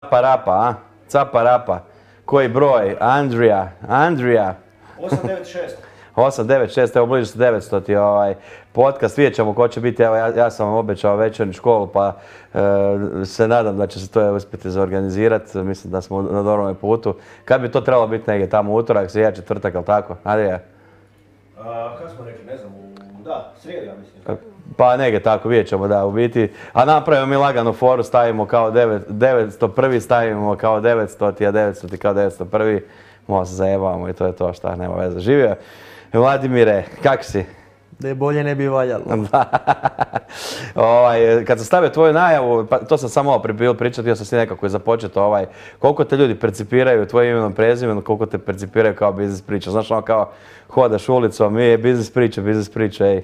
Caparapa, a? Caparapa. Koji broj? Andrija. 896. 896, evo bliže se 900 ti podcast. Vidjet ćemo ko će biti. Evo, ja sam vam obećao večernju školu, pa se nadam da će se to uspjeti zaorganizirati. Mislim da smo na dobrom putu. Kad bi to trebalo biti negdje tamo utorak, srijeda, četvrtak, ili tako? Andrija? Kako smo rekli, ne znam, srijeda, ja mislim. Pa negdje tako, vidjet ćemo da u biti. A napravimo mi laganu foru, stavimo kao 901, stavimo kao 900, a 900 kao 901. Malo se zajebavamo i to je to, šta, nema veze. Živio. Vladimire, kak si? Da je bolje ne bi valjalo. Kad sam stavio tvoju najavu, pa to sam samo bilo pričati, ja sam si nekako započeti koliko te ljudi percipiraju tvojim imenom, prezimenom, koliko te percipiraju kao biznis priča. Znaš, ono kao hodaš ulicom, biznis priča, ej.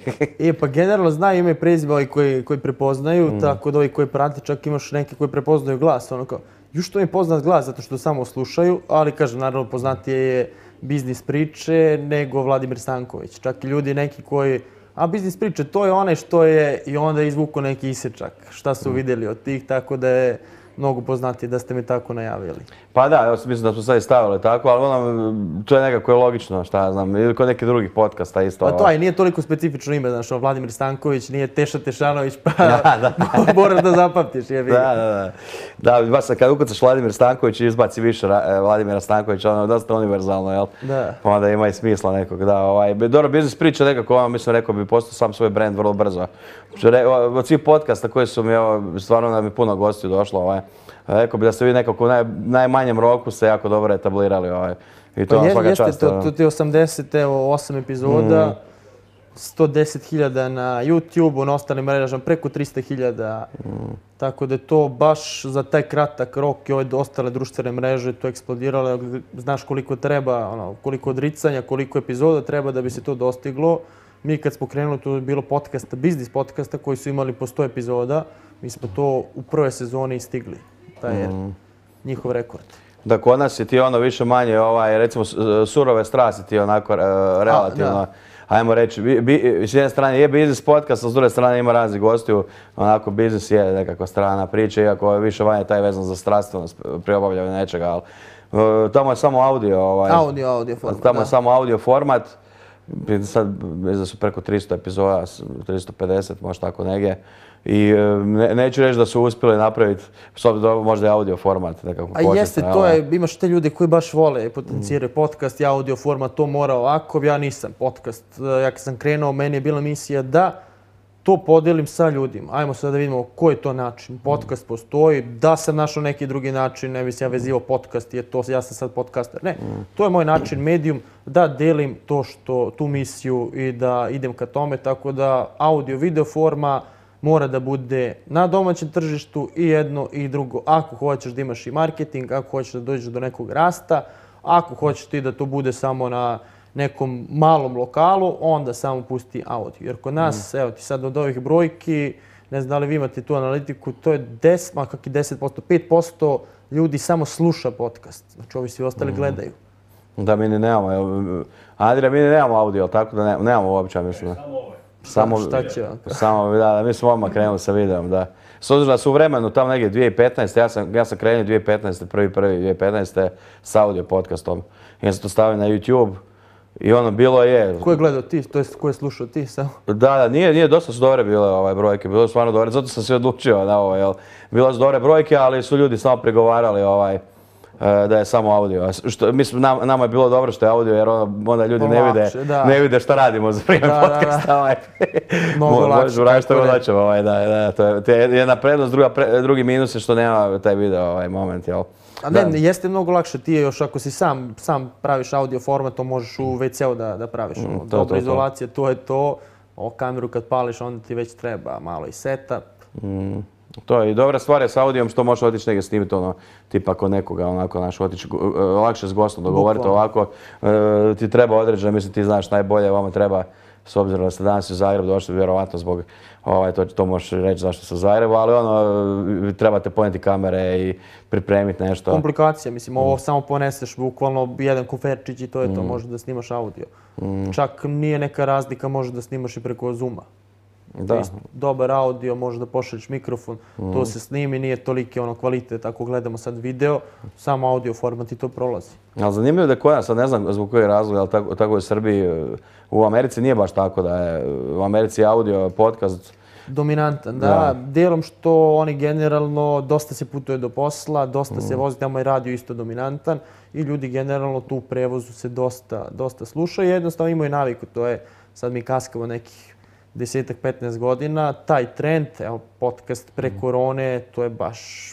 Pa generalno znaju ime i prezime ovi koji prepoznaju, tako da ovi koji prate, čak imaš neki koji prepoznaju glas, ono kao, što mi je poznat glas zato što samo slušaju, ali kažem, naravno poznatije je biznis priče nego Vladimir Stanković. Čak i ljudi neki koji, biznis priče, to je onaj što je i onda izvuku neki isječak. Šta su vidjeli od tih, tako da je mnogo poznatije da ste mi tako najavili. Pa da, ja mislim da smo sad i stavili tako, ali to je nekako logično, šta ja znam, ili kod nekih drugih podcasta isto. Pa to i nije toliko specifično ime, znaš, Vladimir Stanković, nije Teša Tešanović, pa moraš da zapamtiš, je vidio. Da, baš kad ukucaš Vladimir Stanković i izbaci više Vladimira Stankovića, ono je dosta univerzalno, jel? Da. Pa onda ima i smisla nekog, da. Dobro, biznis priča nekako, mislim, rekao bi postao sam svoj brand vrlo brzo. Od svih podcasta koji su mi, stvarno da mi puno gostiju došlo, rekao bi da ste vi nekako u najmanjem roku se jako dobro etablirali. I to vam svaka čast. To ti je 80, evo 8 epizoda, 110.000 na YouTube-u, na ostalim mrežama preko 300.000. Tako da je to baš za taj kratak rok i ove ostale društvene mreže to eksplodiralo. Znaš koliko treba, koliko odricanja, koliko epizoda treba da bi se to dostiglo. Mi kad smo krenuli, to je bilo podcasta, biznis podcasta koji su imali po 100 epizoda. Mi smo to u prvoj sezoni stigli. Taj je njihov rekord. Da, kod nas je ti više manje, recimo surove strasti ti onako relativno, ajmo reći, s jedne strane je biznis podcast, a s druge strane ima raznih gostiju, onako biznis je nekakva strana priča, iako je više manje taj vezan za strastvenost pri obavljanju nečega, ali tamo je samo audio. Audio format, tamo je samo audio format. Sad mislim da su preko 300 epizoda, 350, možda tako negdje. I neću reći da su uspjeli napraviti, možda je audio format nekako početno. A jeste, to je, imaš te ljude koji baš vole potenciraju podcast i audio format, to mora ovako, ja nisam podcast. Ja kad sam krenuo, meni je bila misija da to podelim sa ljudima. Ajmo sad da vidimo koji je to način. Podcast postoji, da sam našao neki drugi način, ne bi se ja vezivao podcast, ja sam sad podcaster. Ne, to je moj način, medijum, da delim tu misiju i da idem ka tome, tako da audio, video forma mora da bude na domaćem tržištu i jedno i drugo. Ako hoćeš da imaš i marketing, ako hoćeš da dođeš do nekog rasta, ako hoćeš ti da to bude samo na nekom malom lokalu, onda samo pusti audio. Jer kod nas, evo ti sad od ovih brojki, ne znam da li vi imate tu analitiku, to je 10%, 5% ljudi samo sluša podcast. Znači ovi svi ostali gledaju. Da, mi ni nemamo. Andrija, mi ni nemamo audio, tako da nemamo uopće, mislim. Samo ovo. Šta će vam? Da, mi smo odmah krenuli sa videom, da. S obzirom da su u vremenu tamo negdje 2015. Ja sam krenuo 2015. 1.1.2015. s audio podcastom. Ja sam to stavio na YouTube i bilo je... Ko je gledao ti, to jest ko je slušao ti samo? Da, nije, dosta su dobre bile brojke, bilo su stvarno dobre, zato sam se odlučio na ovo, jel. Bilo su dobre brojke, ali su ljudi samo prigovarali da je samo audio. Mislim, nama je bilo dobro što je audio, jer onda ljudi ne vide što radimo za vrijeme podcasta. Mnogo lakše. Možemo raditi što god hoćemo, to je jedna prednost, drugi minus je što nema taj video moment, jel? A ne, jeste mnogo lakše, ti je još ako si sam praviš audio format, to možeš u WC-u da praviš. Dobra izolacija, to je to. Kameru kad pališ, onda ti već treba malo i setup. To je i dobra stvar je s audijom što možeš otići negdje snimiti tipa kod nekoga, otići lakše s gostom dogovoriti ovako. Ti treba određeno, mislim ti znaš najbolje, vama treba, s obzirom da ste danas u Zagrebu došli, vjerovatno zbog, to možeš reći zašto ste u Zagrebu, ali trebate ponijeti kamere i pripremiti nešto. Komplikacija, mislim, ovo samo poneseš bukvalno jedan kuferčić i to je to, možeš da snimaš audio. Čak nije neka razlika, možeš da snimaš i preko Zooma. Da. Isto dobar audio, možeš da pošalješ mikrofon, to se snimi, nije toliki kvalitet ako gledamo sad video, samo audio format i to prolazi. Ali zanimljivo da je kod nas, sad ne znam zbog kojeg razloga, ali tako je u Srbiji, u Americi nije baš tako da je, u Americi je audio podcast. Dominantan, da. Dijelom što oni generalno dosta se putuje do posla, dosta se vozi, tamo je radio isto dominantan i ljudi generalno tu u prevozu se dosta slušaju. Jednostavno imaju naviku, to je, sad mi kaskamo nekih 10-15 godina, taj trend, evo, podcast pre korone, to je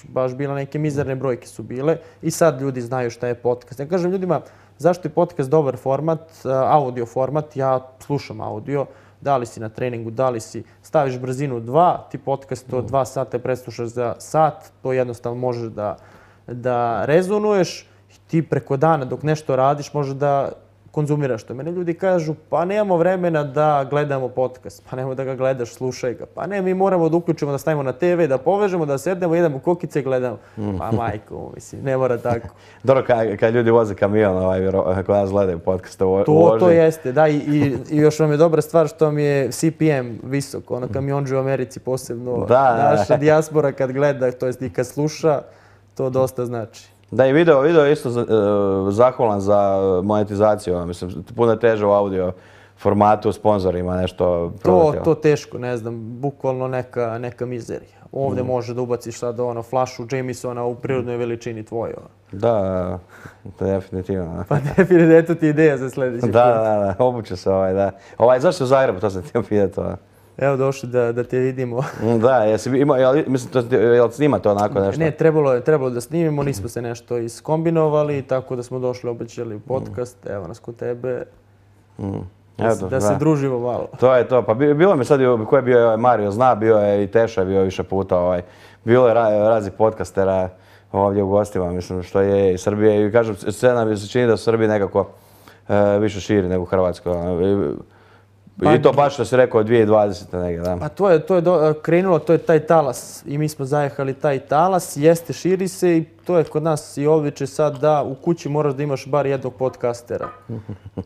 baš bila neke mizerne brojke su bile i sad ljudi znaju šta je podcast. Ja kažem ljudima, zašto je podcast dobar format, audio format, ja slušam audio, da li si na treningu, da li si staviš brzinu 2, ti podcast od 2 sata preslušaš za sat, to jednostavno možeš da rezonuješ, ti preko dana dok nešto radiš možeš da konzumiraš to. Mene ljudi kažu, pa nemamo vremena da gledamo podcast, pa nemoj da ga gledaš, slušaj ga. Pa ne, mi moramo da uključimo, da stavimo na TV, da povežemo, da sednemo, jedemo kokice i gledamo. Pa majko, mislim, ne mora tako. Dobro, kad ljudi voze kamion, kod nas gledaju podcaste u vožnji. To jeste, da, i još vam je dobra stvar što mi je CPM visok, kamionđe u Americi posebno. Naša dijaspora kad gleda, to jest i kad sluša, to dosta znači. Da, i video je isto zahvalan za monetizaciju, mislim, puno je teže u audio formatu, sponzorima nešto prodati. To teško, ne znam, bukvalno neka mizerija. Ovdje može da ubaciš sad flašu Jamesona u prirodnoj veličini tvojoj. Da, definitivno. Pa definitivno, eto ti ideja za sljedeći put. Da, obuče se da. Zašto u Zagrebu, to sam htio pitati. Evo došli da te vidimo. Da, jesi imao, mislim, jel snimate onako nešto? Ne, trebalo da snimimo, nismo se nešto iskombinovali, tako da smo došli, obećali u podcast, evo nas kod tebe, da se družimo malo. To je to, pa bilo mi sad, ko je bio Mario zna, bio je i Teša, bio je više puta, bilo je razni podcastera ovdje u gostima, mislim, što je iz Srbije i kažem, scena mi se čini da u Srbiji nekako više širi nego u Hrvatskoj. I to baš što si rekao 2020. negdje, da. Pa to je krenulo, to je taj talas i mi smo zajehali taj talas, jeste, širi se i to je kod nas i običaj sad da u kući moraš da imaš bar jednog podcastera.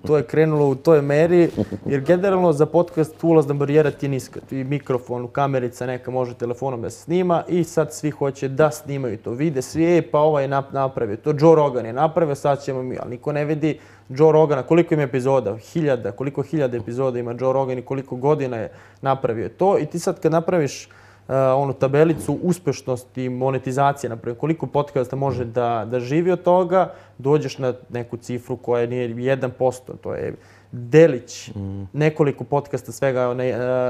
To je krenulo u toj meri jer generalno za podcast ulazna barijera ti je niska. Ti mikrofon, kamerica neka može telefonom da se snima i sad svi hoće da snimaju to. Vide svi, pa ovaj je napravio. To Joe Rogan je napravio, sad ćemo mi, ali niko ne vidi Joe Rogana, koliko ima epizoda, koliko hiljada epizoda ima Joe Rogan i koliko godina je napravio to. I ti sad kad napraviš onu tabelicu uspešnosti i monetizacije, naprimjer, koliko podcasta može da živi od toga, dođeš na neku cifru koja nije 1%, to je delić nekoliko podcasta svega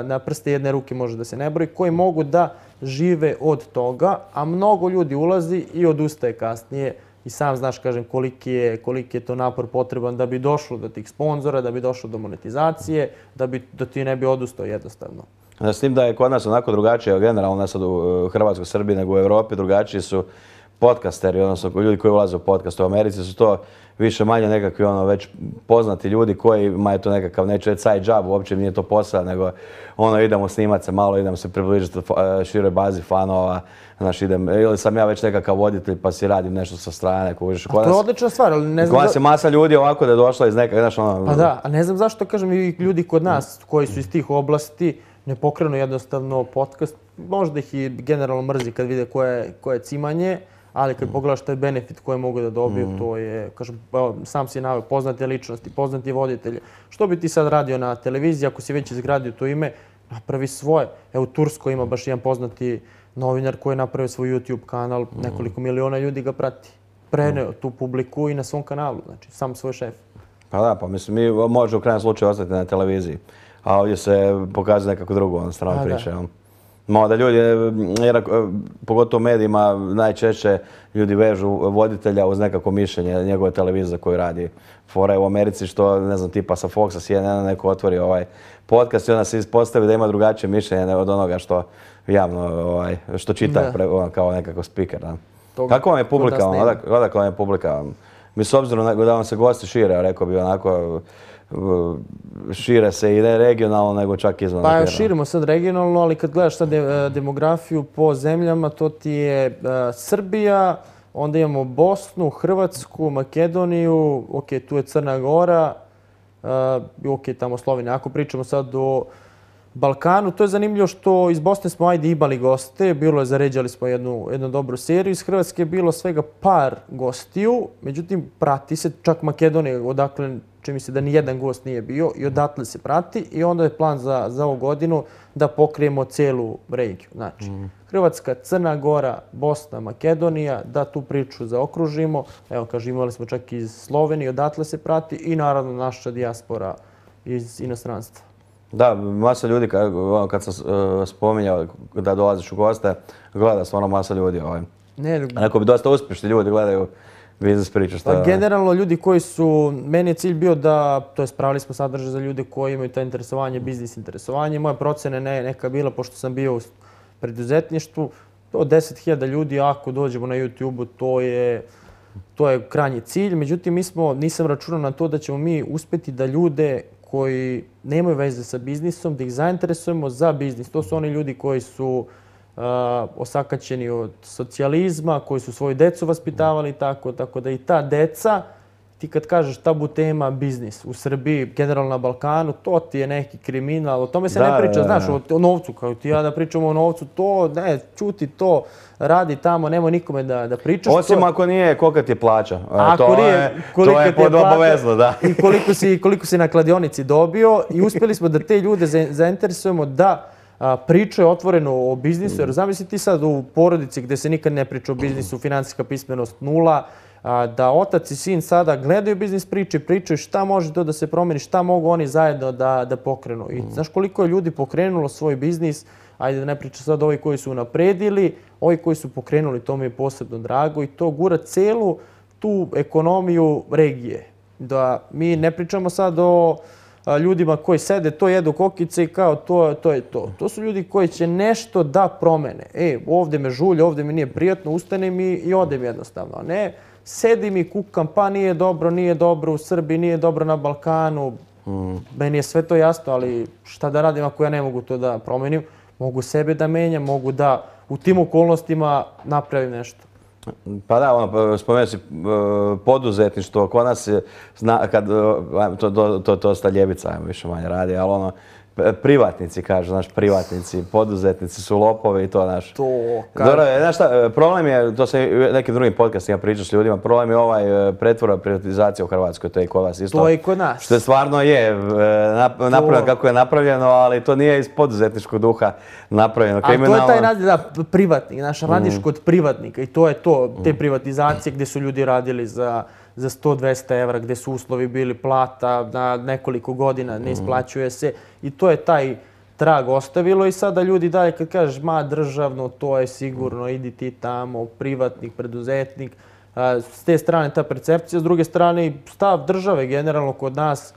na prste jedne ruke može da se ne broji, koji mogu da žive od toga, a mnogo ljudi ulazi i odustaje kasnije. I sam znaš, kažem, koliki je to napor potreban da bi došlo do tih sponzora, da bi došlo do monetizacije, da ti ne bi odustao jednostavno. S tim da je kod nas onako drugačije, generalno ne sad u Hrvatskoj, Srbiji, nego u Europi, drugačiji su podcasteri, odnosno ljudi koji ulaze u podcast. U Americi su to više manje nekakvi već poznati ljudi kojima je to nekakav, neću reći side job, uopće nije to posao, nego idemo snimat se malo, idemo se približiti široj bazi fanova, ili sam ja već nekakav voditelj pa si radim nešto sa strane. To je odlična stvar, ali ne znam... Kod nas je masa ljudi ovako da je došla iz nekak, Pa da, a ne znam zašto, kažem, i ljudi kod nas koji su iz tih oblasti ne pokrenu jednostavno podcast. Možda ih i generalno mrzi kad vide koje je cimanje, ali kad pogledaš taj benefit koji mogu da dobiju, to je, kažem, sam si naveo, poznate ličnosti, poznati voditelji. Što bi ti sad radio na televiziji, ako si već izgradio to ime, napravi svoje. Evo, u Turskoj ima baš jedan poznati novinar koji je napravio svoj YouTube kanal, nekoliko miliona ljudi ga prati. Preneo tu publiku i na svom kanalu, znači, sam svoj šef. Pa da, pa mislim, mi može u krajnjem slučaju ostati na televiziji, a ovdje se pokazuje nekako drugo strana priča. Da ljudi, jer pogotovo u medijima najčešće ljudi vežu voditelja uz nekako mišljenje njegove televizije koju radi. Fora je u Americi što, ne znam, tipa sa Foxa, CNN, neko otvori podcast i onda se ispostavi da ima drugačije mišljenje od onoga što javno, što čita kao nekako speaker. Kako vam je publika? Odakle vam je publika? Mi s obzirom da vam se gosti šire, rekao bi onako, šire se i ne regionalno, nego čak izvan. Pa širimo sad regionalno, ali kad gledaš sad demografiju po zemljama, to ti je Srbija, onda imamo Bosnu, Hrvatsku, Makedoniju, tu je Crna Gora, tamo Slovenija. Ako pričamo sad o Balkanu. To je zanimljivo što iz Bosne smo ajde imali goste, zaređali smo jednu dobru seriju. Iz Hrvatske je bilo svega par gostiju, međutim prati se čak Makedonija, odakle čini mi se da ni jedan gost nije bio i odatle se prati i onda je plan za ovu godinu da pokrijemo celu regiju. Znači, Hrvatska, Crna Gora, Bosna, Makedonija, da tu priču zaokružimo. Evo, kažem, imali smo čak iz Slovenije, odatle se prati i naravno naša dijaspora iz inostranstva. Da, masa ljudi, kad sam spominjao da dolaziš u goste, gleda stvarno masa ljudi. Neko bi dosta uspješni ljudi gledaju biznis priču. Pa generalno ljudi koji su, meni je cilj bio da, to je spravili smo sadržaj za ljude koji imaju to interesovanje, biznis interesovanje. Moja procena je neka bila, pošto sam bio u preduzetništvu, od 10.000 ljudi, ako dođemo na YouTube-u, to je krajnji cilj. Međutim, nisam računao na to da ćemo mi uspjeti da ljude koji nemaju veze sa biznisom, da ih zainteresujemo za biznis. To su oni ljudi koji su osakaćeni od socijalizma, koji su svoju decu vaspitavali tako da i ta deca, ti kad kažeš tabu tema biznis u Srbiji, generalno na Balkanu, to ti je neki kriminal, o tome se ne priča, znaš, o novcu, kao ti ja da pričamo o novcu, to, ne, čuti to, radi tamo, nemoj nikome da pričaš. Osim ako nije kolika ti je plaća. To je obavezno, da. I koliko si na kladionici dobio i uspjeli smo da te ljude zainteresujemo da pričaju otvoreno o biznisu, jer zamisli ti sad u porodici gdje se nikad ne priča o biznisu, finansijska pismenost 0, da otac i sin sada gledaju biznis priče, pričaju šta može to da se promeni, šta mogu oni zajedno da pokrenu. I znaš koliko je ljudi pokrenulo svoj biznis, ajde da ne pričam sad ovi koji su unapredili, ovi koji su pokrenuli, to mi je posebno drago i to gura celu tu ekonomiju regije. Da mi ne pričamo sad o ljudima koji sede, to jedu kokice i kao to je to. To su ljudi koji će nešto da promene. Ovdje me žulje, ovdje mi nije prijatno, ustanem i odem jednostavno. A ne, sedim i kukam, pa nije dobro u Srbiji, nije dobro na Balkanu. Meni je sve to jasno, ali šta da radim ako ja ne mogu to da promenim? Mogu sebe da menjam, mogu da u tim okolnostima napravim nešto. Pa da, spomenuo si poduzetništvo, kod nas je, to sta ljebica, ajmo više manje radi, ali privatnici kažu, znaš, privatnici, poduzetnici su lopovi i to, znaš. Dobro, znaš šta, problem je, to se u nekim drugim podcastima pričaš s ljudima, problem je pretvorba privatizacija u Hrvatskoj, to je i kod vas isto. To je i kod nas. Što je stvarno napravljeno kako je napravljeno, ali to nije iz poduzetničkog duha napravljeno. Ali to je taj naziv, da, privatnik, znaš, radiš kod privatnika i to je to, te privatizacije gdje su ljudi radili za 100-200 evra, gdje su uslovi bili plata na nekoliko godina, ne isplaćuje se i to je taj trag ostavilo i sada ljudi dalje kad kažeš ma državno, to je sigurno, idi ti tamo, privatnik, preduzetnik, s te strane ta percepcija, s druge strane stav države generalno kod nas,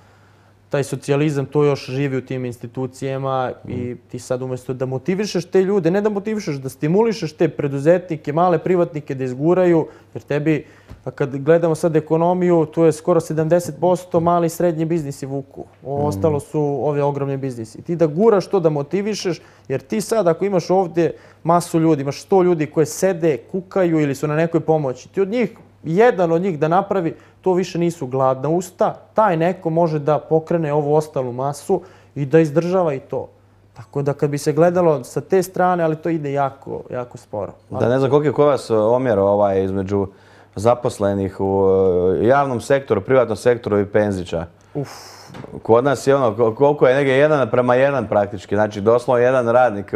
taj socijalizam, to još živi u tim institucijama i ti sad umjesto da motivišeš te ljude, ne da motivišeš, da stimulišeš te preduzetnike, male privatnike da izguraju, jer tebi, kad gledamo sad ekonomiju, tu je skoro 70% mali i srednji biznisi vuku. Ostalo su ovi ogromni biznisi. Ti da guraš to, da motivišeš, jer ti sad ako imaš ovdje masu ljudi, imaš 100 ljudi koji sede, kukaju ili su na nekoj pomoći, ti od njih, jedan od njih da napravi, to više nisu gladna usta, taj neko može da pokrene ovu ostalu masu i da izdržava i to. Tako da kad bi se gledalo sa te strane, ali to ide jako, jako sporo. Da, ne znam koliko je kod vas omjer između zaposlenih u javnom sektoru, privatnom sektoru i penzića. Kod nas je koliko je negdje 1:1 praktički, znači doslovno jedan radnik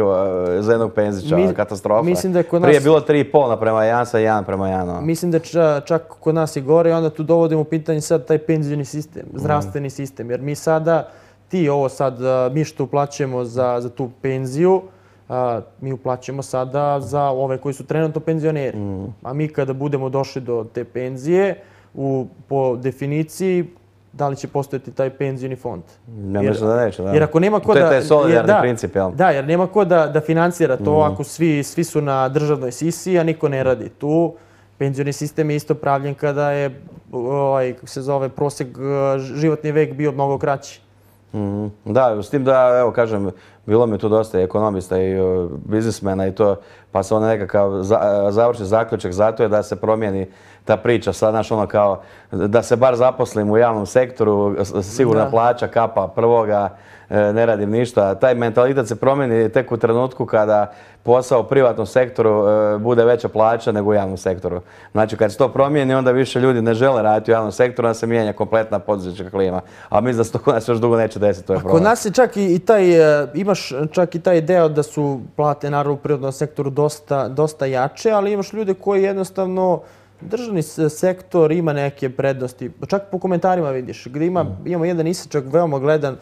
za jednog penzića, katastrofa. Mislim da je kod nas... Prije je bilo 3,5:1, sad 1:1. Mislim da je čak kod nas i gore i onda tu dovodimo u pitanje sad taj penzijni sistem, zdravstveni sistem, jer mi sada, mi što uplaćujemo za tu penziju, mi uplaćujemo sada za ove koji su trenutno penzioneri. A mi kada budemo došli do te penzije, po definiciji, da li će postojati taj penzijni fond? Ja mislim da neće, da. Jer ako nema ko to je taj solidarni princip, jel? Da, jer nema ko da financira to ako svi su na državnoj sisi, a niko ne radi tu. Penzijni sistem je isto pravljen kada je, kako se zove, prosjek životni vek bio mnogo kraći. Da, s tim da, evo kažem, bilo mi tu dosta ekonomista i biznismena i to, pa se nekakav završni zaključak zato je da se promijeni ta priča, sad znaš kao da se bar zaposlim u javnom sektoru, sigurna plaća, kapa prvoga, ne radim ništa. Taj mentalitet se promijeni tek u trenutku kada posao u privatnom sektoru bude veća plaća nego u javnom sektoru. Znači kad se to promijeni onda više ljudi ne žele raditi u javnom sektoru, onda se mijenja kompletna poduzetnička klima. A mislim da se to kod nas još dugo neće desiti, to je problem. Kod nas je čak i taj, imaš čak i taj deo da su plate naravno u privatnom sektoru dosta jače, ali imaš ljude koji jednostavno državni sektor ima neke prednosti. Čak po komentarima vidiš, gdje imamo jedan isječak veoma gledan,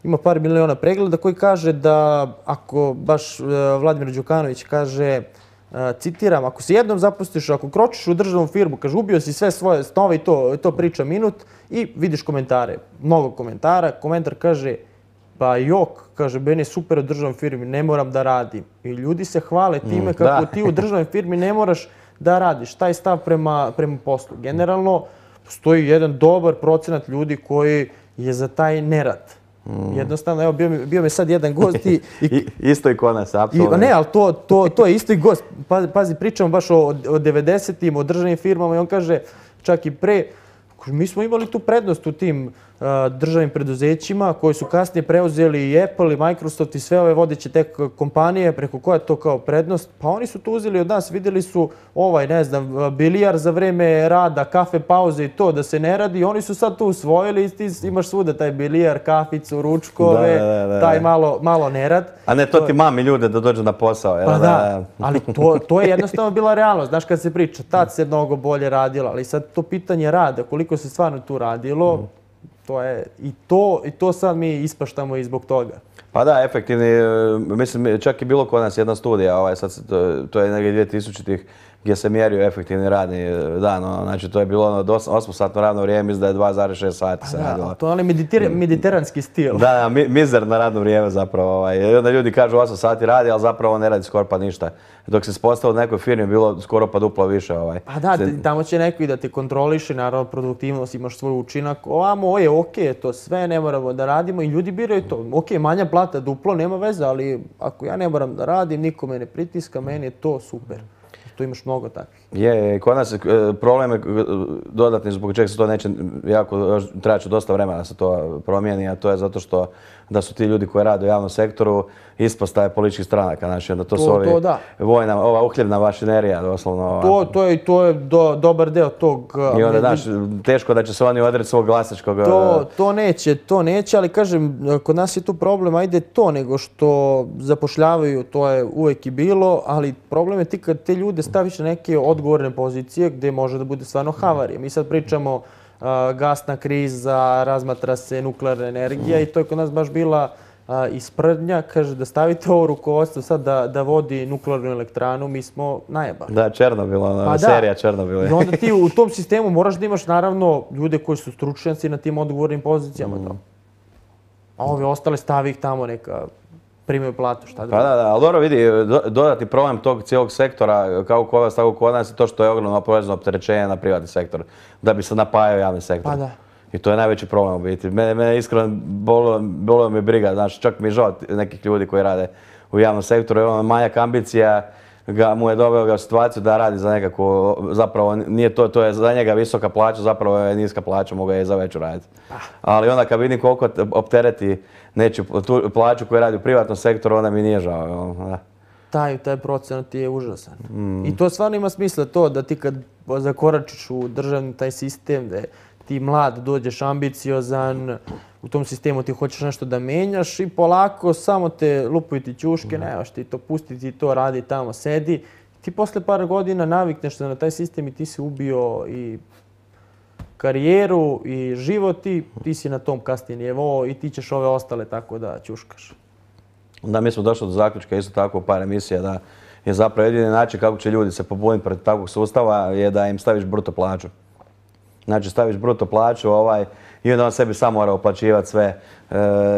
ima par miliona pregleda koji kaže da ako baš Vladimir Đukanović kaže, citiram, ako se jednom zapustiš, ako kročiš u državnu firmu, kaže ubio si sve svoje snove i to priča minut i vidiš komentare, mnogo komentara. Komentar kaže, pa jok, kaže, meni je super u državnoj firmi, ne moram da radim. I ljudi se hvale time kako ti u državnoj firmi ne moraš da radiš. Taj stav prema poslu. Generalno, postoji jedan dobar procenat ljudi koji je za taj nerad. Jednostavno, evo, bio mi sad jedan gost i... Isto i kod nas, apsolutno. Ne, ali to je isto i gost. Pazi, pričamo baš o 90-im, o državnim firmama i on kaže, čak i pre, mi smo imali tu prednost u tim državnim preduzećima koji su kasnije preuzeli i Apple i Microsoft i sve ove vodeće tek kompanije preko koja je to kao prednost. Pa oni su to uzeli od nas, vidjeli su ne znam, bilijar za vreme rada, kafe pauze i to da se ne radi. Oni su sad to usvojili i ti imaš svuda taj bilijar, kaficu, ručkove, taj malo nerad. A ne, to ti mami ljude da dođu na posao. Pa da, ali to je jednostavno bila realnost. Znaš kad se priča, tad se mnogo bolje radilo, ali sad to pitanje rada, koliko se stvarno tu radilo, to je i to sad mi ispaštamo i zbog toga. Pa da, efektivni, mislim, čak i bilo kod nas jedna studija, to je negdje 2000-ih, gdje se mjerio efektivni radni dan. Znači, to je bilo 8-satno radno vrijeme, mislim da je 2,6 sati se radilo. To je onaj mediteranski stil. Da, mizerno radno vrijeme zapravo. I onda ljudi kažu 8 sati radi, ali zapravo ne radi skoro pa ništa. Dok se postavio u nekoj firmi, bilo skoro pa duplo više. Pa da, tamo će neko i da te kontroliše, naravno produktivnost, imaš svoj učinak. Ovamo je okej, to sve, ne moramo da radimo i ljudi biraju to. Okej, manja plata, duplo, nema veze, ali ako ja ne moram da radim, niko me ne pritiska, meni je to super. Tu imaš mnogo takvih. Kod nas problem je dodatni zbog čega se to neće trebat će dosta vremena da se to promijeni, a to je zato što da su ti ljudi koji rade u javnom sektoru ispostave političkih stranaka. Znači, onda to su vojna, ova uhljebna mašinerija, doslovno. To je dobar deo tog... I onda, znaš, teško da će se oni odreći svog glasačkog... To neće, ali kažem, kod nas je tu problem, ajde to, nego što zapošljavaju, to je uvek i bilo, ali problem je ti kad te ljude staviš na neke odgovorne pozicije gdje može da bude stvarno havarija. Mi sad pričamo gasna kriza, razmatra se nuklearna energija i to je kod nas baš bila isprdnja, kaže da stavite ovo rukovodstvo sad da vodi nuklearnu elektranu, mi smo najebali. Da, Černobil, serija Černobil. I onda ti u tom sistemu moraš da imaš naravno ljude koji su stručnjaci na tim odgovornim pozicijama. A ove ostale stavi ih tamo neka primaju platu, šta da... Pa da, ali dobro vidi, dodatni problem tog cijelog sektora, kako kod vas, tako kod nas, je to što je ogromno porezno opterećenje na privatni sektor, da bi se napajao javni sektor. Pa da. I to je najveći problem u biti. Mene iskreno bolo mi briga, znači čak mi je žao nekih ljudi koji rade u javnom sektoru, jer manjak ambicija mu je doveo ga u situaciju da radi za nekako, zapravo nije to je za njega visoka plaća, zapravo je niska plaća, mogu je za veću raditi. Ali onda kad vidim koliko optereti nečiju tu plaću koju radi u privatnom sektoru, onda mi nije žao. Taj procenat je užasan. I to stvarno ima smisla to da ti kad zakoračiš u državni taj sistem, da ti mlad dođeš ambiciozan, u tom sistemu ti hoćeš nešto da menjaš i polako samo te lupaju ti ćuške, nemaš ti to, pusti ti to, radi tamo, sedi. Ti posle par godina navikneš se na taj sistem i ti si ubio i karijeru i život i ti si na tom kasnije nivou i ti ćeš ove ostale tako da ćuškaš. Da, mi smo došli do zaključka isto tako u par emisija da je zapravo jedini način kako će ljudi se pobuniti protiv takvog sustava je da im staviš bruto plaću. Znači staviš bruto plaću i onda on sebi sam mora uplaćivati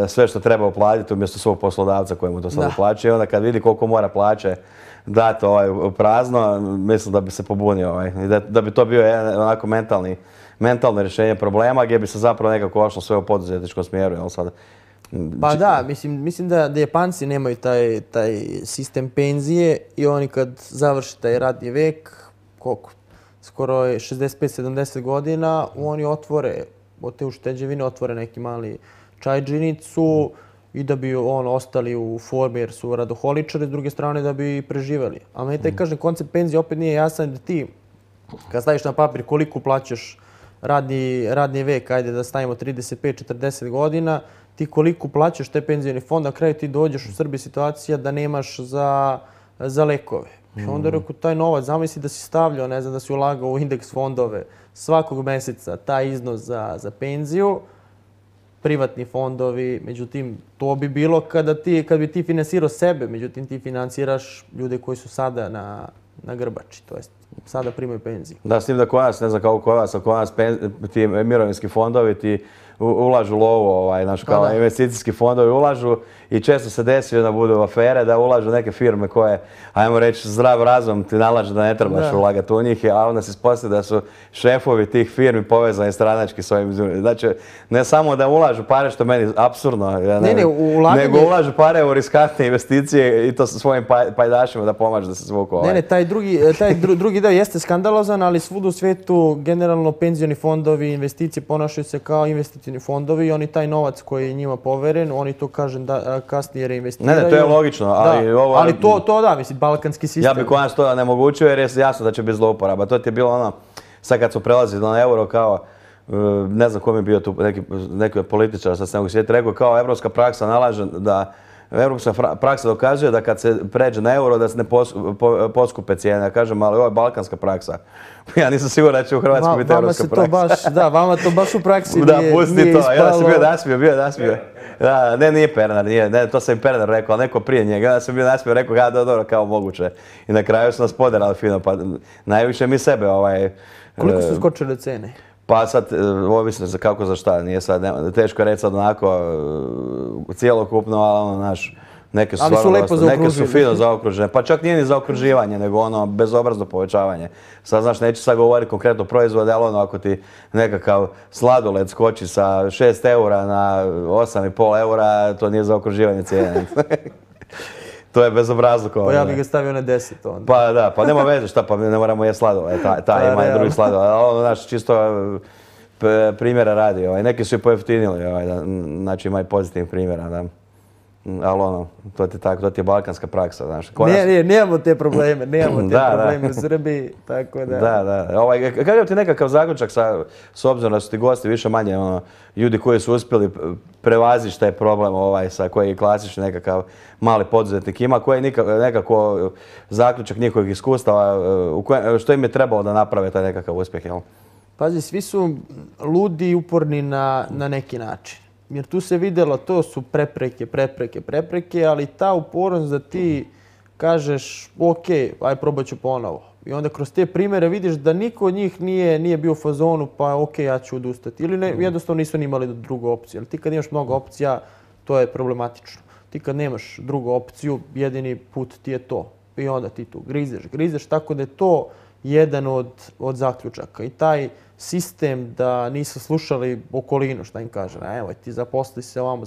sve što treba uplatiti umjesto svog poslodavca koji mu to sad uplaćuje. I onda kad vidi koliko mora plaće dati prazno, mislim da bi se pobunio. Da bi to bio jedan onako mentalno rješenje problema gdje bi se zapravo nekako ošlo sve u poduzetničkom smjeru. Pa da, mislim da Japanci nemaju taj sistem penzije i oni kad završi taj radni vek, koliko? Skoro je 65-70 godina, oni otvore, od te ušteđevine otvore neki mali čajđinicu i da bi ostali u formi jer su radoholičari, s druge strane da bi preživeli. A meni taj, kažem, koncept penzije opet nije jasan da ti, kad staviš na papir koliko plaćaš radni vek, ajde da stavimo 35-40 godina, ti koliko plaćaš te penzijeni fond, na kraju ti dođeš u Srbiji situacija da nemaš za lekove. I onda rekao, taj novac, zamisli da si stavljao, ne znam, da si ulagao u indeks fondove svakog meseca, taj iznos za penziju, privatni fondovi, međutim, to bi bilo kad bi ti finansirao sebe, međutim, ti finansiraš ljude koji su sada na grbači, to jest sada primaju penziju. Da, s tim da kod nas, ne znam kako kod vas, ali kod nas ti mirovinski fondovi ti ulažu lovo, kao investicijski fondovi ulažu i često se desi da budu afere, da ulažu neke firme koje, ajmo reći, zdrav razum ti nalaže da ne trebaš ulagati u njih, a onda se ispostavi da su šefovi tih firmi povezani stranački s ovim. Znači, ne samo da ulažu pare, što meni apsurdno, nego ulažu pare u riskantne investicije i to sa svojim pajdašima da pomažu da se zvuku. Ne, taj drugi deo jeste skandalozan, ali svud u svijetu generalno penzioni fondovi, investicije ponašaju se kao investicioni fondovi i oni taj novac koji je njima poveren, oni to, kažem, kasnije reinvestiraju. Ne, to je logično, ali to da, mislim, balkanski sistem. Ja bih kod nas to nemogućio jer je jasno da će biti zlouporaba. To ti je bilo ono, sad kad su prelazili na euro kao, ne znam ko mi je bio tu, neki političar, sad se ne mogu sjetiti, rekao kao evropska praksa nalaže da evropska praksa dokazuje da kad se pređe na euro da se ne poskupe cijene. Ja kažem, ali ovo je balkanska praksa. Ja nisam siguran da će u Hrvatskoj biti evropska praksa. Da, vama to baš u praksi nije ispalo. Da, pusti to. Ja sam bio nasmio. Da, nije Pernar, to sam i Pernar rekao, ali neko prije njega. Ja sam bio nasmio, rekao, dobro, kao moguće. I na kraju su nas poderali fino, pa najviše mi sebe. Koliko su skočile cene? Pa sad, ovisno za kako za šta, nije sad, teško reći sad onako cijelokupno, ali neke su fino zaokružene. Pa čak nije ni zaokruživanje, nego bezobrazno povećavanje. Sad znaš, neću sad govoriti konkretno proizvode, ali ako ti nekakav sladoled skoči sa 6 eura na 8,5 eura, to nije zaokruživanje cijene. To je bezobrazluk. Pa ja bih ga stavio na 10 onda. Pa da, pa nema veze šta, pa ne moramo jesti sladoled, taj ima i drugi sladoled. Ali čisto primjera radi, neki su i pojeftinili, znači ima i pozitivnih primjera. Ali to ti je tako, to ti je balkanska praksa, znaš. Nemamo te probleme, u Srbiji, tako da... Da. Kakav ti nekakav zaključak s obzirom da su ti gosti više manje ljudi koji su uspjeli prevazići taj problem sa koji je klasični nekakav mali poduzetnik ima, koji je nekako zaključak njihovih iskustava, što im je trebalo da naprave taj nekakav uspjeh, jel? Pazi, svi su ludi i uporni na neki način. Jer tu se vidjelo, to su prepreke, ali ta upornost da ti kažeš ok, aj probat ću ponovo. I onda kroz te primjere vidiš da niko od njih nije bio u fazonu pa ok, ja ću odustati. Ili jednostavno nisu ni imali drugu opciju. Ali ti kad imaš mnogo opcija, to je problematično. Ti kad nemaš drugu opciju, jedini put ti je to. I onda ti tu grizeš, tako da je to jedan od zaključaka. I taj sistem da nisu slušali okolinu, šta im kaže. Evo, ti zaposli se ovamo,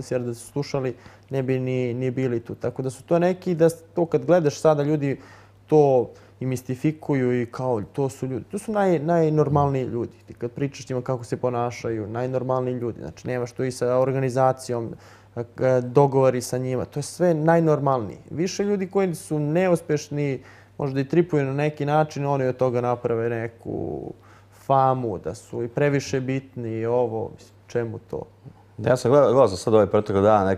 jer da su slušali ne bi ni bili tu. Tako da su to neki, da to kad gledaš sada ljudi to i mistifikuju i kao to su ljudi. To su najnormalniji ljudi. Ti kad pričaš njima kako se ponašaju, najnormalniji ljudi. Znači nemaš to i sa organizacijom, dogovori sa njima. To je sve najnormalniji. Više ljudi koji su neuspešni, možda i tripuju na neki način, oni od toga naprave neku famu, da su i previše bitni i ovo, čemu to? Ja sam gledao sad ove protekle dana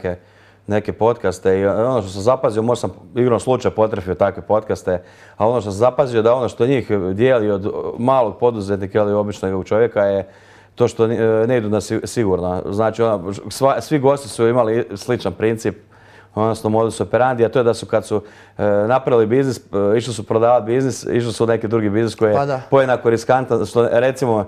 neke podcaste i ono što sam zapazio, možda sam igrom slučaja potrefio takve podcaste, ali ono što sam zapazio da ono što njih dijeli od malog poduzetnika ili običnog čovjeka je to što ne idu na sigurno. Znači, svi gosti su imali sličan princip, odnosno modus operandi, a to je da su kad su napravili biznis, išli su prodavati biznis, išli su u neki drugi biznis koji je pojednako riskantan, što recimo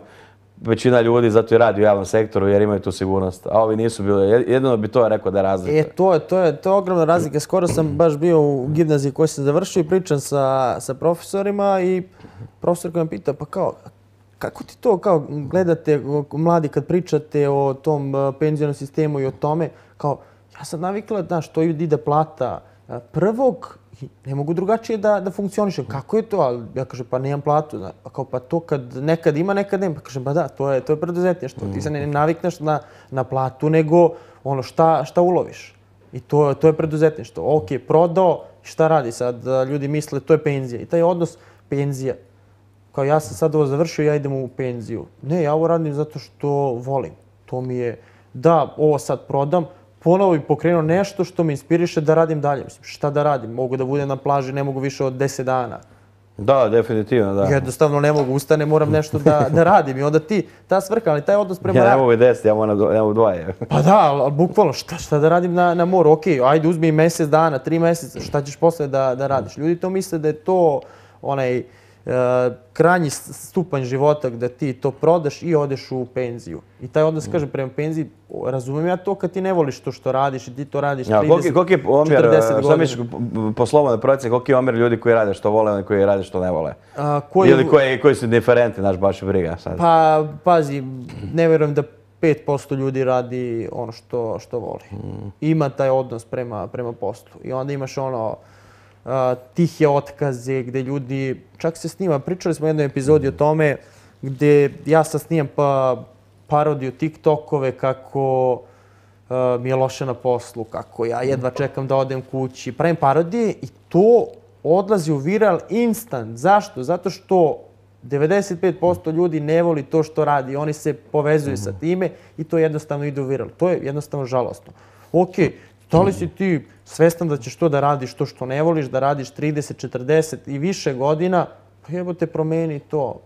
većina ljudi zato i radi u javnom sektoru jer imaju tu sigurnost, a ovi nisu bili. Jedino bi to rekao da je razlika. To je ogromna razlika. Skoro sam baš bio u gimnaziji koju sam završio i pričam sa profesorima i profesor koji me pita pa kao kako ti to kao gledate mladi kad pričate o tom penzionom sistemu i o tome, kao ja sam navikla, znaš, to ide plata prvog I ne mogu drugačije da funkcionišem. Kako je to? Ali ja kažem, pa nemam platu. Pa kao, pa to kad nekad ima, nekad nema. Pa kažem, pa da, to je preduzetništvo. Ti se ne navikneš na platu, nego ono šta uloviš. I to je preduzetništvo. Ok, prodao, šta radi sad? Ljudi misle, to je penzija. I taj odnos penzija. Kao ja sam sad ovo završio, ja idem u penziju. Ne, ja ovo radim zato što volim. To mi je, da, ovo sad prodam, ponovo bi pokrenuo nešto što me inspiriše da radim dalje. Mislim, šta da radim? Mogu da budem na plaži, ne mogu više od 10 dana. Da, definitivno, da. Jednostavno ne mogu, ustane, moram nešto da radim. I onda ta svrha, ali taj odnos prema... Ja ne mogu 10, ja moram 2. Pa da, ali bukvalno, šta da radim na moru? Ok, ajde uzmi mjesec dana, 3 mjeseca, šta ćeš posle da radiš? Ljudi to misle da je to onaj krajnji stupanj života gdje ti to prodaš i odeš u penziju. I taj odnos, kažem, prema penziji, razumijem ja to kad ti ne voliš to što radiš i ti to radiš 30, koliki je omjer, 40 godina. šta misliš po slobodnoj procjeni, koliki je omjer ljudi koji rade što vole i koji rade što ne vole? Ili koji su indiferentni, znaš, baš briga sad? Pa, pazi, ne vjerujem da 5% ljudi radi ono što voli. Ima taj odnos prema poslu. I onda imaš ono tihe otkaze gdje ljudi, čak se snima, pričali smo u jednoj epizodi o tome gdje ja sad snimam parodiju TikTokove kako mi je loše na poslu, kako ja jedva čekam da odem kući. Pravim parodije i to odlazi u viral instant. Zašto? Zato što 95% ljudi ne voli to što radi. Oni se povezuju sa time i to jednostavno ide u viral. To je jednostavno žalosno. Ok, da li si ti svestan da ćeš to da radiš, to što ne voliš, da radiš 30, 40 i više godina, pa jebote, promeni to.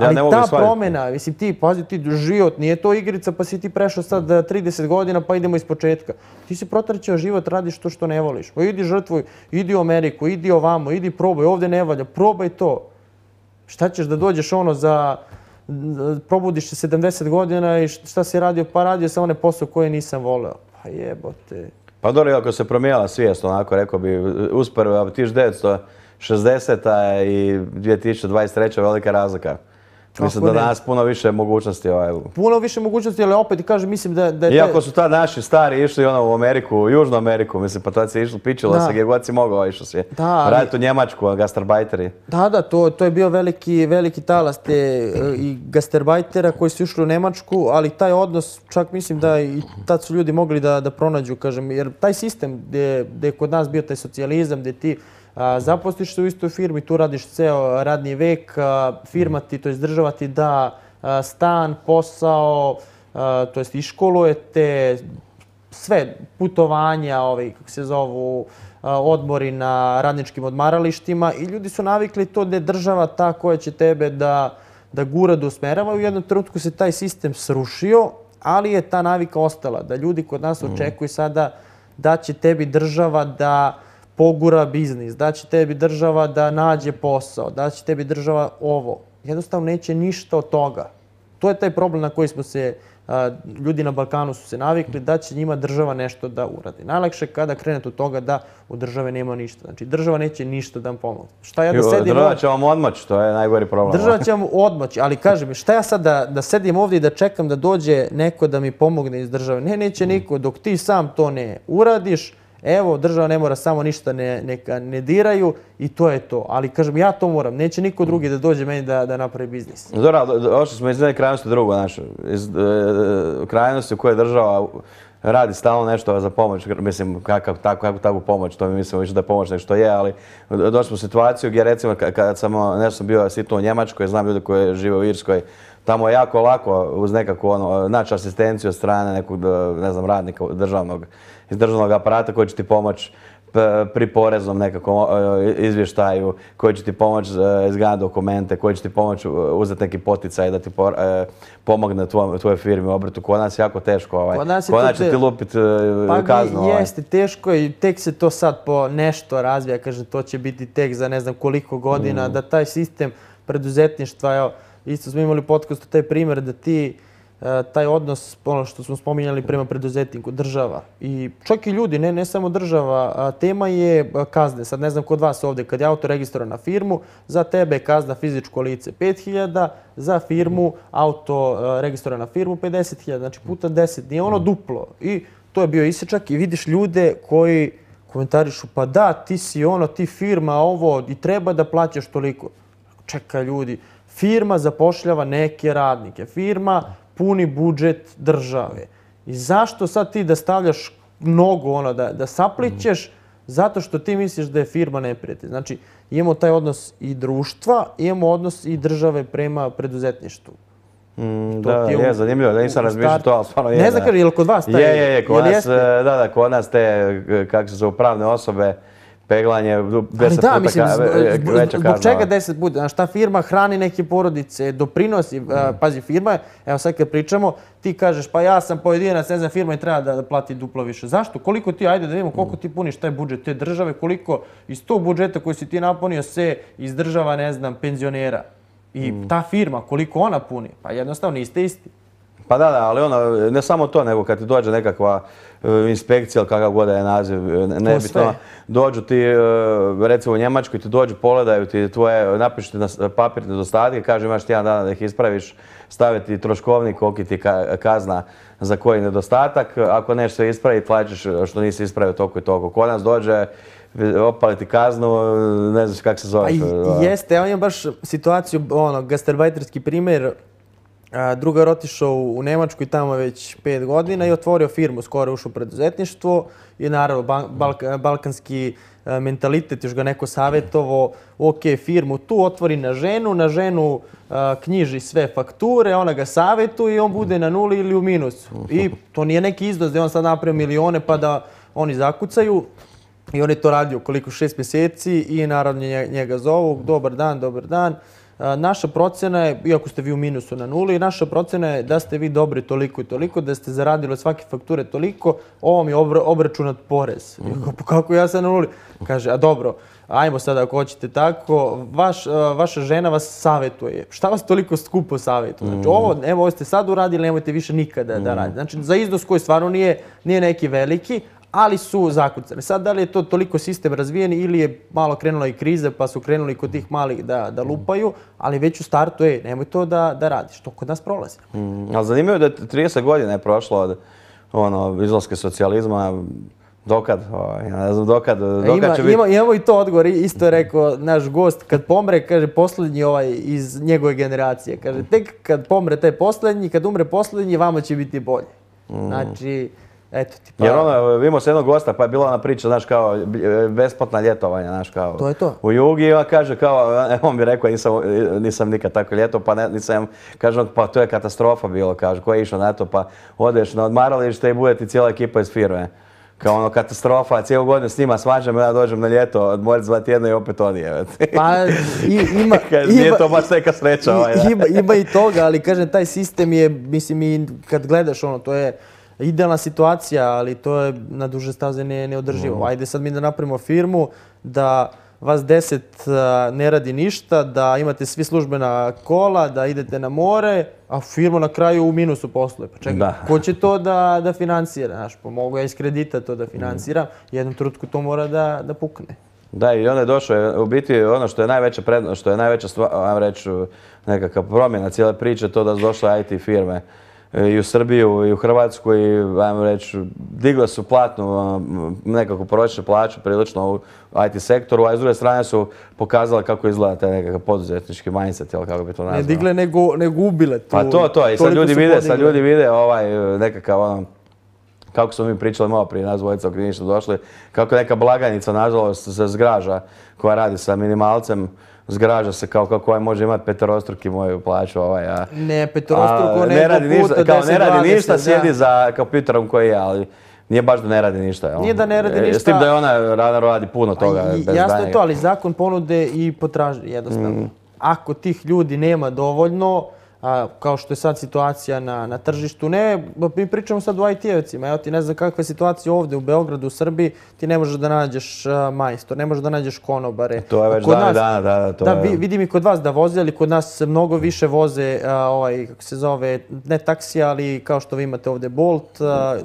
Ali ta promjena, mislim pazi ti, život, nije to igrica pa si ti prešao sad 30 godina pa idemo iz početka. Ti si protraćao život, radiš to što ne voliš. Pa idi žrtvuj, idi u Ameriku, idi ovamo, idi probaj, ovdje ne valja, probaj to. Šta ćeš da dođeš ono probudiš se 70 godina i šta si radio? Pa radio sam onaj posao koji nisam voleo. Pa jebote. Pa dobro, ako se promijenila svijest, onako rekao bi, usporedba 1960. i 2023. velika razlika. Mislim da danas puno više mogućnosti. Puno više mogućnosti, ali opet kažem, mislim da je... Iako su tad naši stari išli u Ameriku, Južnu Ameriku, mislim, pa tad se išlo, pičilo se gdje god si mogao, išlo si. Raditi u Njemačku, gastarbajteri. Da, to je bio veliki talas te i gastarbajtera koji su išli u Njemačku, ali taj odnos, čak mislim da i tad su ljudi mogli da pronađu, kažem, jer taj sistem gdje je kod nas bio taj socijalizam, gdje ti zaposliš se u istoj firmi, tu radiš ceo radni vek, firma ti, to je država ti da stan, posao, to jest iškolujete, sve putovanja, kako se zovu, odmori na radničkim odmaralištima i ljudi su navikli to da je država ta koja će tebe da gura, da usmerava. U jednom trenutku se taj sistem srušio, ali je ta navika ostala, da ljudi kod nas očekuju sada da će tebi država da pogura biznis, da će tebi država da nađe posao, da će tebi država ovo. Jednostavno neće ništa od toga. To je taj problem na koji smo se, ljudi na Balkanu su se navikli, da će njima država nešto da uradi. Najlakše kada krenete od toga da u države nema ništa. Znači država neće ništa da vam pomoći. Šta ja da sedim... Država će vam odmoći, to je najgori problem. Država će vam odmoći, ali kažem, šta ja sad da sedim ovdje i da čekam da dođe neko da mi pomogne iz države? Neće niko, dok ti sam to ne uradiš. Evo, država ne mora, samo ništa neka ne diraju i to je to. Ali kažem, ja to moram. Neće niko drugi da dođe meni da napravi biznis. Dobro, došli smo iz jedne krajnosti drugo, znaš. Iz krajnosti u kojoj država radi stalno nešto za pomoć. Mislim, takvu pomoć, to mi mislimo više da je pomoć nego što je, ali došli smo u situaciju gdje recimo kad sam bio sitno u Njemačkoj, znam ljude koji žive u Irskoj, tamo je jako lako uz nekakvu naći asistenciju od strane nekog, ne znam, radnika iz državnog aparata koji će ti pomoći pri poreznom nekakvom izvještaju, koji će ti pomoći izgledati dokumente, koji će ti pomoći uzeti neki poticaj da ti pomogne tvojoj firmi u obrtu. Kod nas je jako teško. Kod nas će ti lupiti kaznu. Pa jeste teško i tek se to sad po nešto razvija. Kaže, to će biti tek za ne znam koliko godina, da taj sistem preduzetništva, isto smo imali u podcastu taj primjer da ti taj odnos, ono što smo spominjali prema preduzetniku, država i čak i ljudi, ne samo država, tema je kazne. Sad ne znam kod vas ovdje, kad je auto registrovan na firmu, za tebe je kazna fizičko lice 5.000, za firmu auto registrovan na firmu 50.000, znači puta 10, nije ono duplo. I to je bio isječak i vidiš ljude koji komentarišu, pa da, ti si ono, ti firma, ovo, i treba da plaćaš toliko. Čekaj ljudi, firma zapošljava neke radnike, firma puni budžet države. I zašto sad ti da stavljaš mnogo ono, da saplićeš zato što ti misliš da je firma neprijatelj? Znači, imamo taj odnos i društva, imamo odnos i države prema preduzetništvu. Da, je zanimljivo, da nisam razmišljao to, ali stvarno je. Ne znam, je li kod vas taj? Je, kod nas, da, kod nas te, kako se zove, pravne osobe, peglanje 10 puta veća kazna. Zbog čega 10 puta? Znaš, ta firma hrani neke porodice, doprinosi, pazi, firma, evo sad kad pričamo, ti kažeš, pa ja sam pojedinac, ne znam, firma i treba da plati duplo više. Zašto? Koliko ti, ajde da vidimo, koliko ti puniš taj budžet te države, koliko iz tog budžeta koji si ti napunio se izdržava, ne znam, penzionera. I ta firma, koliko ona puni? Pa jednostavno niste isti. Pa da, ali ono, ne samo to, nego kad ti dođe nekakva inspekcija ili kakav god je naziv, nebitno, dođu ti, recimo u Njemačkoj ti dođu, pogledaju ti tvoje, napišu ti na papir nedostatke, kažu imaš ti jedan dan da ih ispraviš, stave ti troškovnik, koliki ti kazna za koji nedostatak, ako nešto se ispravi, plaćaš što nisi ispravio toliko i toliko. Kod nas dođe, opali ti kaznu, ne znaš kako se zove. Jeste, ja imam baš situaciju, gastarbajterski primjer. Drugar otišao u Nemačku i tamo već 5 godina i otvorio firmu, skoro ušao u preduzetništvo i naravno balkanski mentalitet, još ga neko savjetovo, ok, firmu tu otvori na ženu knjiži sve fakture, ona ga savjetuje i on bude na nuli ili u minusu. I to nije neki iznos da on sad napravio milione pa da oni zakucaju. I on je to radio koliko 6 mjeseci i naravno njega zovu, dobar dan. Naša procena je, iako ste vi u minusu na nuli, naša procena je da ste vi dobri toliko i toliko, da ste zaradili od svake fakture toliko, ovo mi je obračunat porez. Kako ja sam na nuli? Kaže, a dobro, ajmo sada ako hoćete tako, vaša žena vas savjetuje. Šta vas toliko skupo savjetuje? Znači ovo ste sad uradili, nemojte više nikada da radite. Znači za iznos koji stvarno nije neki veliki, ali su zakucane. Sad, da li je to toliko sistem razvijen ili je malo krenula i kriza pa su krenuli kod tih malih da lupaju, ali već u startu, nemoj to da radiš. To kod nas prolazi. Ali zanimljivo je da 30 godina je prošlo od izlaska socijalizma. Dokad? Ne znam dokad će biti. Imamo i to odgovor. Isto je rekao naš gost, kad pomre, kaže, posljednji iz njegove generacije. Kaže, tek kad pomre taj posljednji, kad umre posljednji, vama će biti bolje. Znači, eto ti pa... Jer imao se jednog gosta, pa je bila ona priča, znaš, kao besplatna ljetovanja, znaš, kao... To je to. U Jugi, i on kaže, kao, on mi rekao, nisam nikad tako ljeto, pa nisam, kaže, pa to je katastrofa bilo, kaže, ko je išao na to, pa odeš na odmaralište i bude ti cijela ekipa iz firme. Kao katastrofa, cijelu godinu s njima svađam, ja dođem na ljeto, odmorit 2 tjedna i opet odije. Pa ima... Nije to baš neka sreća. Ima i toga, ali kažem, taj sistem je, mislim, i kad gledaš to je idealna situacija, ali to je na duže staze neodrživo. Ajde sad mi da napravimo firmu, da vas 10 ne radi ništa, da imate svi službena kola, da idete na more, a firma na kraju u minusu posluje. Pa čekaj, ko će to da financira? Znaš, pa mogu ja iz kredita to da financiram, jednom trenutku to mora da pukne. Da, i onda je došlo, u biti ono što je najveća prednost, što je najveća stvar, ajmo reći, nekakva promjena cijele priče, to da su došle IT firme i u Srbiju i u Hrvatsku i, ajmo reći, digle su platnu nekakvu prosječnu plaću prilično u IT sektoru, a s druge strane su pokazale kako izgleda taj nekakav poduzetnički mindset, ili kako bi to nazvao. Ne digle, nego ubile. Pa to, i sad ljudi vide nekakav kako smo mi pričali malo prije, nas dvojica ok ništa došli, kako neka blagajnica, nažalost, se zgraža, koja radi sa minimalcem, zgraža se kao kako može imati peterostruki moju plaću. Ne, peterostruko nego puta 10-20. Kao ne radi ništa, sjedi za kompjuterom koji je, ali nije baš da ne radi ništa. Nije da ne radi ništa. S tim da je ona radi puno toga bez znanja. Jasno je to, ali zakon ponude i potraži jednostavno. Ako tih ljudi nema dovoljno, kao što je sad situacija na tržištu. Ne, mi pričamo sad o IT-evcima. Evo ti ne znam kakva je situacija ovdje u Beogradu, u Srbiji. Ti ne možeš da nađeš majstor, ne možeš da nađeš konobare. To je već dana. Da, vidim i kod vas da voze, ali kod nas mnogo više voze, kako se zove, ne taksija, ali kao što vi imate ovdje Bolt,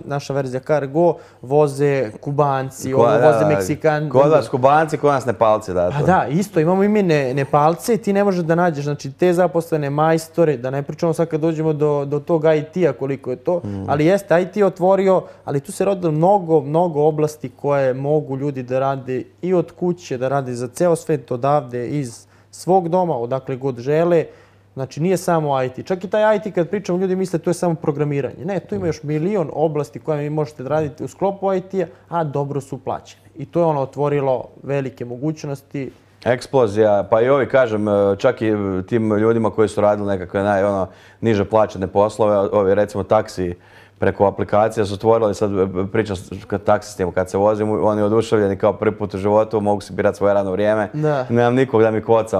naša verzija Cargo, voze Kubanci, voze Meksikanci. Kod vas Kubanci, kod nas Nepalci. Da, isto, imamo i mi Nepalce i ti ne možeš da nađeš, znači, te zaposlene majstore, da ne pričamo sad kad dođemo do tog IT-a koliko je to, ali jeste, IT je otvorio, ali tu se rodilo mnogo oblasti koje mogu ljudi da rade i od kuće, da rade za ceo svet, odavde, iz svog doma, odakle god žele. Znači nije samo IT. Čak i taj IT kad pričamo, ljudi misle to je samo programiranje. Ne, tu ima još milion oblasti koje vi možete da radite u sklopu IT-a, a dobro su plaćene. I to je ono otvorilo velike mogućnosti. Eksplozija, pa i ovi, kažem, čak i tim ljudima koji su radili nekakve niže plaćene poslove, ovi recimo taksi preko aplikacija su otvorili, sad pričam kad taksistima, kad se vozim, oni oduševljeni kao prvi put u životu, mogu si birati svoje radno vrijeme. Nemam nikog da mi koca,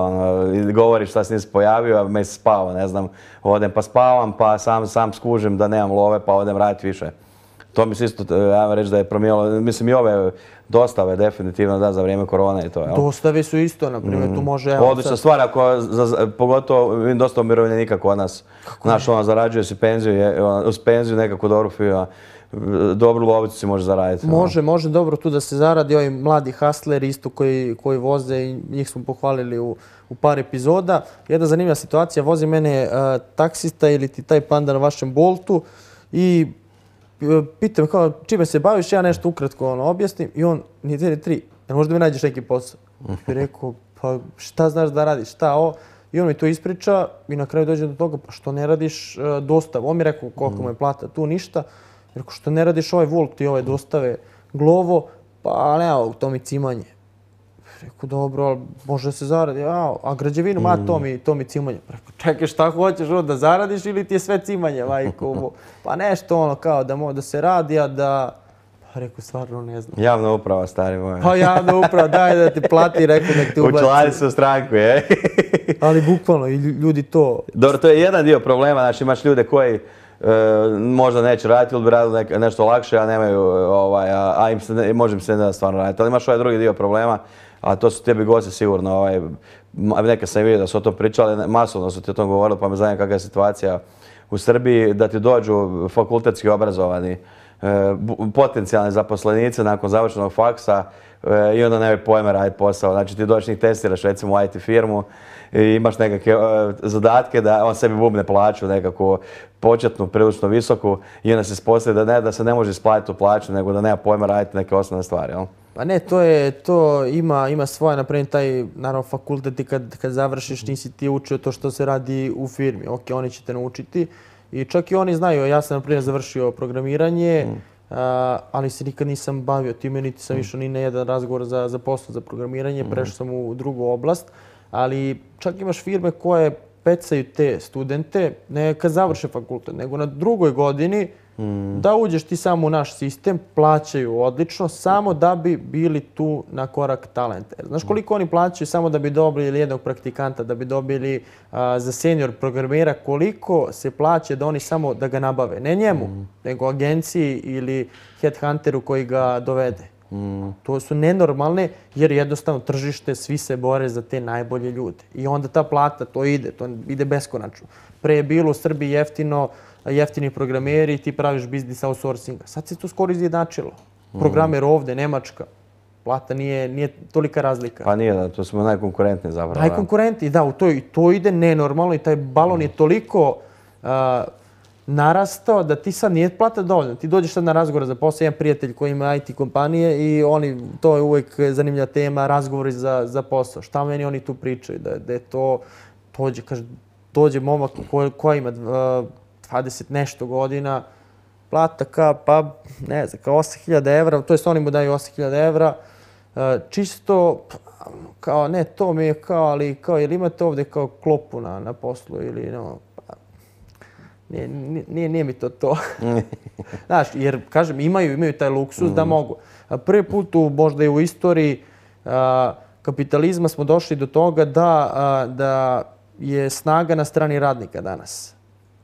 i govori šta se nisi pojavio, a me se spava, ne znam, odem pa spavam, pa sam skužim da nemam love, pa odem raditi više. To mi se isto, ja reći da je promijenilo, mislim i ove dostave definitivno da za vrijeme korone i to. Dostave su isto, na primjer, tu može... Odlična stvar, pogotovo vidim dosta umirovljenika kod nas. Znaš, zarađuje si penziju, uz penziju nekako dobru lovicu si može zaraditi. Može dobro tu da se zaradi, ovi mladi hustleri isto koji voze i njih smo pohvalili u par epizoda. Jedna zanimljiva situacija, vozi mene taksista ili ti taj panda na vašem Boltu i pitam kao čime se baviš, ja nešto ukratko objasnim i on, nije 3, možda mi nađeš neki posao. I rekao, pa šta znaš da radiš, šta ovo? I on mi to ispriča i na kraju dođe do toga, pa što ne radiš dostavu? On mi rekao koliko mu je plata, tu ništa. Rekao, što ne radiš ovaj Volt i ove dostave Glovo? Pa ne, to mi cimanje. Rekao, dobro, ali može se zaradi. A građevinu, to mi cimanje. Rekao, čekaj, šta hoćeš da zaradiš ili ti je sve cimanje, majko? Pa nešto ono kao da se radi, a da... Pa rekao, stvarno ne znam. Javna uprava, stari moj. Pa javna uprava, daj da ti plati, rekao nek ti ubaci. Učlani se u stranku, je. Ali bukvalno, i ljudi to... Dobro, to je jedan dio problema, znači imaš ljude koji možda neće raditi ili bi radili nešto lakše, a nemaju, može im se ne da stvarno raditi. Ali imaš ovaj drugi dio problema, a to su tebi gosti sigurno, neka sam vidio da su o tom pričali, masovno su ti o tom govorili, pa me zanima kakva je situacija u Srbiji, da ti dođu fakultetski obrazovani potencijalni zaposlenici nakon završenog faksa i onda nemaju pojma raditi posao. Znači ti dođeš njih testiraš recimo u IT firmu i imaš nekakve zadatke da on sebi bubne plaću nekako početnu, prilično visoku i onda se ispostavi da se ne može isplatiti tu plaću nego da nema pojma raditi neke osnovne stvari. Pa ne, to ima svoje, naprimjer taj, naravno, fakultet i kad završiš nisi ti učio to što se radi u firmi. Ok, oni će te naučiti i čak i oni znaju, ja sam, naprimjer, završio programiranje, ali se nikad nisam bavio time, niti sam išao ni na jedan razgovor za posao za programiranje, prešao sam u drugu oblast, ali čak imaš firme koje pecaju te studente, ne kad završe fakultet, nego na drugoj godini da uđeš ti samo u naš sistem, plaćaju odlično, samo da bi bili tu na korak talenta. Znaš koliko oni plaćaju samo da bi dobili jednog praktikanta, da bi dobili za senior programera, koliko se plaća da oni samo da ga nabave. Ne njemu, nego agenciji ili headhunteru koji ga dovede. To su nenormalne jer jednostavno tržište, svi se bore za te najbolje ljude. I onda ta plata, to ide beskonačno. Pre je bilo u Srbiji jeftini programeri i ti praviš biznis outsourcinga. Sad se to skoro izjednačilo. Programer ovde, Nemačka, plata nije tolika razlika. Pa nije, to smo najkonkurentniji zapravo. Najkonkurentniji, da, to ide nenormalno i taj balon je toliko narastao da ti sad nije plata dovoljna. Ti dođeš sad na razgovor za posao, jedan prijatelj koji ima IT kompanije i to je uvijek zanimljiva tema, razgovori za posao. Šta meni oni tu pričaju? Da je to, dođe momak koja ima 20 nešto godina, plata kao 8.000 evra, to jest oni mu daju 8.000 evra, čisto kao ne, to mi je kao, ali kao, jel imate ovdje kao klopu na poslu ili no, nije mi to. Znaš, jer, kažem, imaju taj luksus da mogu. Prvi put možda i u istoriji kapitalizma smo došli do toga da je snaga na strani radnika danas.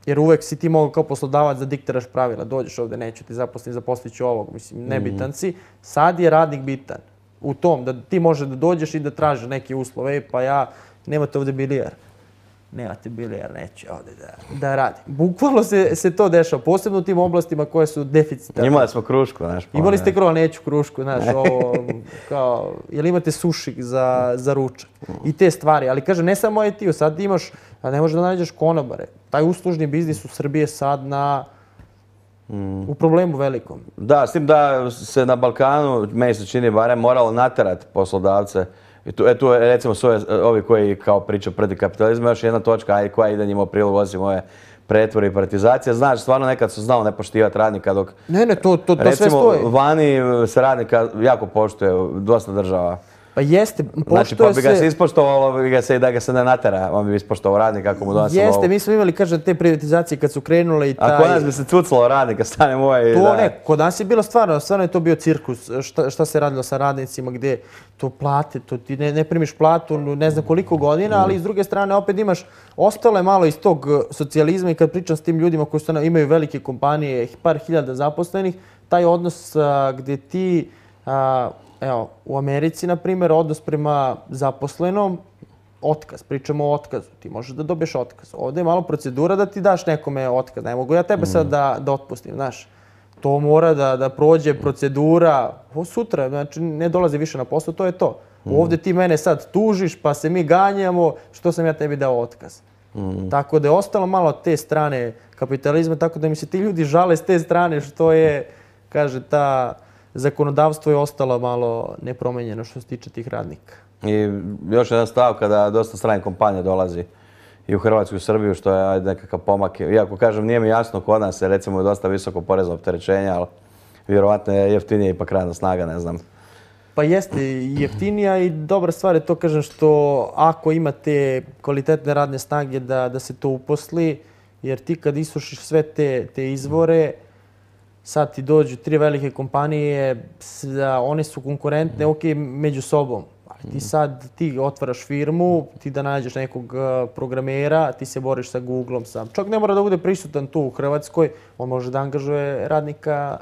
Jer uvek si ti mogao kao poslodavac da diktiraš pravila. Dođeš ovdje, neću ti zaposlit ću ovog. Mislim, nebitan si. Sad je radnik bitan. U tom, da ti možeš da dođeš i da tražiš neke uslove. Pa nemate ovdje bilijar. nemate bilijar, neću ovdje da radim. Bukvalno se to dešava, posebno u tim oblastima koje su deficitarne. Imali smo krušku, znaš. Imali ste neću krušku, znaš, ovo, kao, jel imate sušik za ručak i te stvari. Ali kažem, ne samo IT-u, sad imaš, a ne možeš da nađeš konobare. Taj uslužni biznis u Srbiji je sad u problemu velikom. Da, s tim da se na Balkanu, meni se čini barem, moralo naterati poslodavce. I tu recimo su ovi koji kao pričaju protiv kapitalizma, još jedna točka koja ide njima u prilog, osim ove pretvore i privatizacije. Znaš, stvarno nekad su znalo ne poštivati radnika dok... Ne, to sve stoji. Recimo, vani se radnika jako poštuje, dosta država. Pa jeste, znači, pa bi ga se ispoštovalo, da ga se ne natera, on bi ispoštovao radnika ako mu donosi lovu. Jeste, mi smo imali, kažem, te privatizacije kad su krenule i taj... A kod nas bi se cucalo radnika, stane moje i to ne, kod nas je bilo stvarno je to bio cirkus, šta se radilo sa radnicima, gdje to plate, to ti ne primiš platu ne znam koliko godina, ali s druge strane opet imaš, ostalo je malo iz tog socijalizma i kad pričam s tim ljudima koji imaju velike kompanije, par hiljada zaposlenih, taj odnos gdje ti... Evo, u Americi, na primjer, odnos prema zaposlenom, otkaz, pričamo o otkazu. Ti možeš da dobiješ otkaz. Ovdje je malo procedura da ti daš nekome otkaz. Ne mogu ja tebe sad da otpustim, znaš. To mora da prođe procedura. Sutra, znači, ne dolazi više na posao, to je to. Ovdje ti mene sad tužiš, pa se mi ganjamo, što sam ja tebi dao otkaz. Tako da je ostalo malo te strane kapitalizma, tako da mi se ti ljudi žale s te strane što je, kaže, zakonodavstvo je ostalo malo nepromenjeno što se tiče tih radnika. I još jedan stav kada dosta stranih kompanija dolazi i u Hrvatsku i u Srbiju, što je nekakav pomak. Iako kažem, nije mi jasno kod nas je recimo dosta visoko porezno opterećenje, ali vjerovatno je jeftinije ipak radna snaga, ne znam. Pa jeste jeftinija i dobra stvar je to, kažem, što ako imate kvalitetne radne snage da se to uposli, jer ti kad isušiš sve te izvore, sad ti dođu 3 velike kompanije, one su konkurentne, ok, među sobom. Ali ti otvaraš firmu, ti da nađeš nekog programera, ti se boriš sa Googlom sam. Čak ne mora da bude prisutan tu u Hrvatskoj, on može da angažuje radnika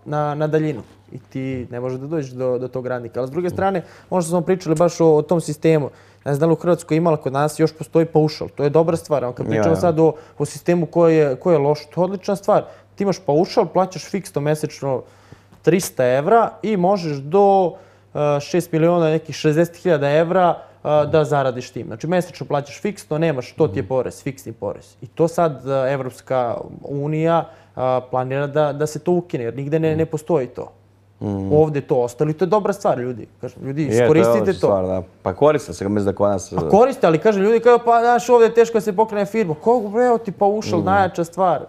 na daljinu. I ti ne možeš da dođeš do tog radnika. Ali s druge strane, ono što smo pričali baš o tom sistemu, ne znam da li u Hrvatskoj imala, kod nas još postoji paušal. To je dobra stvar. Kad pričamo sad o sistemu koji je loš, to je odlična stvar. Ti imaš paušal, plaćaš fiksno mesečno 300 evra i možeš do 6 miliona, nekih 60.000 evra da zaradiš tim. Znači, mesečno plaćaš fiksno, nemaš, to ti je porez, fiksni porez. I to sad Evropska unija planira da se to ukine, jer nigde ne postoji to. Ovdje to ostalo i to je dobra stvar, ljudi. Ljudi, iskoristite to. Stvar, da. Pa koriste se, mislim da kod nas... Pa koriste, ali kaže ljudi kao, pa znaš, ovdje je teško da se pokrene firma. Kogu, breo ti paušal, najjača stvar.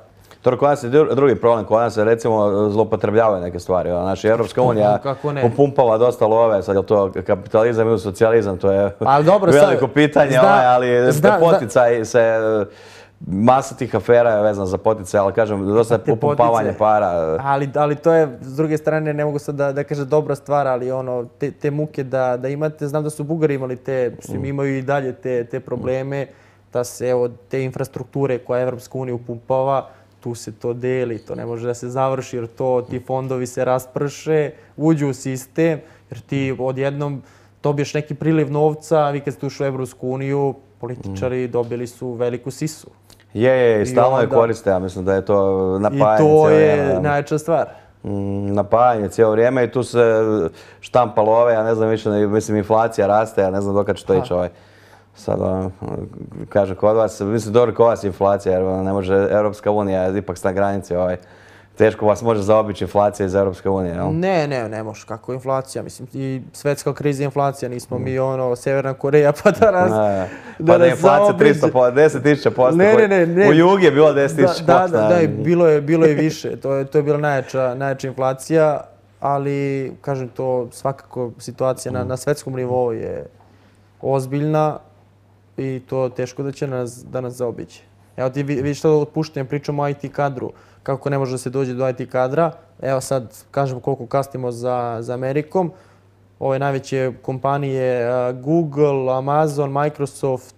To kod nas je drugi problem, kod nas se recimo zloupotrebljavaju neke stvari. Znači, Evropska unija upumpava dosta love, sad je to kapitalizam ili socijalizam, to je veliko pitanje, ali poticaj se... Masa tih afera je vezana za poticaj, ali kažem, dosta je upumpavanje para. Ali to je, s druge strane, ne mogu sad da kažem dobra stvar, ali te muke da imate, znam da su Bugari imali imaju i dalje te probleme, da se evo te infrastrukture koje Evropska unija upumpava, tu se to deli, to ne može da se završi jer ti fondovi se rasprše, uđu u sistem, jer ti odjednom dobiješ neki priliv novca, vi kad ste ušli u Evropsku uniju, političari dobili su veliku sisu. I stalno je koriste, ja mislim da je to napajanje cijelo vrijeme. I to je najjača stvar. Napajanje cijelo vrijeme i tu se štampa love, ja ne znam više, mislim inflacija raste, ja ne znam dokad će to ići sad kaže kod vas, mislim dobro kod vas inflacija jer ne može Europska unija ipak na granici teško vas može zaobići inflacija iz Europske unije, jel? Ne može, kako inflacija, mislim, i svetska kriza inflacija, nismo mi Severna Koreja pa da nas zaobiđe. Pa da je inflacija 10.000%, u Jugi je bilo 10.000%. Da, bilo je više, to je bila najjača inflacija, ali, kažem to, svakako situacija na svetskom nivou je ozbiljna i to teško da će da nas zaobiđe. Evo ti vidiš što otpuštenjem pričamo o IT kadru, kako ne može da se dođe do IT kadra. Evo sad kažemo koliko kasnimo za Amerikom. Ove najveće kompanije Google, Amazon, Microsoft,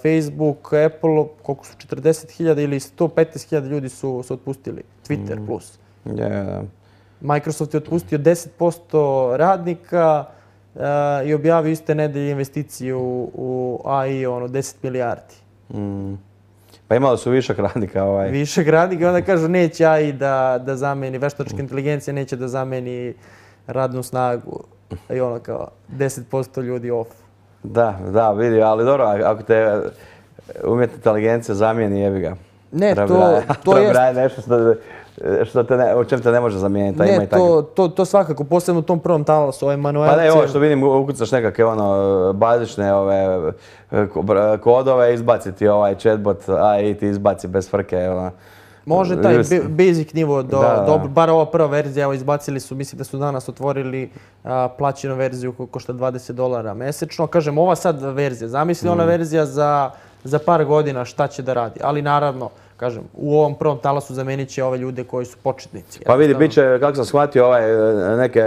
Facebook, Apple, koliko su 40.000 ili 115.000 ljudi su otpustili. Twitter plus. Microsoft je otpustio 10% radnika i objavio iste nedelje investiciju u AI, 10 milijardi. Pa imali su višak radnika. Višak radnika, onda kažu neće AI da zameni, veštačka inteligencija neće da zameni radnu snagu. I kao 10% ljudi off. Da, vidi, ali dobro, ako te umjetna inteligencija zamijeni, jebi ga. Ne, to je nešto u čem te ne može zamijeniti. Ne, to svakako, posebno u tom prvom talasu, manuelce. Pa ne, ovo što vidim, ukucaš nekakve bazične kodove, izbaciti chatbot AI ti izbaci bez frke. Može taj basic nivo, bar ova prva verzija, evo izbacili su, mislim da su danas otvorili plaćenu verziju koja košta $20 mesečno. Kažem, ova sad verzija, zamisli ona verzija za par godina šta će da radi, ali naravno, kažem, u ovom prvom talasu zamenit će ove ljude koji su početnici. Pa vidi, bit će, kako sam shvatio, neke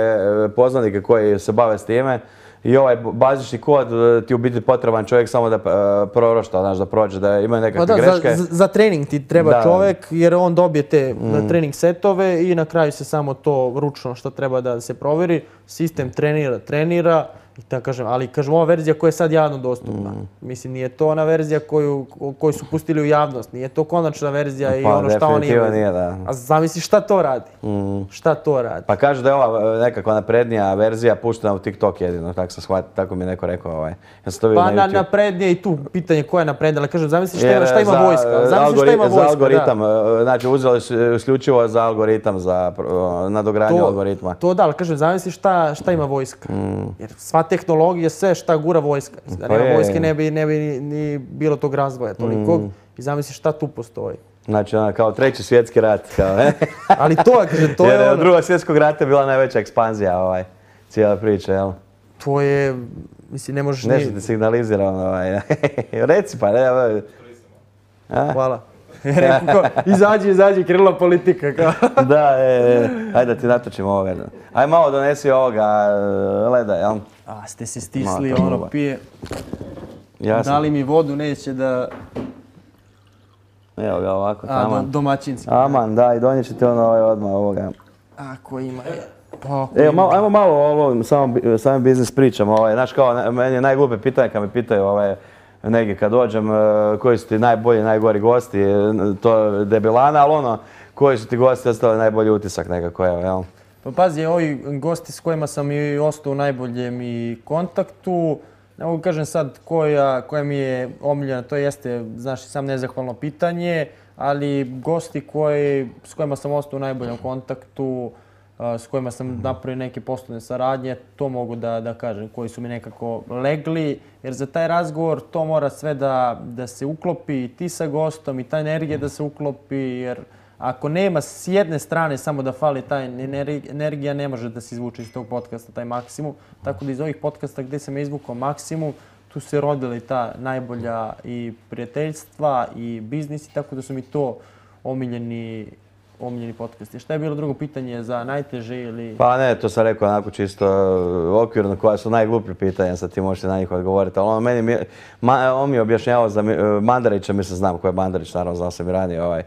poznanike koji se bave s time i ovaj bazični kod ti u biti potreban čovjek samo da prorošta, znaš, da prođe, da imaju nekakve greške. Za trening ti treba čovjek jer on dobije te trening setove i na kraju se samo to ručno što treba da se provjeri. Sistem trenira. Ali kažem, ova verzija koja je sad javno dostupna. Mislim, nije to ona verzija koju su pustili u javnost. Nije to konačna verzija i ono šta oni imaju. A zamisli šta to radi? Šta to radi? Pa kaže da je ova nekakva naprednija verzija puštena u TikTok jedino, tako sam shvatio, tako mi je neko rekao. Pa naprednije i tu pitanje koja je naprednija, ali kažem, zamisli šta ima vojska. Za algoritam, znači uzeli su isključivo za algoritam, za nadogradnju algoritma. To da, ali kažem, zamisli šta ima vojska. Jer sva tehnologija, sve šta gura vojska. Da nema vojske ne bi ni bilo tog razvoja tolikog. I zamisli šta tu postoji. Znači, kao treći svjetski rat. Ali to je ono... Jer od drugog svjetskog rata je bila najveća ekspanzija cijela priča, jel? To je, mislim, ne možeš... Nešto ti signalizira, reci pa, ne... Hvala. Izađi, krenula politika. Da, ajde da ti natočim ovoga. Ajde malo donesi ovoga leda, jel? Ste se stisli, pije. Dali mi vodu, neće da... Evo ga ovako, taman. Domaćinski. Aman, da, i donijet ćete odmah ovoga. Ako ima. Evo, ajmo malo o ovom samom biznis pričama. Znaš kao, meni je najglupe pitanje kad me pitaju negdje kad dođem, koji su ti najbolji, najgori gosti, to debilana, ali koji su ti gosti ostavili najbolji utisak nekako, jel? Pa pazi, ovi gosti s kojima sam i ostao u najboljem i kontaktu, ne mogu kažem sad koja mi je omiljena, to jeste, znaš, sam nezahvalno pitanje, ali gosti s kojima sam ostao u najboljem kontaktu, s kojima sam napravio neke poslovne saradnje, to mogu da kažem, koji su mi nekako legli, jer za taj razgovor to mora sve da se uklopi i ti sa gostom i ta energija da se uklopi, jer ako nema s jedne strane samo da fali ta energija, ne može da se izvuče iz tog podcasta taj maksimum. Tako da iz ovih podcasta gdje sam izvukao maksimum, tu se rodili ta najbolja i prijateljstva i biznisi, tako da su mi to omiljeni podcasti. Šta je bilo drugo pitanje za najteže ili... Pa ne, to sam rekao onako čisto okvirno koja su najgluplje pitanja, sad ti možete na njih odgovoriti. Ali on mi je objašnjavao za Mandarića, mislim znam ko je Mandarić, naravno znao sam i ranije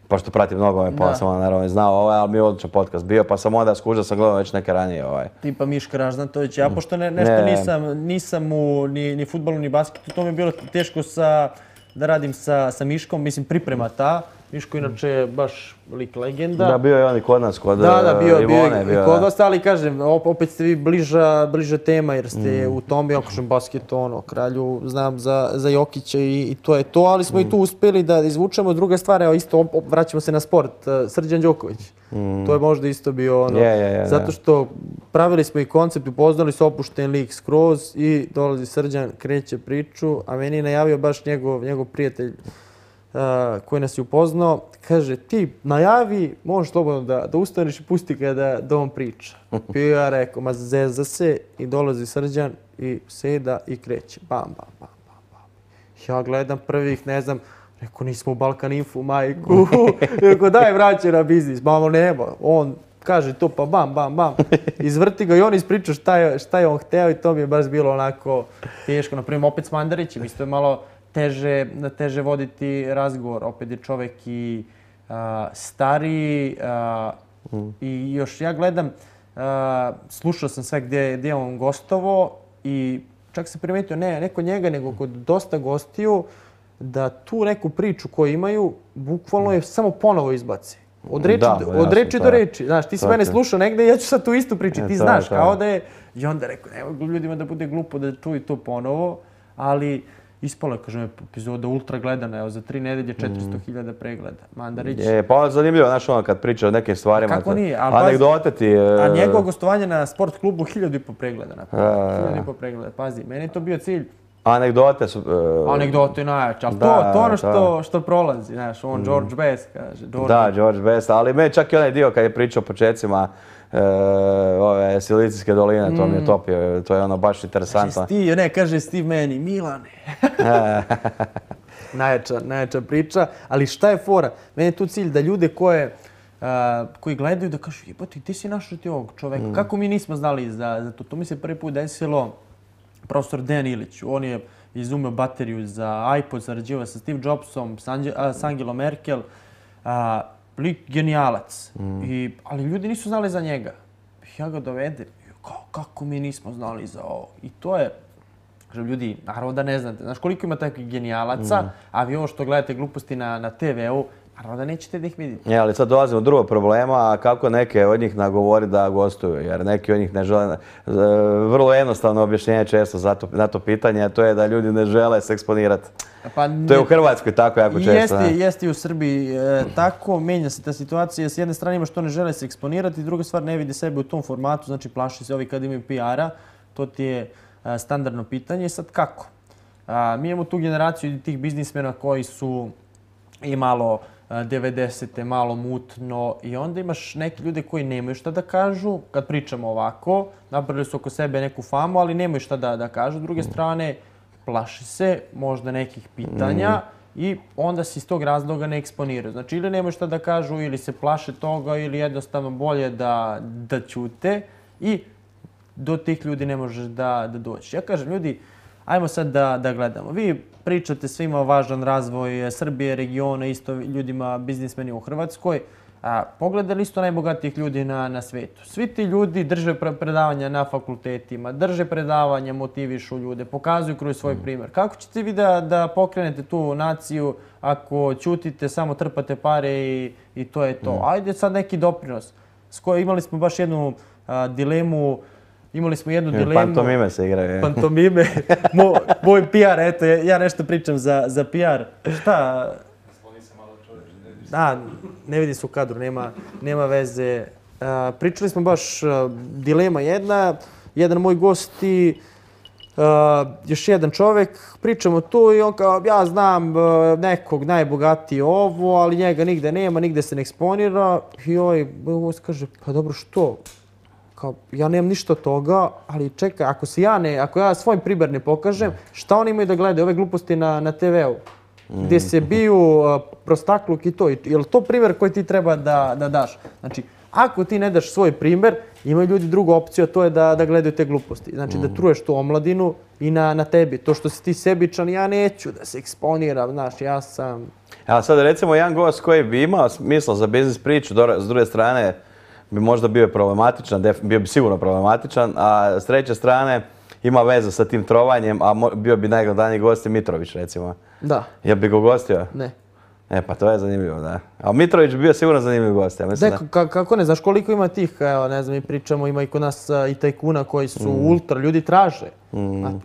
pošto pratim mnogo pa sam naravno znao ali mi je odličan podcast bio, pa sam onda skužio sam gledao već neke ranije. Tipa Miška Ražnatović, ja pošto nešto nisam u ni fudbalu ni basketu, to mi je bilo teško da radim sa Miškom, mislim priprema ta. Miško inače je baš lik legenda. Da, bio je on i kod nas, kod Ivone. Bio kod vas, ali kažem, opet ste vi bliža tema jer ste u tom, ja kažem, basketu, kralju, znam za Jokića i to je to, ali smo i tu uspjeli da izvučemo. Druga stvar, evo isto, vraćamo se na sport, Srđan Đoković. To je možda isto bio zato što pravili smo i koncept, upoznali su opušten lik skroz i dolazi Srđan, kreće priču, a meni je najavio baš njegov prijatelj koji nas je upoznao, kaže ti najavi, možeš slobodno da ustaneš i pusti ga da on priča. Pio ja rekao, ma zeza se i dolazi Srđan i seda i kreće. Bam, bam, bam, bam, bam. Ja gledam prvih, ne znam, rekao nismo u Balkan Info, majku. Rekao daj vraćaj na biznis, mamo nema. On kaže to pa bam, bam, bam. Izvrti ga i on ispriča šta je on hteo i to mi je baš bilo onako teško. Naprimjer, opet s Mandarićem, isto je malo teže voditi razgovor. Opet je čovjek i stariji i još ja gledam, slušao sam sve gdje je on gostovo i čak se primetio ne kod njega, nego kod dosta gostiju, da tu neku priču koju imaju, bukvalno je samo ponovo izbaci. Od reči do reči. Znaš, ti si mene slušao negdje i ja ću sad tu istu priču. Ti znaš, kao da je... I onda rekao, nema ljudima da bude glupo da čuju to ponovo, ali ispalo je, kažem, epizoda ultra gledana, evo, za 3 nedelje 400.000 pregleda. Mandarić. Pa zanimljivo, znaš ono, kad priča o nekim stvarima. Kako nije? Anegdote ti... A njegovo gostovanje na sport klubu 1.500 pregleda. 1.500 pregleda, pazi, meni je to bio cilj. Anegdote su... Anegdote najjače, ali to ono što prolazi, znaš, on George Best kaže. Da, George Best, ali meni čak i onaj dio kad je pričao o početcima ove Silicijske doline, to mi je topio, to je ono baš interesantno. Kaže Steve meni, Milane. Najjača priča, ali šta je fora? Meni je tu cilj da ljude koji gledaju da kažu, jebote, ti si našao ti ovog čoveka, kako mi nismo znali za to? To mi se prvi put desilo profesor Dejan Ilić. On je izumeo bateriju za iPod, sarađivao sa Steve Jobsom, s Angelom Merkel. Lik genijalac. Ali ljudi nisu znali za njega. Ja ga dovedem. Kako mi nismo znali za ovo? I to je, kažem, ljudi, naravno da ne znate. Znaš koliko ima takvih genijalaca, a vi ovo što gledate gluposti na TV-u, naravno da nećete da ih vidite. Ali sad dolazimo do drugog problema, a kako neke od njih nagovori da gostuju, jer neki od njih ne žele. Vrlo jednostavno objašnjenje često na to pitanje, a to je da ljudi ne žele se eksponirati. To je u Hrvatskoj tako jako često. Jeste i u Srbiji tako, menja se ta situacija. S jedne strane ima što ne žele se eksponirati, druga stvar ne vidi sebe u tom formatu, znači plaši se ovi kad imaju PR-a, to ti je standardno pitanje. Sad kako? Mi imamo tu generaciju tih biznismena koji su i malo 90-te, malo mutno i onda imaš neke ljude koji nemaju šta da kažu, kad pričamo ovako, napravili su oko sebe neku famu, ali nemaju šta da kažu. S druge strane, plaši se možda nekih pitanja i onda se iz tog razloga ne eksponiraju. Znači, ili nemaju šta da kažu, ili se plaše toga, ili jednostavno bolje da ćute i do tih ljudi ne možeš da dođeš. Ja kažem, ljudi, ajmo sad da gledamo. Vi pričate svima o važan razvoj Srbije, regiona, isto ljudima, biznismenima u Hrvatskoj. Pogledali isto najbogatijih ljudi na svetu. Svi ti ljudi drže predavanja na fakultetima, drže predavanja, motivišu ljude, pokazuju kroz svoj primjer. Kako ćete vi da pokrenete tu naciju ako ćutite, samo trpate pare i to je to? Ajde sad neki doprinos. Imali smo baš jednu dilemu. Pantomime se igraju. Pantomime. Moj PR, eto, ja nešto pričam za PR. Šta? Da, ne vidi se u kadru, nema veze. Pričali smo baš dilema jedan moj gost i još jedan čovjek. Pričamo tu i on kao, ja znam nekog najbogatiji ovo, ali njega nigde nema, nigde se ne eksponira. I ovaj gost kaže, pa dobro, što? Kao, ja nemam ništa od toga, ali čekaj, ako ja svoj primjer ne pokažem, šta oni imaju da gledaju ove gluposti na TV-u? Gdje se biju prostakluk i to. Je li to primjer koji ti treba da daš? Znači, ako ti ne daš svoj primjer, imaju ljudi drugu opciju, a to je da gledaju te gluposti. Znači, da truješ tu omladinu i na tebi. To što si ti sebičan, ja neću da se eksponiram, znaš, ja sam... Evo sad recimo jedan gost koji bi imao smisla za biznis priču, s druge strane bi možda bio problematičan, bio bi sigurno problematičan, a s treće strane ima veze sa tim trovanjem, a bio bi najgledaniji gost Mitrović, recimo. Da. Jel bi ga ugostio? Ne. Pa to je zanimljivo, da. A Mitrović bi bio sigurno zanimljiv gost, ja mislim da. Kako ne, znaš koliko ima tih, evo, ne znam, mi pričamo, ima i kod nas i tajkuna koji su ultra, ljudi traže.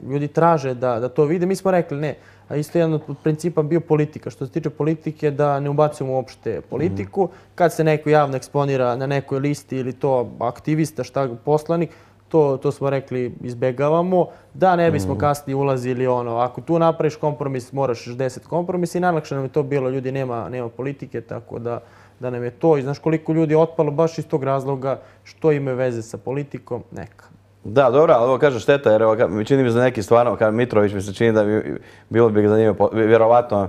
Ljudi traže da to vide, mi smo rekli ne. A isto jedan od principa bio politika. Što se tiče politike, da ne ubacujemo uopšte politiku. Kad se neko javno eksponira na nekoj listi ili to aktivista, poslanik, to smo rekli izbjegavamo, da ne bismo kasnije ulazili ako tu napraviš kompromis, moraš 10 kompromisa i najlakše nam je to bilo, ljudi nema politike, tako da nam je to. I znaš koliko ljudi je otpalo baš iz tog razloga što imaju veze sa politikom, neka. Da, dobro, ali ovo kaže šteta, jer mi čini mi za neki stvarno, kao Mitrović mi se čini da bilo bi ga zanimljivo, vjerovatno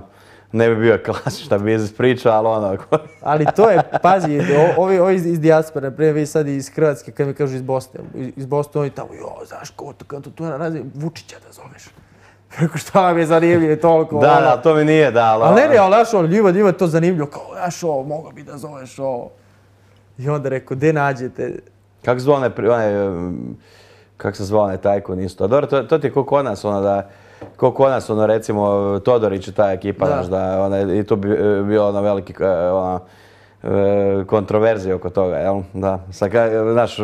ne bi bio klasična biznis priča, ali Ali to je, pazi, ovi iz dijaspore, naprimjer vi sad iz Hrvatske, kad mi kažu iz Bosne, oni tamo, znaš, kao to razli, Vučića da zoveš. Preko šta vam je zanimljivo toliko? Da, to mi nije, da. Ali ne, znaš, njima je to zanimljivo, kao, znaš, mogao bi da zoveš ovo. I onda rekao, gdje nađete Kako se zvao kako se zvao onaj tajkun isto? A dobro, to ti je ko kod nas, recimo Todorić i ta ekipa, znaš, i tu bi bilo ono veliki, kontroverzije oko toga, jel? Da, znaš...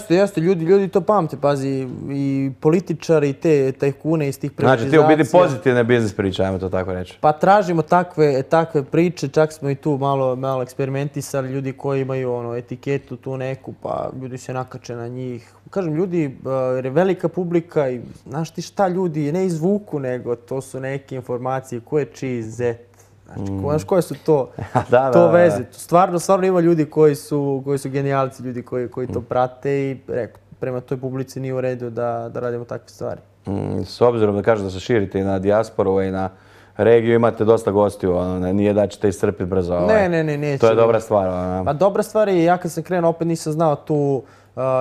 Jeste, ljudi to pamte, pazi, i političari, i te tajkune iz tih privatizacija. Znači, ti u biti pozitivne biznis priče, ajmo to tako reći. Pa tražimo takve priče, čak smo i tu malo eksperimentisali, ljudi koji imaju etiketu tu neku, pa ljudi se nakače na njih. Kažem, ljudi, jer je velika publika i znaš ti šta ljudi ne izvuku, nego to su neke informacije, ko je čiji zet. Znači, koje su to veze? Stvarno ima ljudi koji su genijalci, ljudi koji to prate i prema toj publici nije u redu da radimo takve stvari. S obzirom da kažeš da se širite i na dijasporu i na regiju, imate dosta gostiju, nije da ćete iscrpiti brzo. Ne, neće. To je dobra stvar. Pa dobra stvar je, ja kad sam krenuo opet nisam znao tu,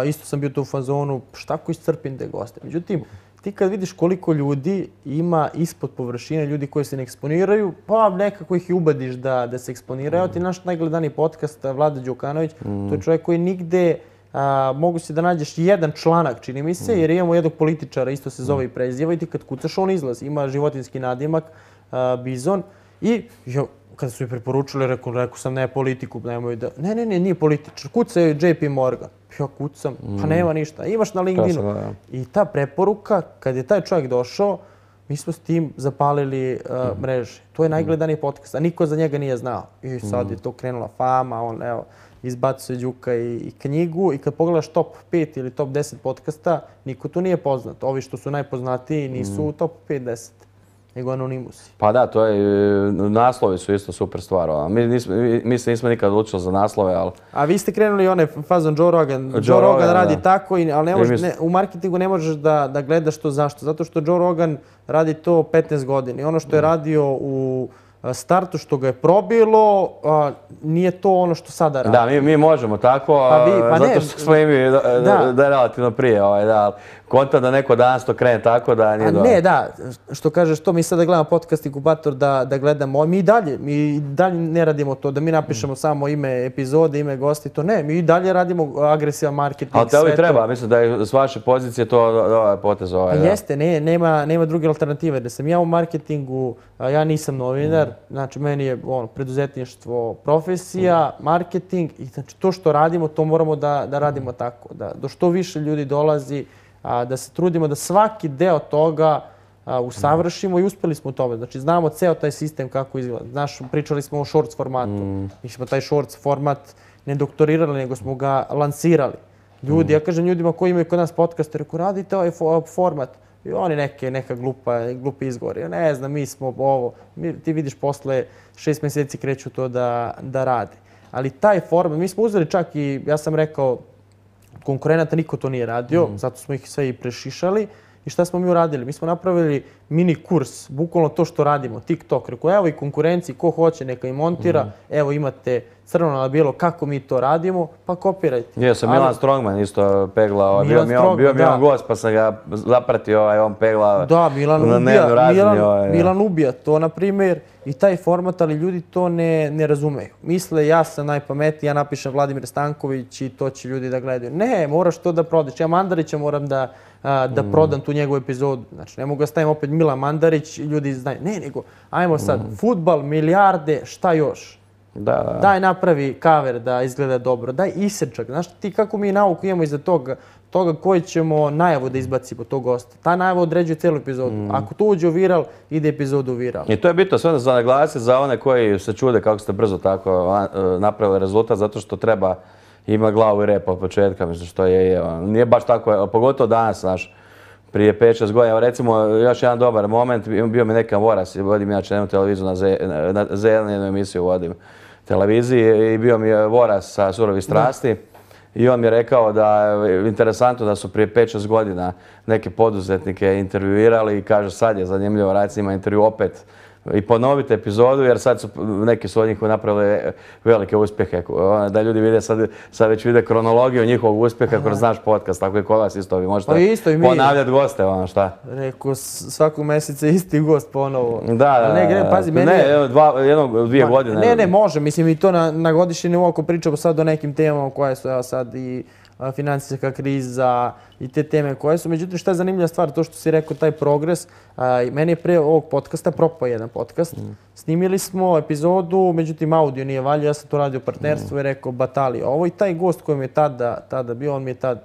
isto sam bio tu u fazonu, šta ako iscrpim te goste. Međutim, ti kad vidiš koliko ljudi ima ispod površine, ljudi koji se ne eksponiraju, pa nekako ih i ubediš da se eksponiraju. Ti naš najgledaniji podcast, Vlada Đukanović, to je čovjek koji nigde mogu si da nađeš jedan članak, čini mi se, jer imamo jednog političara, isto se zove i preziva, i ti kad kucaš on izlazi. Ima životinjski nadimak, Bizon, i kada su mi preporučili, rekao sam ne politiku, nemoj da... Ne, nije političar, kucaj JP Morgan. Ja kucam, pa nema ništa, imaš na LinkedInu. I ta preporuka, kad je taj čovjek došao, mi smo s tim zapalili mreže. To je najgledaniji podcast, a niko za njega nije znao. I sad je to krenula fama, on izbacuje Đuka i knjigu, i kad pogledaš top 5 ili top 10 podcasta, niko tu nije poznat. Ovi što su najpoznatiji nisu u top 5-10. Nego anonimusi. Pa da, to je, naslovi su isto super stvar. Mi se nismo nikad odlučili za naslove, ali... A vi ste krenuli onaj fazon Joe Rogan. Joe Rogan radi tako, ali u marketingu ne možeš da gledaš to zašto. Zato što Joe Rogan radi to 15 godina. I ono što je radio u startu, što ga je probilo, nije to ono što sada radi. Da, mi možemo tako, zato što smo i mi da je relativno prije. Konta da neko danas to krene tako da nije dobro. Ne, da, što kažeš to, mi sada gledamo podcast Inkubator da gledamo, mi i dalje ne radimo to, da mi napišemo samo ime epizode, ime gosti, to ne, mi i dalje radimo agresivan marketing. Ali tebi treba, mislim da je s vaše pozicije to potez ovaj. Jeste, nema druge alternative, da sam ja u marketingu, ja nisam novinar, znači meni je preduzetništvo profesija, marketing, i znači to što radimo, to moramo da radimo tako, da do što više ljudi dolazi, da se trudimo da svaki deo toga usavršimo, i uspjeli smo u tome. Znači, znamo ceo taj sistem kako izgleda. Znaš, pričali smo o shorts formatu. Mi smo taj shorts format ne doktorirali, nego smo ga lansirali. Ljudi, ja kažem ljudima koji imaju kod nas podcast, rekao, radite ovaj format. I oni neka glupi izgovori. Ne znam, mi smo ovo. Ti vidiš, posle 6 mjeseci kreću to da rade. Ali taj format, mi smo uzeli čak i, ja sam rekao, konkurenata niko to nije radio, zato smo ih sve i prešišali. I šta smo mi uradili? Mi smo napravili mini kurs, bukvalno to što radimo, TikTok. Rekao, evo i konkurenciji, ko hoće neka i montira, evo imate crno na bijelo kako mi to radimo, pa kopirajte. Jesam, Milan Strongman isto peglao, bio mi on gost pa sam ga zapratio, on peglao na dnevnu razini. Milan ubija to, na primjer, i taj format, ali ljudi to ne razumeju. Misle, ja sam najpametniji, ja napišem Vladimir Stanković i to će ljudi da gledaju. Ne, moraš to da prodaš. Ja Mandarića moram da prodam tu njegovu epizodu. Znači, ne mogu da stavim opet Milan Mandarić, ljudi znaju. Ne, nego, ajmo sad, fudbal, milijarde, šta još? Daj napravi cover da izgleda dobro, daj isečak. Znaš ti kako mi nauku imamo iza toga koji ćemo najavu da izbacimo tog gosta. Ta najava određuje cijelu epizodu. Ako to uđe u viral, ide epizodu u viral. I to je bitno sve za naglasiti za one koji se čude kako ste brzo tako napravili rezultat, zato što treba ima glavu i rep od početka, mislim što je. Nije baš tako, pogotovo danas, znaš, prije 5-6 godina. Recimo, još jedan dobar moment, bio mi neka Voras, vodim inače jednu televiziju na Z1, jednu emisiju vodim televiziji, i bio mi je Voras sa Surovi strasti. I on mi je rekao da je interesantno da su prije 5-6 godina neke poduzetnike intervjuirali i kaže sad je zanimljivo raditi s njima intervju opet i ponoviti epizodu jer sad su neki su od njih napravili velike uspjehe. Da ljudi vide sad već vide kronologiju njihovog uspjeha kroz naš podcast, tako i kod vas isto vi možete ponavljati goste, ono šta. Rekao, svakog mjeseca isti gost ponovo. Da. Ne, jednog 2 godine. Ne, može, mislim i to na godišnji nivou ako pričamo sad o nekim temama koje su sad i financijska kriza i te teme koje su. Međutim, šta je zanimljiva stvar, to što si rekao, taj progres. Meni je pre ovog podcasta propao jedan podcast. Snimili smo epizodu, međutim audio nije valjao, ja sam to radio u partnerstvu i rekao batali ovo. I taj gost koji mi je tada bio, on mi je tad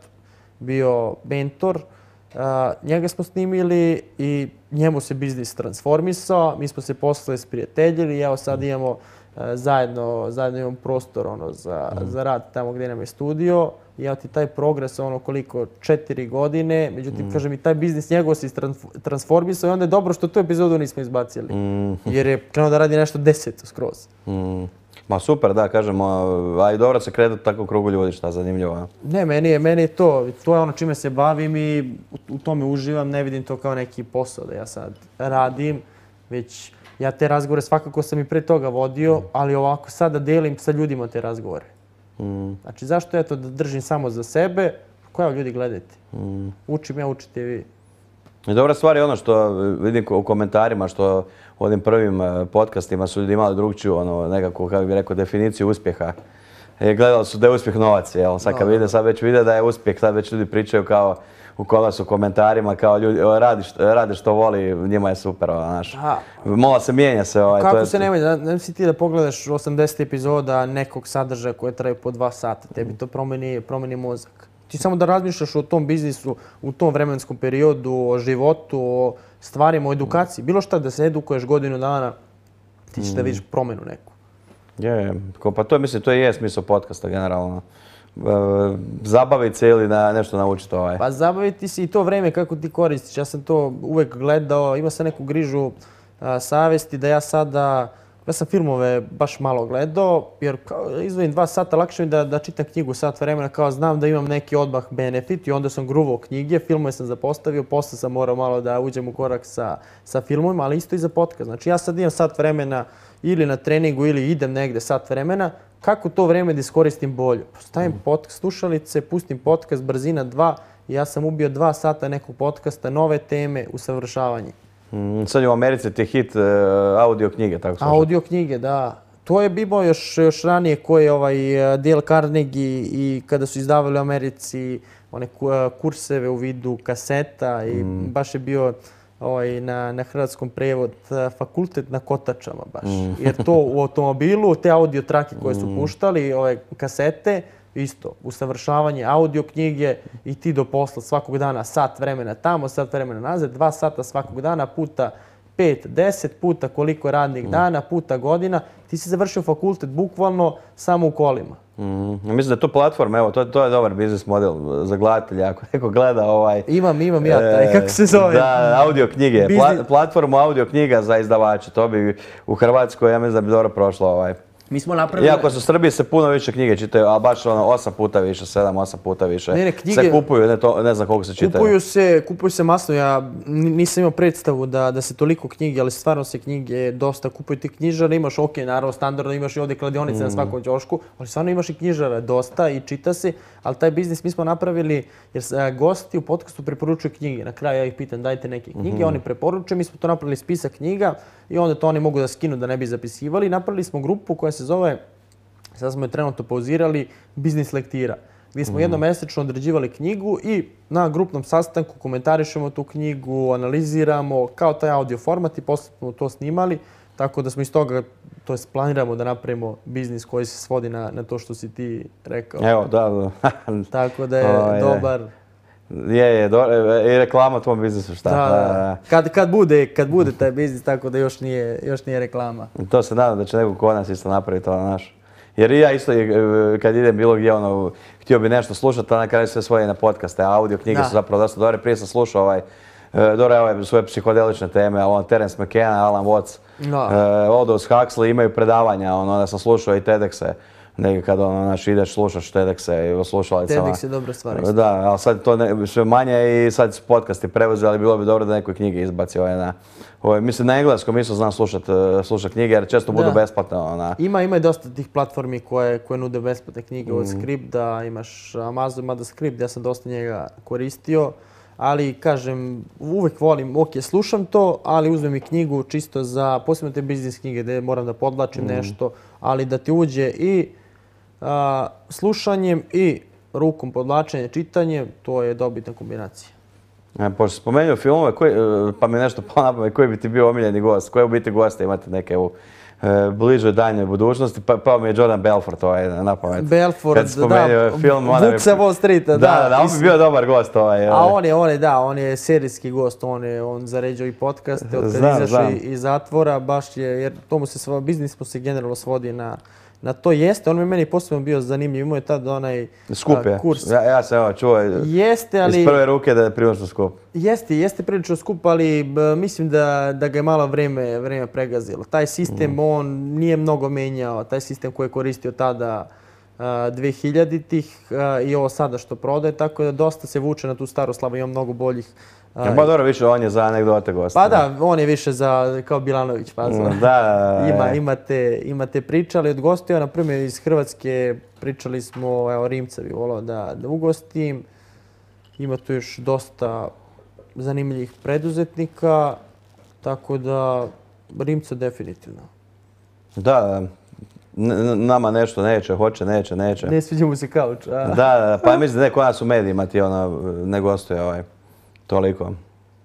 bio mentor. Njega smo snimili i njemu se biznis transformisao, mi smo se posle sprijateljili i evo sad imamo zajedno imamo prostor za rad tamo gdje nam je studio. I evo ti taj progres koliko 4 godine, međutim kažem i taj biznis njegov se transformisao i onda je dobro što tu epizodu nismo izbacili jer je krenuo da radi nešto 10 skroz. Ma super, da, kažem, a i dobro se kretati tako u krugu ljudi, šta zanimljivo. Ne, meni je to je ono čime se bavim i u tome uživam, ne vidim to kao neki posao da ja sad radim, već ja te razgovore svakako sam i pre toga vodio, ali ovako sad da delim sa ljudima te razgovore. Znači zašto da držim samo za sebe, koja ljudi gledajte. Učim ja, učite vi. I dobra stvar je ono što vidim u komentarima, što u ovim prvim podcastima su ljudi imali drugčiju, nekako, kako bih rekao, definiciju uspjeha. Gledali su da je uspjeh novac, jel? Sad kad vide, sad već vide da je uspjeh, sad već ljudi pričaju kao u kolasu u komentarima, kao ljudi, radi što voli, njima je super, znaš. Mola se, mijenja se. Kako se ne mijenja? Ne si ti da pogledaš 80 epizoda nekog sadržaja koje traju po 2 sata, tebi to promeni mozak. Ti samo da razmišljaš o tom biznisu, u tom vremenskom periodu, o životu, o stvarima, o edukaciji. Bilo šta da se edukuješ godinu dana, ti ćeš da vidiš promjenu neku. Pa to mislim, to i je smisao podcasta generalno. Zabaviti se ili nešto naučiti. Pa zabaviti se i to vreme kako ti koristiš. Ja sam to uvek gledao, imao sam neku grižu savjesti da ja sam filmove baš malo gledao, jer izdvojim 2 sata, lakše mi da čitam knjigu sat vremena, kao znam da imam neki odmah benefit i onda sam gruvao knjige, filmove sam zapostavio, posle sam morao malo da uđem u korak sa filmovima, ali isto i za podcast. Znači ja sad imam sat vremena ili na treningu ili idem negde sat vremena, kako to vreme da iskoristim bolje? Stavim slušalice, pustim podcast, brzina 2 i ja sam ubio 2 sata nekog podcasta, nove teme, usavršavanje. Sad je u Americi ti hit audio knjige, tako slušam. Audio knjige, da. To je bilo još ranije koji je Dale Carnegie i kada su izdavali u Americi one kurseve u vidu kaseta i baš je bio na hrvatskom prevod fakultet na kotačama baš. Jer to u automobilu, te audio trake koje su puštali, ove kasete, isto, usavršavanje audio knjige i ti do posla svakog dana sat vremena tamo, sat vremena nazad, 2 sata svakog dana puta 5, 10 puta koliko radnih dana, puta godina. Ti si završio fakultet bukvalno samo u kolima. Mislim da je to platforma, evo, to je dobar biznis model za gledatelja. Ako neko gleda Imam ja taj, kako se zove? Da, audio knjige, platformu audio knjiga za izdavače. To bi u Hrvatskoj, ja mislim da bi dobro prošlo. Mi smo napravili... Iako su u Srbiji se puno više knjige čitaju, ali baš 8 puta više, 7-8 puta više. Knjige se kupuju, ne znam koliko se čitaju. Kupuju se masno. Ja nisam imao predstavu da se toliko knjige, ali stvarno se knjige dosta kupuju. Ti knjižara imaš, ok, naravno, standardno imaš i ovdje kladionice na svakom ćošku, ali stvarno imaš i knjižara dosta i čita se, ali taj biznis mi smo napravili jer gosti u podcastu preporučuju knjige. Na kraju ja ih pitam dajte neke knjige, oni preporučuju, mi smo to napravili spisak knjiga i onda to oni mogu da skinu da ne bi zapisivali. Napravili smo grupu koja se zove, sad smo je trenutno pauzirali, Biznis lektira, gdje smo jednomesečno određivali knjigu i na grupnom sastanku komentarišemo tu knjigu, analiziramo kao taj audio format i posle smo to snimali, tako da smo iz toga, to jest planiramo da napravimo biznis koji se svodi na to što si ti rekao. Evo, da. Tako da je dobar. I reklama tvom biznisu, šta? Da. Kad bude taj biznis, tako da još nije reklama. To se nadam da će neko kod nas isto napraviti to naš. Jer i ja isto kad idem bilo gdje, htio bi nešto slušati, a na kraju sve svoje na podcaste, a audio knjige su zapravo dosta dobre. Prije sam slušao svoje psihodelične teme, Terence McKenna, Alan Watts, Aldous Huxley, imaju predavanja, onda sam slušao i TEDx-e. Nekad ideš, slušaš TEDx-e i slušalicama. TEDx je dobra stvar. Da, ali sad to sve manje i sad su podcasti preuzeli, ali bilo bi dobro da neko knjige izbaci. Mislim, na engleskom isto znam slušat knjige jer često budu besplatne. Ima i dosta tih platformi koje nude besplatne knjige od Script, da imaš Amazon, mada Script, ja sam dosta njega koristio. Ali, kažem, uvek volim, ok, slušam to, ali uzmem i knjigu čisto za, posebno te biznis knjige gdje moram da podlačim nešto, ali da ti uđe i slušanjem i rukom podlačenje, čitanje, to je dobitna kombinacija. Pošto spomenuo filmove, pa mi nešto palo na pamet, koji bi ti bio omiljeni gost? Koje u biti goste imate neke u bližoj daljnjoj budućnosti? Pa mi je Jordan Belfort na pamet. Belfort, da, Vuk sa Wall Streeta, da, on bi bio dobar gost. A on je serijski gost, on zaređuje i podcaste, od kad izašao iz zatvora, baš je, jer biznis mu se generalno svodi na to jeste. On mi meni posebno bio zanimljiv, imao je tad onaj kurs. Ja sam čuo iz prve ruke da je prilično skup. Jeste prilično skup, ali mislim da ga je malo vreme pregazilo. Taj sistem on nije mnogo menjao, taj sistem koji je koristio tada 2000-ih i ovo sada što prodaje, tako da dosta se vuče na tu staru slavu, ima mnogo boljih. Pa dobro, više on je za anegdote gosta. Pa da, on je više za, kao Bilanović, pa imate priče, ali od gostija, na primjer iz Hrvatske pričali smo, evo Rimca bi volao da ugostim. Ima tu još dosta zanimljivih preduzetnika, tako da Rimca definitivno. Da, nama nešto neće. Ne sviđa mu se kauč, a? Da, pa mislim da neko nas u medijima ti ne gostuje toliko.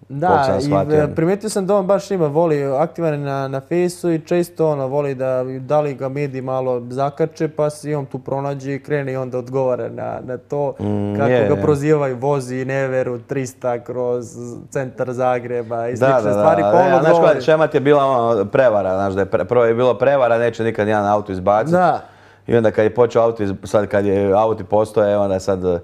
Da, i primijetio sam da on baš voli, aktivan je na Fejsu i često voli da li ga mediji malo zakače, pa se i on tu pronađe i krene i onda odgovara na to kako ga prozivaju, vozi Neveru 300 kroz centar Zagreba i slične stvari. Znaš, šemat je bila prevara, znaš da je prvo je bilo prevara, neće nikad jedan auto izbaciti. I onda kad je počeo auto, sad kad je auti postoje, onda sad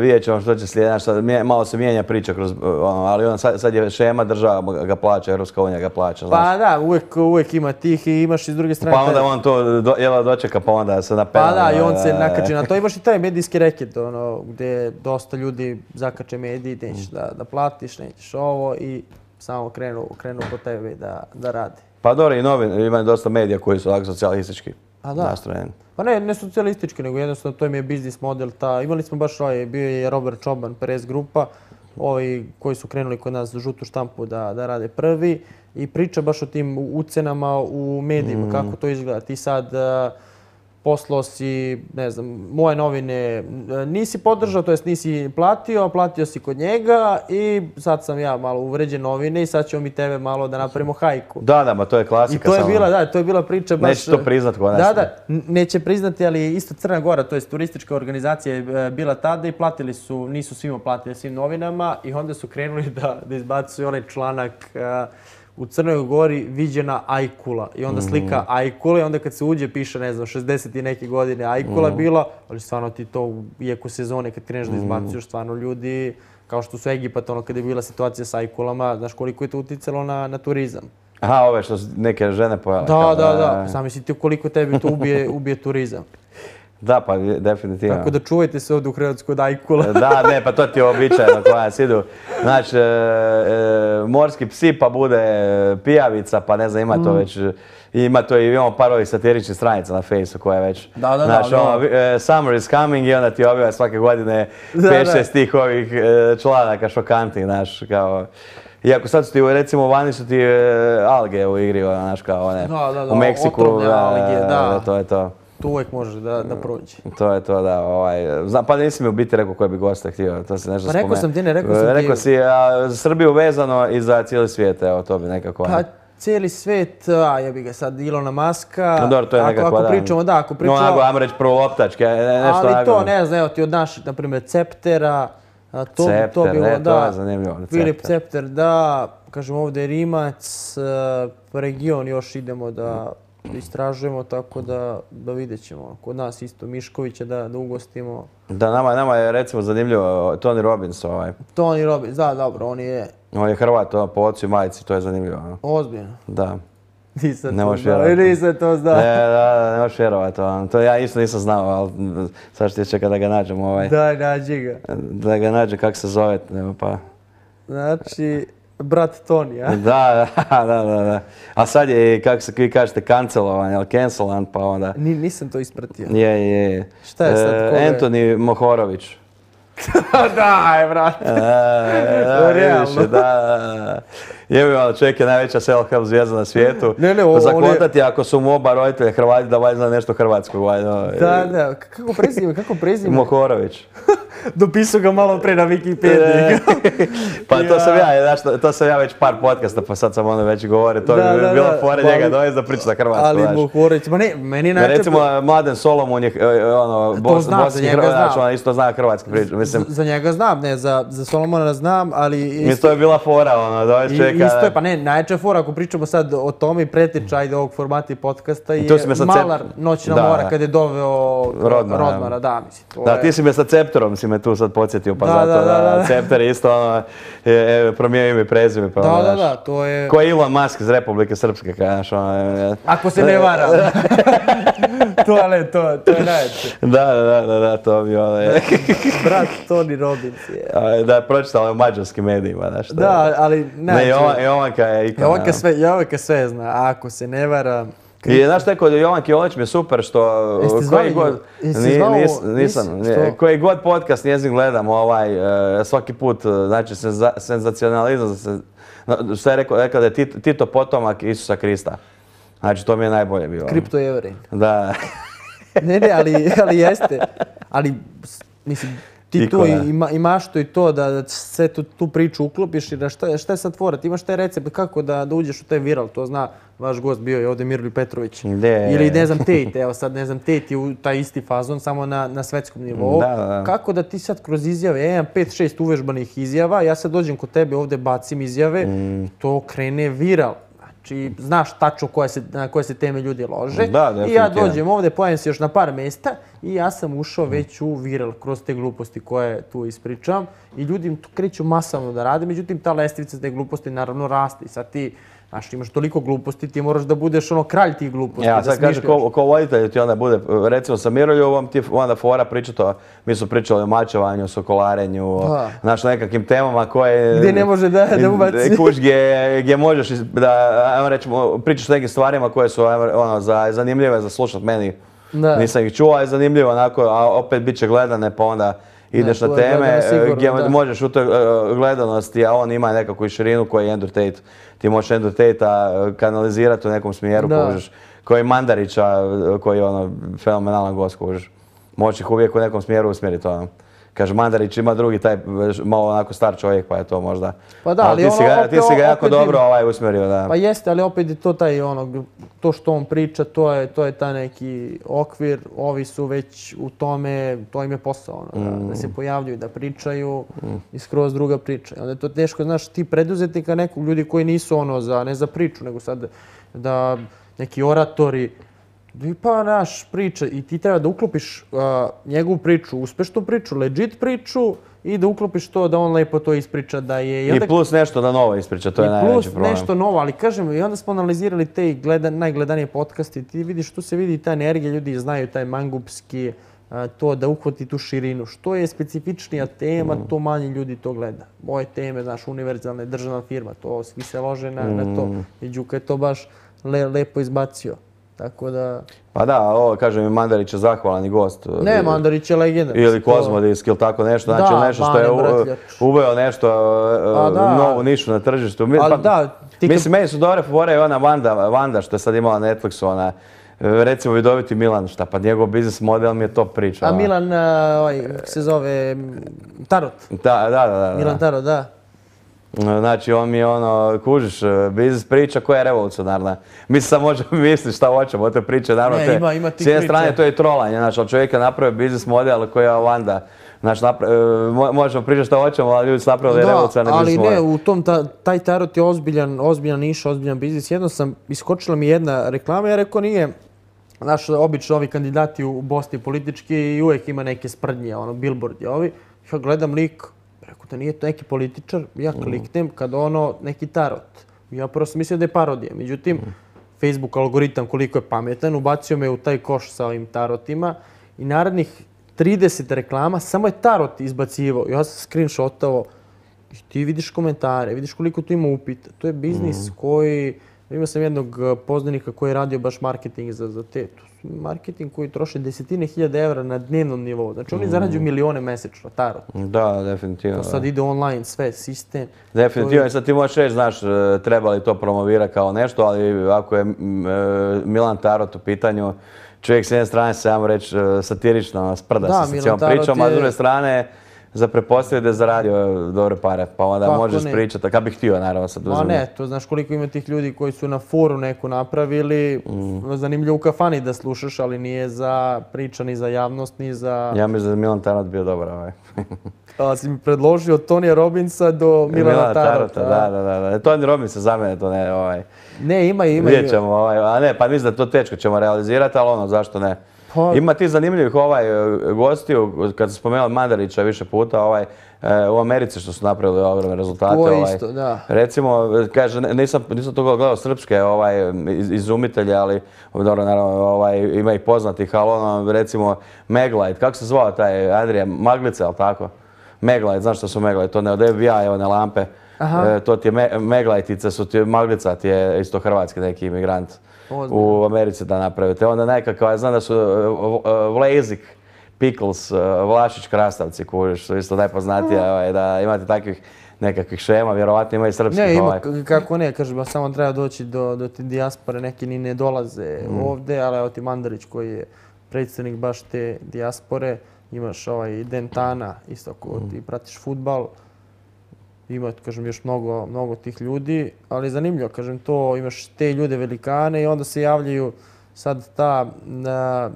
vidjet ćemo što će slijediti, malo se mijenja priča kroz, ali sad je šema, država ga plaća, Europska unija ga plaća. Pa da, uvijek ima tih i imaš i s druge strane... Pa onda on to dočeka, pa onda se napena. Pa da, i on se nakači na to. Imaš i taj medijski reket, gdje dosta ljudi zakače mediji, nećeš da platiš, nećeš ovo i samo krenu po tebi da rade. Pa dobro, i ima dosta medija koji su ovako socijalistički nastrojeni. Pa ne socijalistički, nego jednostavno to im je biznis model. Imali smo baš bio je Robert Čoban, Perez grupa, ovi koji su krenuli kod nas žutu štampu da rade prvi i priča baš o tim ucenama u medijima, kako to izgleda. Ti sad poslao si, ne znam, moje novine nisi podržao, to jest nisi platio si kod njega i sad sam ja malo uvređen novine i sad ćemo mi tebe malo da napravimo hajku. Da, ma to je klasika. I to je bila priča baš... Neće to priznat kod nas. Da, neće priznati, ali isto Crna Gora, to jest turistička organizacija je bila tada i platili su, nisu svima platili svim novinama i onda su krenuli da izbacuju onaj članak u Crnoj Gori viđena ajkula i onda slika ajkule i onda kad se uđe piše, ne znam, 60 i neke godine ajkula bila, ali stvarno ti to u jeku sezone kad kreneš da izbacuješ stvarno ljudi, kao što su Egipat, kada je bila situacija s ajkulama, znaš koliko je to uticalo na turizam. Aha, ove što su neke žene pojele. Da. Sami si ti koliko tebi to ubije turizam. Da, pa definitivno. Tako da čuvajte se ovdje u Hrvatskoj od ajkula. Da, ne, pa to ti je običajno koja nas idu. Znači, morski psi pa bude pijavica, pa ne znam, ima to već, imamo par ovih satiričnih stranica na Fejsu koja je već, znači, summer is coming i onda ti objava svake godine 5-6 tih ovih članaka šokantnih, znaš, kao... Iako sad su ti, recimo, vani su ti alge u igri, znaš, kao one, u Meksiku, to je to. Tu uvijek može da prođe. To je to, da. Pa nisi mi u biti rekao koje bi gosta htio, to si nešto spomenuo. Rekao sam ti, ne rekao sam ti. Rekao si za Srbiju vezano i za cijeli svijet, evo, to bi nekako... Pa cijeli svijet, jebi ga sad, Ilona Muska... No dobro, to je nekako, ako pričamo... No, onako, ajmo reći prvo loptačke, nešto onako... Ali to, ne znam, evo ti od naših, na primjer, Ceptera... Cepter, to je zanimljivo. Filip Cepter, da, kažem ovdje je Rimac, region još idemo da istražujemo, tako da vidjet ćemo. Kod nas isto Miškovića da ugostimo. Da, nama je recimo zanimljivo Tony Robbins. Tony Robbins, da, dobro, on je... On je Hrvat, po ocu i majici, to je zanimljivo. Ozbiljno? Da. Nisam to znao. Ne možeš vjerovati. To ja isto nisam znao, ali sad što čeka da ga nađem. Daj, nađi ga. Da ga nađem, kako se zove, pa... Znači, brat Toni, a? Da. A sad je, kako se vi kažete, kancelovan, ili cancelan, pa onda... Nisam to ispratio. Je. Šta je sad? Antoni Mohorović. Daj, brate. Realno. Da. čovjek je najveća self-help zvijezda na svijetu. Zakontati ako su mu oba roditelja Hrvati da valjda zna nešto hrvatskog. Da, kako prezime? Mohorović. Dopisao ga malo pre na Wikipediji. Pa to sam ja već par podcasta, pa sad sam već govorio. To bi bila fora njega dovesti da priča na hrvatsku. Ali Mohorović, ma ne, meni najče... Recimo, Mladen Solomon je bosanski Hrvat, isto zna hrvatski priču. Za njega znam, ne, za Solomona znam, ali... Isto je bila fora, dovesti čovjeka... Isto je, pa ne, najčešća fora, ako pričamo sad o tome i preteča ajde ovog formata i podcasta, je Malar Noćna mora kad je doveo Rodmara, da, mislim. Da, ti si me sa Ceptorom si me tu sad podsjetio, pa zato da Cepter je isto promijenio ime i prezime. Da, to je... Ko je Elon Musk iz Republike Srpske, kažeš. Ako se ne varam. To je najče. Da, to bi Brat Tony Robbins je. Da, pročitala u mađarskim medijima, znaš. Da, ali najče. Ne, Jovanka je ikona. Jovanka sve zna, ako se ne varam. I znaš te kod Jovanke Jolić mi je super što koji god podcast njezin gledam svaki put, znači senzacionalizam, što je rekao da je Tito potomak Isusa Krista. Znači to mi je najbolje bilo. Kripto Jevrej. Da. Ne, ali jeste. Ali, mislim, ti tu imaš to i to da sve tu priču uklopiš i da šta je sad tvora? Ti imaš taj recept kako da uđeš u taj viral, to zna vaš gost bio je ovdje Mirolj Petrović. Ili ne znam Tate, evo sad ne znam Tate je u taj isti fazon samo na svetskom nivou. Kako da ti sad kroz izjave, imam 5-6 uvežbanih izjava, ja sad dođem kod tebe ovdje bacim izjave, to krene viral. Znači, znaš tačno na koje se teme ljudi lože. I ja dođem ovdje, pojavim se još na par mjesta i ja sam ušao već u viral kroz te gluposti koje tu ispričam. I ljudi tu kreću masovno da rade, međutim ta lestvica te gluposti naravno raste. I sad ti, znaš, imaš toliko gluposti, ti moraš da budeš kralj tih gluposti. Ja, sad kaže, ko voditelj ti onda bude, recimo sa Miroljovom ti onda fora pričato, mi su pričali o mačevanju, o sokolarenju, znaš, nekakvim temama koje... Gdje ne može da ubaci. Kuć gdje možeš da, ajmo rećemo, pričaš o nekim stvarima koje su zanimljive za slušat meni. Nisam ih čuo, ali je zanimljivo onako, a opet bit će gledane, pa onda ideš na teme gdje možeš u toj gledanosti, a on ima nekakvu širinu koji je Andrew Tate. Ti možeš Andrew Tate-a kanalizirati u nekom smjeru, kužiš. Koji Mandarića, koji je fenomenalan gost, kužiš. Možeš ih uvijek u nekom smjeru usmjeriti. Kaže, Mandarić ima drugi taj malo onako star čovjek, pa je to možda... Pa da, ali ti si ga jako dobro usmjerio, da. Pa jeste, ali opet je to taj to što on priča, to je taj neki okvir, ovi su već u tome, to im je posao, da se pojavljuju, da pričaju i skroz druga priča. Onda je to teško, znaš, ti preduzetnika nekog, ljudi koji nisu ne za priču, nego sad da neki oratori, pa naš priča i ti treba da uklopiš njegovu priču, uspešnu priču, legit priču i da uklopiš to da on lepo to ispriča da je... I plus nešto da novo ispriča, to je najveći problem. I plus nešto novo, ali kažem, i onda smo analizirali te najgledanije podcaste i ti vidiš, tu se vidi ta energija, ljudi znaju taj mangupski, to da uhvati tu širinu. Što je specifičnija tema, to manje ljudi to gleda. Moje teme, znaš, univerzalna državna firma, to svi se lože na to. I Đuka je to baš lepo izbacio. Tako da... Pa da, ovo kažem i Mandarić je zahvalan gost. Ne, Mandarić je legenda. Ili Kozmodisk ili tako nešto. Znači nešto što je uveo nešto novu nišu na tržištu. Ali da... Mislim, meni su dobre fore i ona Vanda što je sad imala na Netflixu, ona... Recimo vidoviti Milan, šta pa njegov biznis model mi je top priča. A Milan, kako se zove, Tarot. Da. Milan Tarot, da. Znači, on mi je kužiš, biznis priča koja je revolucionarna. Mi se sad možemo misliti šta hoćemo o te priče, naravno. Ima ti s jedne strane to je trolanje, znači, od čovjeka napravio biznis model koji je Vanda. Znači, možemo pričati šta hoćemo, ali ljudi su napravili revolucionarni biznis model. Ali ne, u tom, taj Tarot je ozbiljan niš, ozbiljan biznis. Jedno iskočila mi jedna reklama, ja rekao nije, znaš, obično ovi kandidati u Bosni politički i uvijek ima neke sprdnje, billboardi ovi. Ja gledam lik, rekao da nije to neki političar, ja kliknem kad neki tarot. Ja prvo sam mislio da je parodija. Međutim, Facebook algoritam koliko je pametan, ubacio me u taj koš sa ovim tarotima i narednih 30 reklama samo je tarot izbacivao. Ja sam screenshotao i ti vidiš komentare, vidiš koliko tu ima upita. To je biznis koji Imao sam jednog poznanika koji je radio baš marketing za te. Marketing koji troši desetine hiljada evra na dnevnom nivou. Znači oni zarađuju milione mesečno, tarot. Da, definitivno. To sad ide online, sve, sistem. Definitivno, sad ti možeš reći, znaš, treba li to promovirati kao nešto, ali ako je Milan Tarot u pitanju, čovjek s jedne strane se, ajmo reći, satirično sprda se sa cijelom pričom, a s druge strane za pretpostaviti da je zaradio dobre pare, pa onda možeš pričati, kad bih htio, naravno, sad uzmano. Ma ne, to znaš koliko ima tih ljudi koji su na foru neku napravili, zanimljivo u kafani da slušaš, ali nije za priča, ni za javnost, ni za... Ja mislim da je Milan Tarot bio dobar ovaj. Ali si mi predložio od Tonija Robinsa do Milana Tarota. Da. Tony Robbins za mene to ne, ovaj... Ne, ima. Vidjet ćemo, a ne, pa mislim da to teško ćemo realizirati, ali ono, zašto ne? Ima ti zanimljivih gostiju, kad sam spomenuo Mandarića više puta, u Americi što su napravili ogromne rezultate. To je isto, da. Recimo, kaže, nisam to gledao srpske izumitelje, ali dobro, naravno, ima ih poznatih, ali ono, recimo, Meglite, kako se zvao taj Andrija, Maglica, ali tako? Meglite, znaš što su Meglite, to ne od FBI, one lampe. To ti je Meglajtice, Maglica ti je isto hrvatski neki imigrant u Americi da napravite. Onda nekakav, znam da su Vlazik, Pickles, Vlašić krastavci, kužiš, su isto najpoznatije, da imate takvih nekakvih šema, vjerovatno ima i srpskih. Ne, ima, kako ne, kažem, samo treba doći do te dijaspore, neki ni ne dolaze ovde, ali evo ti Mandarić koji je predstavnik baš te dijaspore, imaš Dentana, isto ako ti pratiš fudbal. Ima, kažem, još mnogo tih ljudi, ali zanimljivo, kažem, to imaš te ljude velikane i onda se javljaju sad ta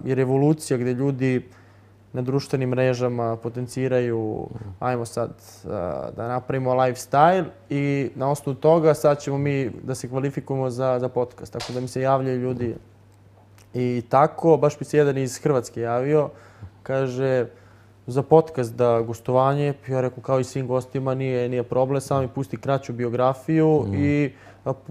revolucija gdje ljudi na društvenim mrežama potenciraju, ajmo sad da napravimo lifestyle i na osnovu toga sad ćemo mi da se kvalifikujemo za podcast. Tako da mi se javljaju ljudi i tako, baš mi se jedan iz Hrvatske javio, kaže za podcast da gostovanje, ja rekao kao i svim gostima nije problem, samo mi pusti kraću biografiju i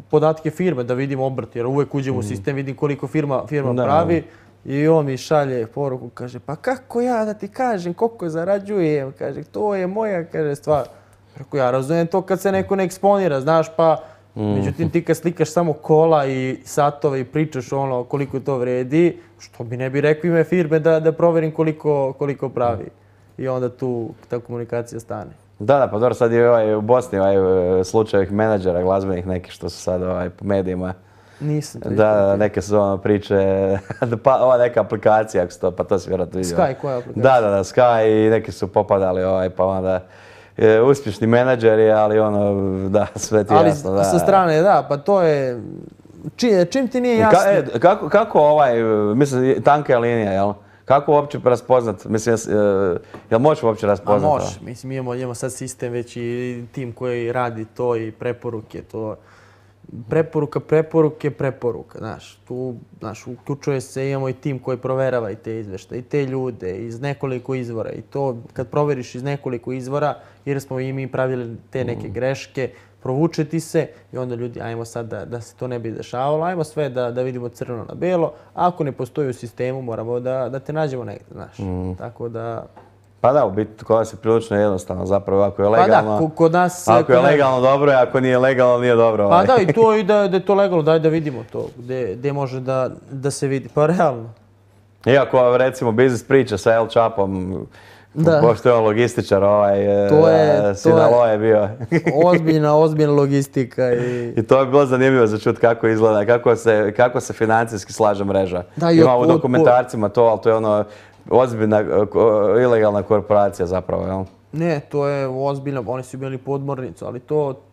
podatke firme da vidim obrt, jer uvek uđem u sistem, vidim koliko firma pravi i on mi šalje poruku, kaže pa kako ja da ti kažem koliko zarađujem, kaže to je moja, kaže stvar. Rekao ja razumijem to kad se neko ne eksponira, znaš pa međutim ti kad slikaš samo kola i satove i pričaš ono koliko to vredi, što bi ne bi rekao ime firme da proverim koliko pravi. I onda tu ta komunikacija stane. Da, pa dobro, sad je u Bosni slučaj menadžera glazbenih nekih što su sad po medijima. Nisam to Da, neke su priče, ova neka aplikacija, pa to si vjerojatno vidio. Sky, koja aplikacija? Da, Sky i neki su popadali, pa onda uspješni menadžeri, ali da, sve ti jasno. Ali sa strane, da, pa to je, čim ti nije jasno. Kako mislim, tanka je linija, jel? Kako uopće raspoznat? Mislim, jel možeš uopće raspoznat? Može. Mislim, imamo sad sistem već i tim koji radi to i preporuke. Preporuka, znaš. Tu, uključuje se, imamo i tim koji proverava i te izveštaje, i te ljude iz nekoliko izvora. I to, kad proveriš iz nekoliko izvora, jer smo i mi pravili te neke greške, provuče ti se i onda ljudi, ajmo sad da se to ne bi dešavalo, ajmo sve da vidimo crno na belo. Ako ne postoji u sistemu, moramo da te nađemo negdje, znaš. Tako da... Pa da, u biti kod nas je prilično jednostavno, zapravo ako je legalno... Pa da, kod nas... Ako je legalno dobro, ako nije legalno nije dobro. Pa da, i to i da je to legalno, daj da vidimo to, gdje može da se vidi, pa realno. Iako, recimo, biznis priča sa El Chapom, pošto je on logističar, Sinaloa je bio. Ozbiljna logistika. I to je bilo zanimljivo za čut kako izgleda, kako se financijski slaže mreža. Ima u dokumentarcima to, ali to je ono ozbiljna ilegalna korporacija zapravo, jel? Ne, to je ozbiljno, oni su bili podmornicu, ali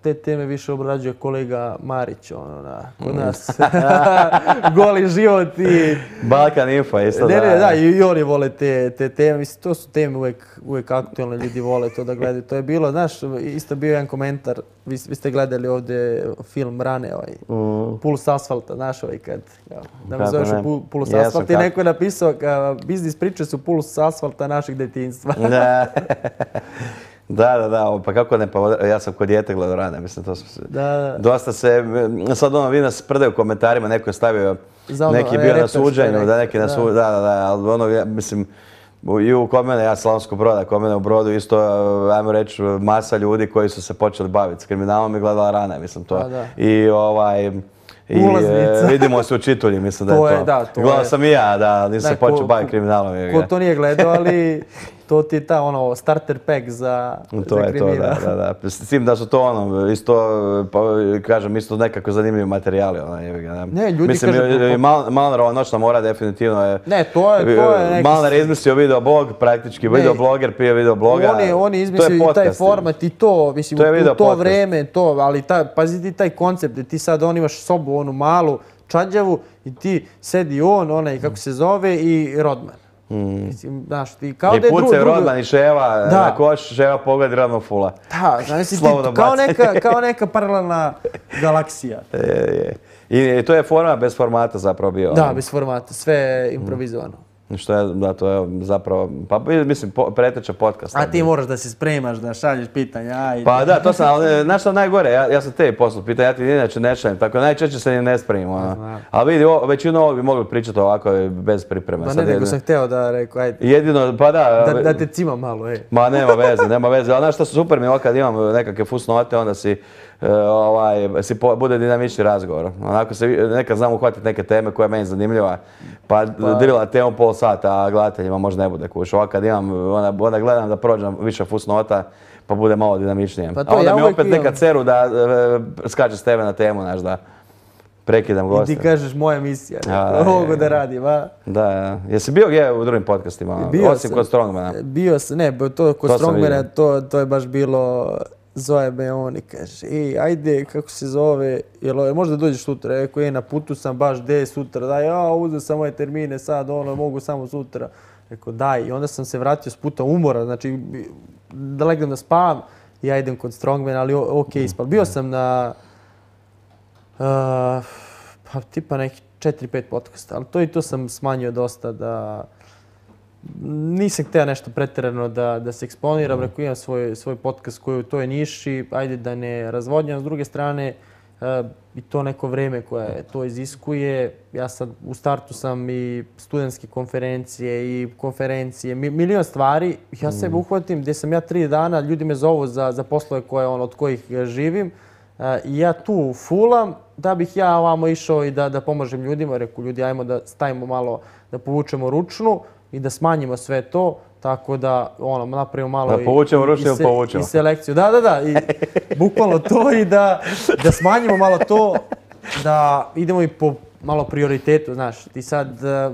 te teme više obrađuje kolega Marić, kod nas. Goli život i... Balkan Info, isto da. Da, i oni vole te teme, mislim, to su teme uvijek aktualne, ljudi vole to da gledaju. To je bilo, znaš, isto bio jedan komentar, vi ste gledali ovdje film Rane, Puls asfalta, znaš kad, da me zoveš Puls asfalta i neko je napisao, biznis priče su puls asfalta našeg detinjstva. Da, pa kako ne, pa ja sam kod dijete gledao Rane, mislim, to su dosta se, sad vi nas sprdaju u komentarima, neko je stavio, neki bio na suđenju, ali mislim, i kod mene, ja Slavonskog Broda, kod mene u Brodu isto, ajmo reći, masa ljudi koji su se počeli baviti s kriminalom i gledala Rane, mislim to. I I Ulaznica. vidimo se u Čitulji, mislim da je to. To je, da, to Gledao je. sam i ja, da, nisam se počeo baviti kriminalom. Ko to nije gledao, ali to ti je ta starter pack za To je to, kriminal. da. S tim da su to isto, pa kažem, isto nekako zanimljivi materijali. Ne, ljudi mislim, kažu... Malnerova noćna mora definitivno je... Ne, to je neki... Malner je izmislio videoblog, praktički videobloger prije videobloga. On je izmislio i taj format i to, mislim, u to vreme, ali pazi ti taj koncept, da ti sad imaš sobu, onu malu, čađavu i ti sedi onaj, kako se zove, i Rodman. Mislim, znaš, ti kao da je pucaju Rodman i Ševa na koš, Ševa pogledi Rodman fula. Da, znaš, kao neka paralelna galaksija. I to je format bez formata zapravo bio. Da, bez formata, sve improvizovano. Što je, da, to je zapravo, pa mislim, preteča podcasta. A ti moraš da se spremaš, da šalješ pitanja, ajde. Pa da, to sam, ali znaš što najgore, ja sam tebi poslao pitanja, ja ti inače ne šaljem, tako najčešće se ni ne spremim. Ali vidi, većinu ovog bi mogli pričati ovako bez pripreme. Pa ne, nego sam hteo da rekao, ajde. Jedino, pa da. Da te cima malo, ej. Ma nema veze, ali znaš što super mi je kad imam nekakve fusnote, onda bude dinamični razgovor. Onako se nekad znam uhvatiti neke teme koja je meni zanimljiva, pa drila temu pol sata, a gledateljima možda ne bude kuš. Ovako kad imam, onda gledam da prođem više fusnota, pa bude malo dinamičnije. A onda mi opet neka ceru da skače s tebe na temu, znaš da prekidam gosta. I ti kažeš moja misija, mogu da radim, a? Da, jesi bio gdje u drugim podcastima, osim kod Strongmana? Bio sam, ne, to kod Strongmana, to je baš bilo... Zove me on i kaže, ajde, kako se zove, možda dođeš sutra, rekao, na putu sam baš, gdje sutra, daj, uzeo sam moje termine sad, mogu samo sutra. Rekao, daj, i onda sam se vratio s puta umora, znači, da legnem da spavam, i ja idem kod Strongmana, ali okej, ispal. Bio sam na, tipa neki 4-5 podcasta, ali to i to sam smanjio dosta da... Nisam htio nešto pretjerano da se eksponiram, rekao imam svoj podcast koji je u toj niši, ajde da ne razvodnjam. S druge strane, i to neko vrijeme koje to iziskuje. Ja sad u startu sam i studentske konferencije, milion stvari. Ja sebe uhvatim gdje sam ja 3 dana, ljudi me zovu za poslove od kojih živim. I ja tu fulam da bih ja ovamo išao i da pomažem ljudima. Rekao ljudi, ajmo da stavimo malo, da povučemo ručnu i da smanjimo sve to, tako da napravimo malo i selekciju. Da, i bukvalno to i da smanjimo malo to, da idemo i po malo prioritetu, znaš. Ti sad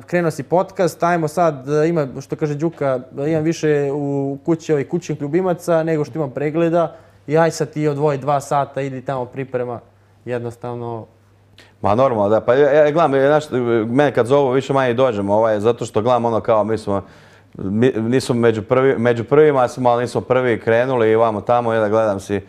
krenuo si podcast, ajmo sad, ima, što kaže Đuka, imam više u kući ovih kućnih ljubimaca nego što imam pregleda i aj sad ti odvoji 2 sata, idi tamo priprema, jednostavno... Ma normalno, da, pa ja gledam, mene kad zovu više manje dođem, zato što gledam kao nismo među prvima, ali nismo prvi krenuli i vamo tamo i da gledam si,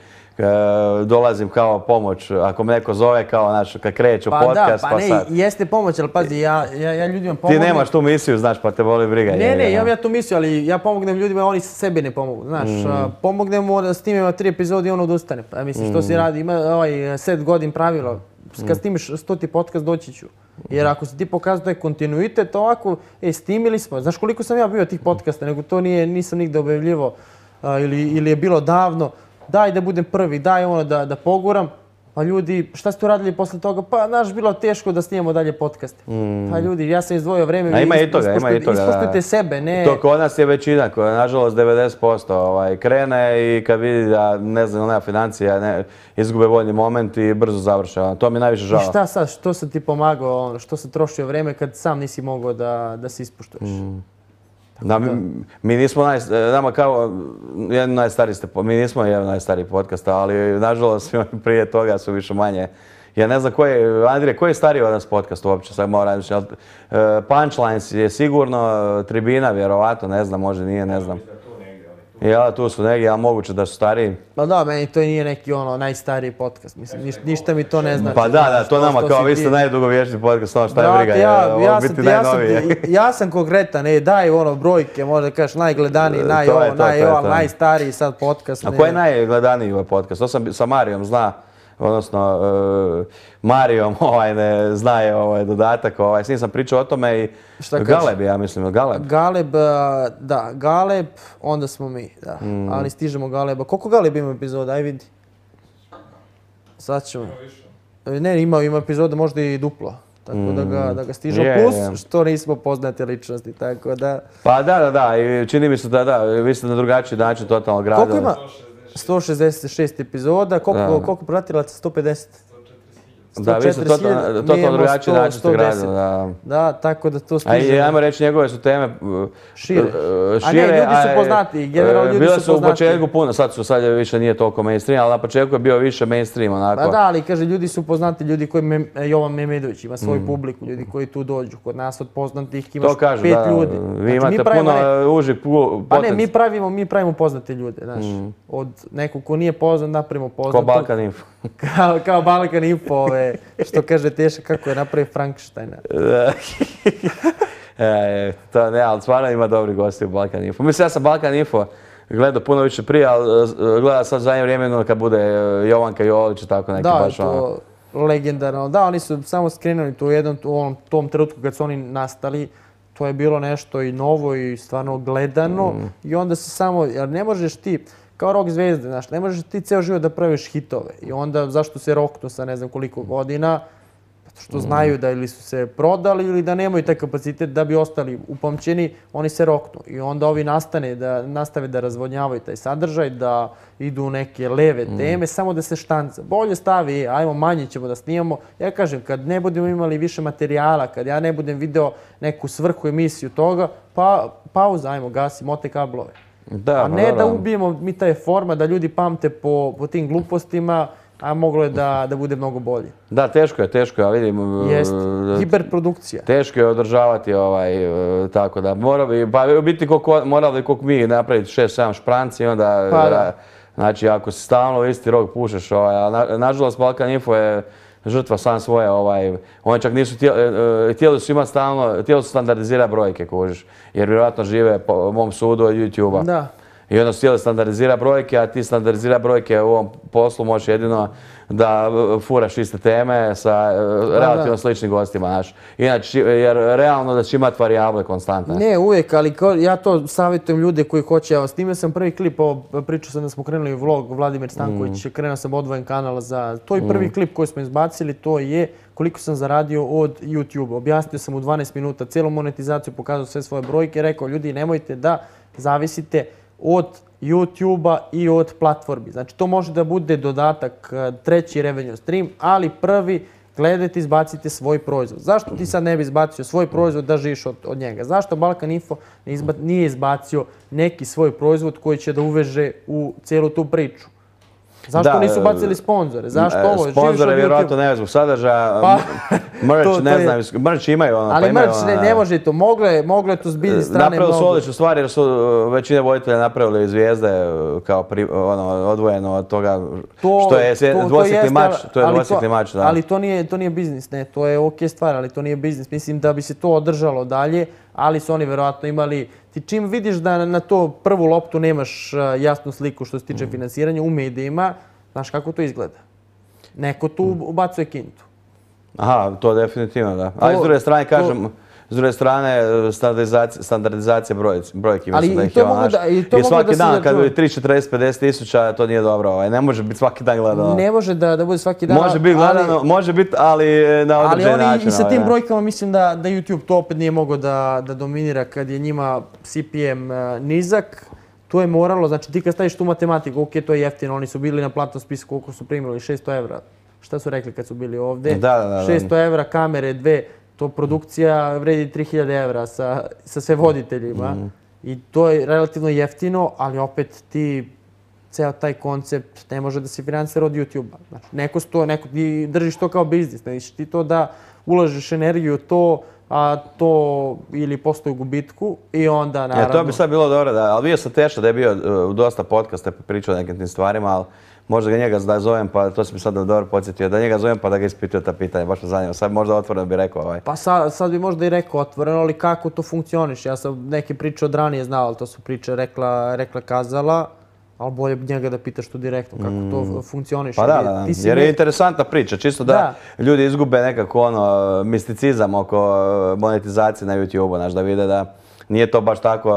dolazim kao pomoć, ako me neko zove kao kad kreću podcast, pa sad. Ne, jeste pomoć, ali pazi, ja ljudima pomognem. Ti nemaš tu misiju, znaš, pa te voli briga. Ne, imam ja tu misiju, ali ja pomognem ljudima, oni sebi ne pomogu, znaš. Pomognemo da snimimo 3 epizode i on odustane. Pa mislim, što se radi, ima 7 godin pravilo. Kad snimiš 100. podcast, doći ću. Jer ako si ti pokazao taj kontinuitet, ovako, snimili smo. Znaš koliko sam ja bio tih podcasta, nego to nisam nigde objavljivo ili je bilo davno. Daj da budem prvi, daj da poguram. Pa ljudi, šta ste uradili posle toga? Pa, znaš, bilo teško da snimamo dalje podcast. Pa ljudi, ja sam izdvojio vreme, vi ispoštujte sebe, ne... To kod nas je većina, koja nažalost 90% krene i kad vidi da, ne znam, nema financija, izgube voljni moment i brzo završe. To mi je najviše žao. I šta sad, što sam ti pomagao, što sam trošio vreme kad sam nisi mogao da se ispoštuješ? Mi nismo nama kao jedan najstariji mi nismo jedan najstariji podcast, ali nažalost svi oni prije toga su više manje. Ja ne znam Andrije, koji je stariji od nas podcast uopće, sad moram reći, Punchlines je sigurno, Tribina vjerovatno, ne znam, možda nije, ne znam. Ja, tu su negdje, ali moguće da su stariji. Pa da, meni to nije neki najstariji podcast, mislim, ništa mi to ne znači. Pa da, to nama kao vi ste najdugovječniji podcast, ono šta je briga, biti najnoviji. Ja sam konkretan, daj brojke, možda kažeš najgledaniji, najstariji sad podcast. A ko je najgledaniji ovaj podcast? To sam sa Marijom zna. Odnosno, Marijom zna je dodatak, s njim sam pričao o tome i Galeb, ja mislim, Galeb. Galeb, onda smo mi, da, ali stižemo Galeba. Koliko Galeb ima epizoda, aj vidi. Sad ćemo. Ne, ima epizoda možda i duplo. Tako da ga stižemo. Plus što nismo poznate ličnosti, tako da... Pa da, i čini mi se da, vi ste na drugačiji način totalno gradili. Koliko ima? 166 epizoda, koliko pratilaca? 150? Da, vi ste totalno drugačiji način ste gradili. Da, tako da to stiže. A i ajmo reći, njegove su teme šire. A ne, ljudi su poznati, generalno ljudi su poznati. Bile su u početku puno, sad više nije toliko mainstream, ali na početku je bio više mainstream, onako. Pa da, ali kaže, ljudi su poznati, ljudi koji Jovan Memedović ima svoju publiku, ljudi koji tu dođu. Kod nas od poznatih imaš 5 ljudi. Vi imate puno užih potencijala. Pa ne, mi pravimo poznate ljude, znaš. Od nekog ko nije poznat, napravimo poznatog. Kao Balkan Info. Kao Balkan Info, što kaže Teša kako je napravio Frankensteina. Ne, ali stvarno ima dobri gosti u Balkan Info. Mislim, ja sam Balkan Info gledao puno više prije, ali gledam sad zadnje vrijeme kad bude Jovanka Jolić i tako neki baš ono. Da, to legendarno. Da, oni su samo skrenuli tu u tom trenutku kad su oni nastali. To je bilo nešto i novo i stvarno gledano. I onda se samo, jer ne možeš ti, kao rock zvezde, znaš, ne možeš ti ceo život da praviš hitove. I onda zašto se roknu sa ne znam koliko godina? Zato što znaju da ili su se prodali ili da nemaju taj kapacitet da bi ostali upamćeni, oni se roknu. I onda ovi nastave da razvodnjavaju taj sadržaj, da idu u neke leve teme, samo da se štanca. Bolje stavi, ajmo manje ćemo da snimamo. Ja kažem, kad ne budemo imali više materijala, kad ja ne budem video neku svrhu emisiju toga, pa pauza, ajmo, gasi, mote kablove. A ne da ubijemo mi taj format, da ljudi pamte po tim glupostima, a moglo je da bude mnogo bolje. Da, teško je, ali vidim... Jest, hiperprodukcija. Teško je održavati tako da. Morali bi koliko mi napraviti 6-7 špranci i onda... Znači, ako si stalno isti rok pušeš, nažalost Balkan Info je žrtva sam svoje, oni čak nisu htjeli su imati stalno, htjeli su standardizirati brojke, kužiš, jer vjerojatno žive po mom sudu od YouTube-a. Da. I onda su htjeli standardizirati brojke, a ti standardizirati brojke u ovom poslu možeš jedino da furaš iste teme sa relativno sličnim gostima, znaš. Inače, jer realno da će imati varijable konstantne. Ne, uvijek, ali ja to savjetujem ljude koji hoće. Evo, snimio sam prvi klip, pričao sam da smo krenuli vlog, Vladimir Stanković, krenuo sam odvojen kanal za... To je prvi klip koji smo izbacili, to je koliko sam zaradio od YouTube. Objasnio sam u 12 minuta cijelu monetizaciju, pokazao sve svoje brojke, rekao ljudi nemojte da zavisite od YouTube-a i od platformi. Znači, to može da bude dodatak, treći revenue stream, ali prvi gledajte, izbacite svoj proizvod. Zašto ti sad ne bi izbacio svoj proizvod da živiš od njega? Zašto Balkan Info nije izbacio neki svoj proizvod koji će da uveže u cijelu tu priču? Zašto nisu bacili sponzore? Zašto ovo? Sponzore vjerojatno ne zbog sadržaja, merch, ne znam, merch imaju ono. Ali merch ne može to, moglo je to s biljne strane. Napravili su odličnu stvar jer su većine voditelja napravili zvijezde kao odvojeno od toga što je dvosjekli mač. To je dvosjekli mač, da. Ali to nije biznis, ne, to je okej stvar, ali to nije biznis. Mislim da bi se to održalo dalje, ali su oni vjerojatno imali... Ti čim vidiš da na to prvu loptu nemaš jasnu sliku što se tiče finansiranja u medijima, znaš kako to izgleda. Neko tu ubacuje kintu. Aha, to definitivno, da. Ali s druge strane, kažem, s druge strane, standardizacija brojki, mislim da ih je ono naš. I svaki dan, kad bi 3, 40, 50 tisuća, to nije dobro. Ne može biti svaki dan gledano. Ne može da bude svaki dan. Može biti gledano, može biti, ali na određen način. Ali i sa tim brojkama mislim da YouTube to opet nije mogao da dominira kad je njima CPM nizak. To je moralo, znači ti kad staviš tu matematiku, ok, to je jeftino, oni su bili na platnom spisku, koliko su primili, 600 evra. Šta su rekli kad su bili ovdje? 600 evra, kamere, 2, to produkcija vredi 3000 evra sa sve voditeljima. I to je relativno jeftino, ali opet ti ceo taj koncept ne može da se finansira od YouTube-a. Znači, neko ti držiš to kao biznis, znači ti to da ulažeš energiju to, a to ili postoji u gubitku i onda naravno... To bi sad bilo dobro, ali bio sam Teša da je bio u dosta podcasta pričao o nekim tim stvarima, ali možda ga njega da zovem, pa to si mi sad dobro podsjetio, da njega zovem pa da ga ispituje ta pitanja, baš me zanima. Sad možda otvoreno bi rekao Pa sad bi možda i rekao otvoreno, ali kako to funkcioniš? Ja sam neke priče od ranije znao, ali to su priče rekla kazala, ali bolje njega da pitaš tu direktno kako to funkcioniš. Pa da, jer je interesantna priča, čisto da ljudi izgube nekako misticizam oko monetizacije na YouTube-u, znaš, da vide da nije to baš tako,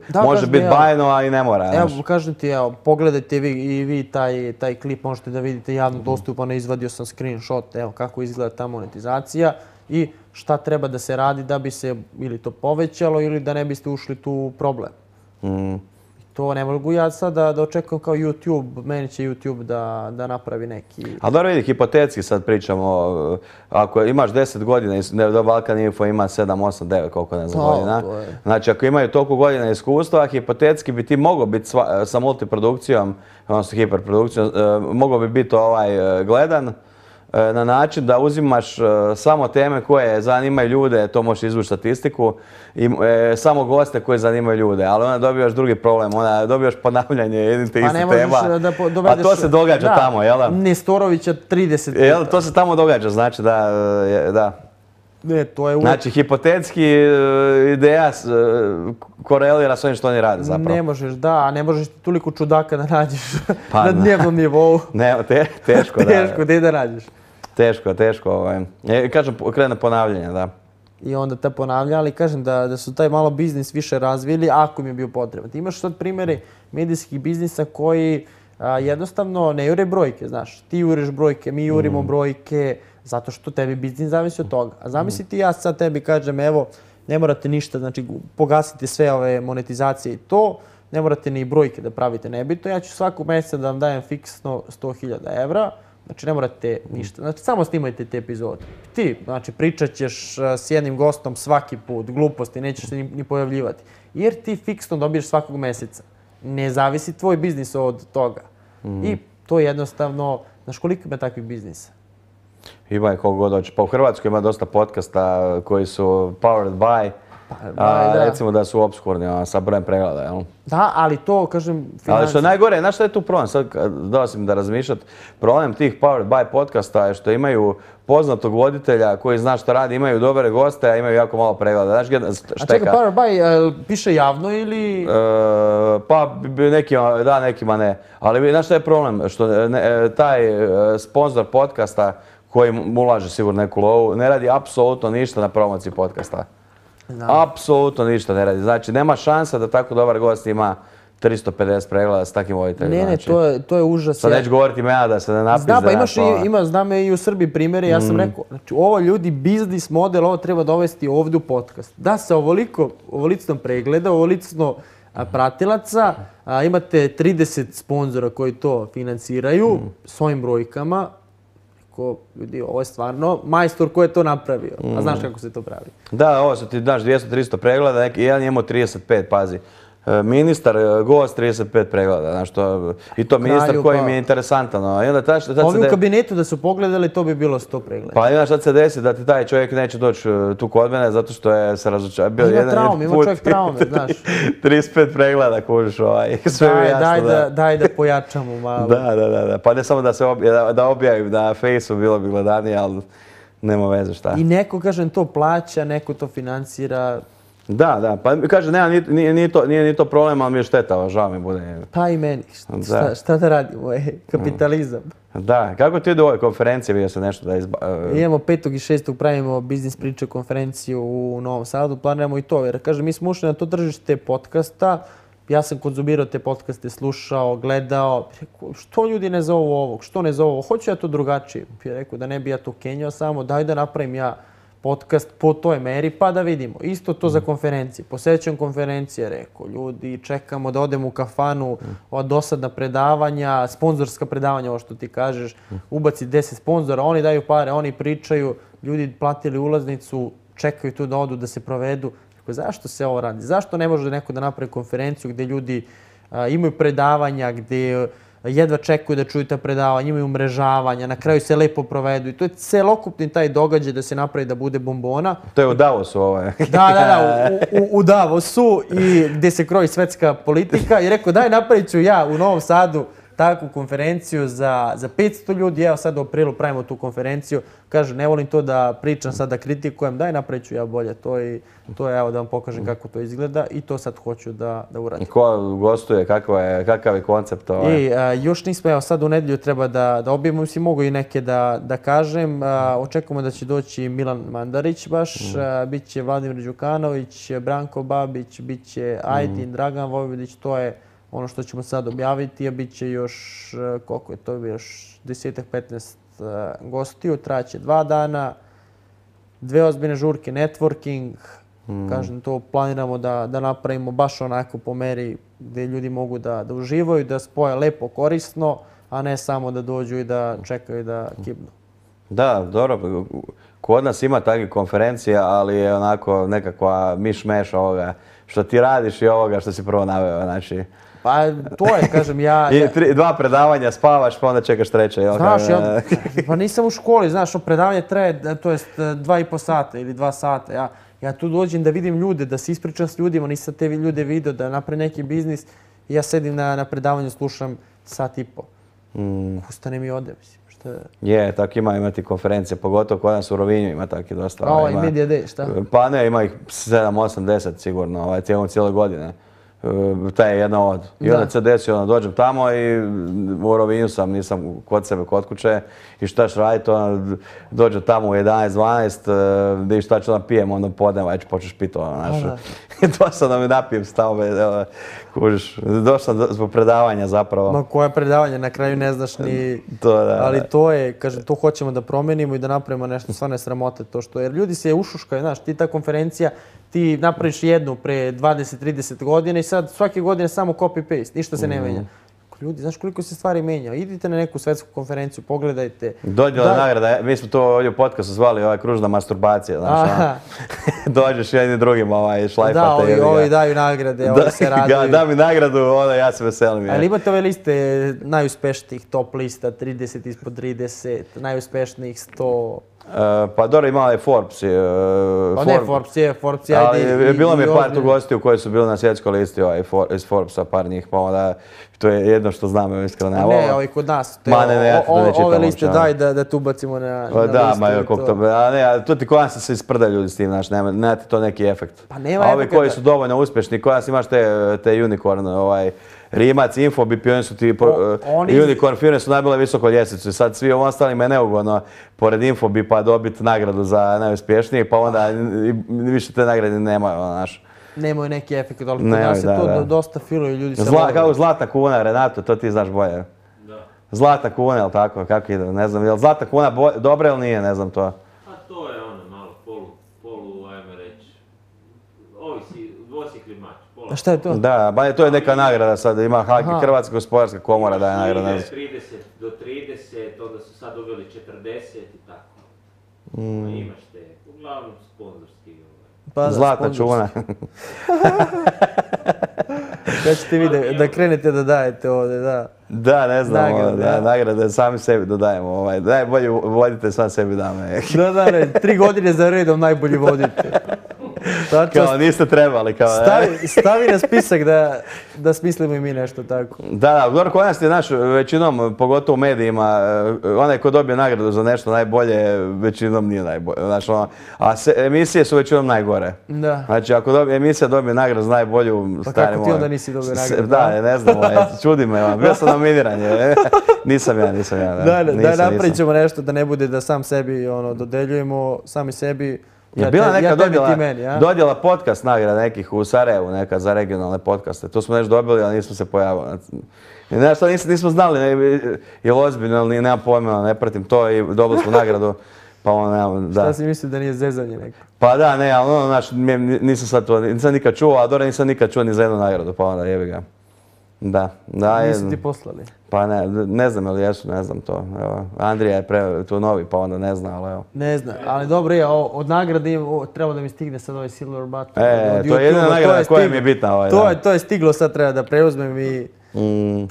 Da, može kažem, biti evo, bajno, a i ne mora. Evo, znaš. kažem ti, evo, pogledajte i vi taj klip, možete da vidite javno dostupan, izvadio sam screenshot, evo kako izgleda ta monetizacija i šta treba da se radi da bi se ili to povećalo ili da ne biste ušli tu u problem. To ne mogu ja sad da očekujem kao YouTube, meni će YouTube da napravi neki... Ali dobro vidi, hipotetski sad pričamo, ako imaš 10 godina, do Balkan Info ima 7, 8, 9, koliko ne znam godina. Znači ako imaju toliko godina iskustva, hipotetski bi ti mogao biti sa multiprodukcijom, odnosno hiperprodukcijom, mogao bi biti gledan na način da uzimaš samo teme koje zanimaju ljude, to možeš izvući statistiku, i samo goste koje zanimaju ljude, ali onda dobivaš drugi problem, onda dobivaš ponavljanje jednih te istih tema, a to se događa tamo, jel da? Nestorovića 30 puta. Jel, to se tamo događa, znači da. Ne, to je uvijek... Znači, hipotetski ideja korelira s ovim što oni rade zapravo. Ne možeš, a ne možeš toliko čudaka da nađeš na dnevnom nivou. Ne, teško, da. Teško, gdje da nađeš. Teško. Kažem, krene ponavljanje, da. I onda ta ponavlja, ali kažem da su taj malo biznis više razvili ako mi je bio potreban. Ti imaš sad primjere medijskih biznisa koji jednostavno ne jure brojke, znaš. Ti juriš brojke, mi jurimo brojke, zato što tebi biznis zavisi od toga. A zamisli ti ja sad tebi kažem, evo, ne morate ništa, znači pogasite sve ove monetizacije i to, ne morate ni brojke da pravite nebitno. Ja ću svakog mjeseca da vam dajem fiksno 100.000 evra, znači ne morate ništa, znači samo snimajte te epizode. Ti, znači pričat ćeš s jednim gostom svaki put, gluposti, nećeš se ni pojavljivati. Jer ti fiksno dobiješ svakog mjeseca. Ne zavisi tvoj biznis od toga. I to jednostavno, znaš koliko ima takvih biznisa? Ima je koliko god hoće. Pa u Hrvatskoj ima dosta podcasta koji su powered by, recimo da su obskurni sa brojem pregleda, jel? Da, ali to, kažem, Ali što je najgore, znaš šta je tu problem? Sad dao sam da razmišljati. Problem tih powered by podcasta je što imaju poznatog voditelja koji zna što radi, imaju dobre goste, a imaju jako malo pregleda. Znaš gdje šteka? A čekaj, powered by piše javno ili... Pa nekima da, nekima ne. Ali znaš šta je problem? Što taj sponsor podcasta koji mu ulaže sigurno neku lovu, ne radi apsolutno ništa na promociji podcasta. Apsolutno ništa ne radi. Znači, nema šansa da tako dobar gost ima 350 pregleda s takvim voditeljem. Ne, to je užas. Sad neću govoriti imena da se ne napizde. Znam i u Srbiji primjere, ja sam rekao, znači ovo ljudi, biznis model, ovo treba dovesti ovdje u podcast. Da se ovolicno pregleda, ovolicno pratilaca, imate 30 sponzora koji to financiraju s ovim brojkama. Ljudi, ovo je stvarno majstor ko je to napravio. A znaš kako se to pravi? Da, ovo su ti, znaš, 200-300 pregleda, jedan je imao 35, pazi. Ministar, gost, 35 pregleda, znaš to, i to ministar koji mi je interesantan. Ovi u kabinetu da su pogledali, to bi bilo 100 pregleda. Pa znaš, sad se desi da ti taj čovjek neće doći tu kod mene zato što je se razočarao. Ima čovjek traume, znaš. 35 pregleda, kužiš, sve mi jasno. Daj da pojačamo malo. Da. Pa ne samo da objavim na Fejsu, bilo bi gledanije, ali nema veze šta. I neko, kažem, to plaća, neko to financira. Da, pa kaže, nije ni to problem, ali mi je šteta, žao mi bude. Pa i meni, šta da radimo, kapitalizam. Da, kako ti ide u ovoj konferenciji, vidio se nešto da Imamo 5. i 6. pravimo biznis priče konferenciju u Novom Sadu, planiramo i to, jer kažem, mi smo ušli na to tržište podcasta, ja sam konzumirao te podcaste, slušao, gledao, rekao, što ljudi ne zovu ovog, što ne zovu ovog, hoću ja to drugačije. Rekao da ne bi ja to kenjao samo, daj da napravim ja podcast po toj meri pa da vidimo. Isto to za konferencije. Posećam konferencije, rekao, ljudi, čekamo da odemo u kafanu, ova dosadna predavanja, sponzorska predavanja, ovo što ti kažeš, ubaci 10 sponzora, oni daju pare, oni pričaju, ljudi platili ulaznicu, čekaju tu da odu, da se provedu. Rekao, zašto se ovo radi? Zašto ne može neko da napravi konferenciju gdje ljudi imaju predavanja, gdje jedva čekuju da čuju ta predavanja, imaju umrežavanja, na kraju se lepo provedu i to je celokupni taj događaj da se napravi da bude bombona. To je u Davosu ovo je. Da, u Davosu i gdje se kroji svetska politika i rekao daj napravit ću ja u Novom Sadu takvu konferenciju za 500 ljudi. Evo sad u aprilu pravimo tu konferenciju. Kaže, ne volim to da pričam sad, da kritikujem, daj napravit ću ja bolje. To je evo da vam pokažem kako to izgleda i to sad hoću da uradim. Ko gostuje, kakav je koncept? Još nismo, evo sad u nedjelju treba da objavimo, mislim mogu i neke da kažem. Očekujemo da će doći Milan Mandarić baš, bit će Vladimir Đukanović, Branko Babić, bit će Ajdin, Dragan Vojvodić, to je ono što ćemo sad objaviti, a bit će još, koliko je to, još 10-15 gostiju, traće 2 dana, 2 ozbiljne žurke, networking, kažem, to planiramo da napravimo baš onako po meri gdje ljudi mogu da uživaju, da spoje lepo, korisno, a ne samo da dođu i da čekaju da kibnu. Da, dobro. Kod nas ima takvih konferencija, ali je onako nekakva miš-meš ovoga što ti radiš i ovoga što si prvo naveo. Znači... Pa to je, kažem, ja... 2 predavanja, spavaš, pa onda čekaš treće. Znaš, pa nisam u školi, znaš, predavanje traje, to jest 2,5 sata ili 2 sata. Ja tu dođem da vidim ljude, da se ispričam s ljudima, nisam te ljude vidio, da napravim neki biznis i ja sedim na predavanju, slušam 1,5 sata. Ustanem i odem, mislim. Je, tako ima ti konferencije, pogotovo kod nas u Rovinju ima tako dosta. I Media Day, šta? Pa ne, ima ih 7, 8, 10 sigurno, cijele godine. Taj je jedna od. I onda se desi, onda dođem tamo i u Rovinju sam, nisam kod sebe, kod kuće. I štaš raditi, onda dođem tamo u 11, 12, da i šta ću da pijem, onda podnem, već počneš piti ono, znaš. Došao sam da mi napijem stavo, kužiš. Došao sam zbog predavanja zapravo. Ma koje predavanje, na kraju ne znaš ni... Ali to je, kažem, to hoćemo da promenimo i da napravimo nešto, stvarno je sramote to što, jer ljudi se ušuškaju, znaš, ti ta konferencija, ti napraviš jednu pre 20-30 godina i sad svake godine samo copy-paste, ništa se ne menja. Ljudi, znaš koliko se stvari menja? Idite na neku svetsku konferenciju, pogledajte. Dodjela nagrada, mi smo to ovdje u podcastu zvali kružna masturbacija, znaš. Dođeš jedni drugim šlajfate. Da, ovi daju nagrade, ovi se raduju. Da mi nagradu, onda ja se veselim. Ali imate ove liste najuspešnijih, top lista, 30 ispod 30, najuspešnijih 100... Pa dobro, imala je Forbes. Pa ne, Forbes je, ajde. Bilo mi je par tu gostiju koji su bili na svjetskoj listi iz Forbesa, par njih, pa onda to je jedno što znam, iskreno. Ne, ovi kod nas. Ove liste daj da tu bacimo na listu. Da, ma kako to. To ti kod nas se isprda ljudi s tim, znaš, nema ti to neki efekt. Pa nema efekt. A ovi koji su dovoljno uspješni, kod nas imaš te unicorn, Rimac, Infobip, oni su ti unicorn firme su najbile visoko ljestvicu i sad svi ostalima je neugodno pored Infobipa dobiti nagradu za najuspješniji, pa onda više te nagrade nemaju, znaš. Nemaju neki efekt, ali kod nas je to dosta filuje ljudi se vole. Kao Zlatna kuna, Renato, to ti znaš bolje. Da. Zlatna kuna, jel tako, kako ide, ne znam, jel Zlatna kuna dobra ili nije, ne znam to. A to je ono malo polu, ajmo reći, ovisi, dvosjekli mač. A šta je to? Da, to je neka nagrada sad, ima Hrvatska gospodarska komora daje nagrada. 30 do 30, onda su sad uveli 40 i tako. Imaš te, uglavnom sponzorski. Zlatna čuna. Kad ćete vi da krenete da dajete ovdje, da? Da, ne znam, nagrade sami sebi dodajemo. Najbolji vodite, sam sebi dame. Da, 3 godine za redom najbolji vodite. Kao niste trebali, kao stavi na spisak da smislimo i mi nešto tako. Da, dobro, kod nas je naš većinom, pogotovo u medijima, onaj ko dobije nagradu za nešto najbolje, većinom nije najbolje. A emisije su većinom najgore. Da. Znači, ako emisija dobije nagradu za najbolju, pa kako ti onda nisi dobio nagradu? Da, ne znam, čudi me, bio sam nominiran. Nisam ja. Da, napravit ćemo nešto da ne bude da sam sebi dodeljujemo, sami sebi. Bila neka dodjela podcast nagrada nekih u Sarajevu, neka za regionalne podcaste. To smo nešto dobili, ali nismo se pojavili. Nešto nismo znali, je li ozbiljno, ali nema pojma, ne pratim to i dobili smo nagradu. Pa ono, da. Šta si mislio da nije zezanje neko? Pa da, ne, ali nisam sad to, nisam nikad čuo, a dobro nisam nikad čuo ni za jednu nagradu, pa onda jebi ga. Da. Nisu ti poslali? Pa ne znam ili jesu, ne znam to. Andrija je tu novi, pa onda ne zna, ali evo. Ne znam, ali dobro je, od nagrade treba da mi stigne sad ovaj Silver Button. To je jedina nagrada koja mi je bitna. To je stiglo, sad treba da preuzmem i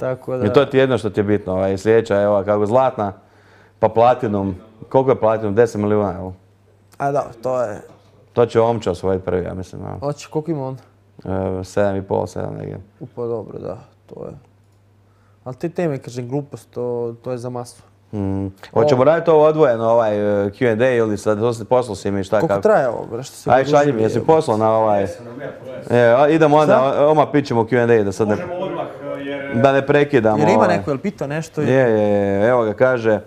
tako da... I to ti je jedno što ti je bitno. Sljedeća, evo, kako Zlatna, pa Platinum. Koliko je Platinum? 10 milijuna, evo. A da, to je... To će Omča osvojiti prvi, ja mislim. Hoće, koliko ima on? 7,5, 7 negdje. Pa dobro, da, to je... Ali te teme, kažem, glupost, to je za masu. Hoćemo raditi ovo odvojeno, ovaj Q&A ili sad poslao si mi šta kako? Koliko traje ovo, bre, što se Aj, šalji mi, jesi poslao na ovaj... Idemo onda, odmah pićemo Q&A da sad ne... Možemo odmah, Da ne prekidamo. Jer ima neko, jel pitao nešto? Je, evo ga kaže,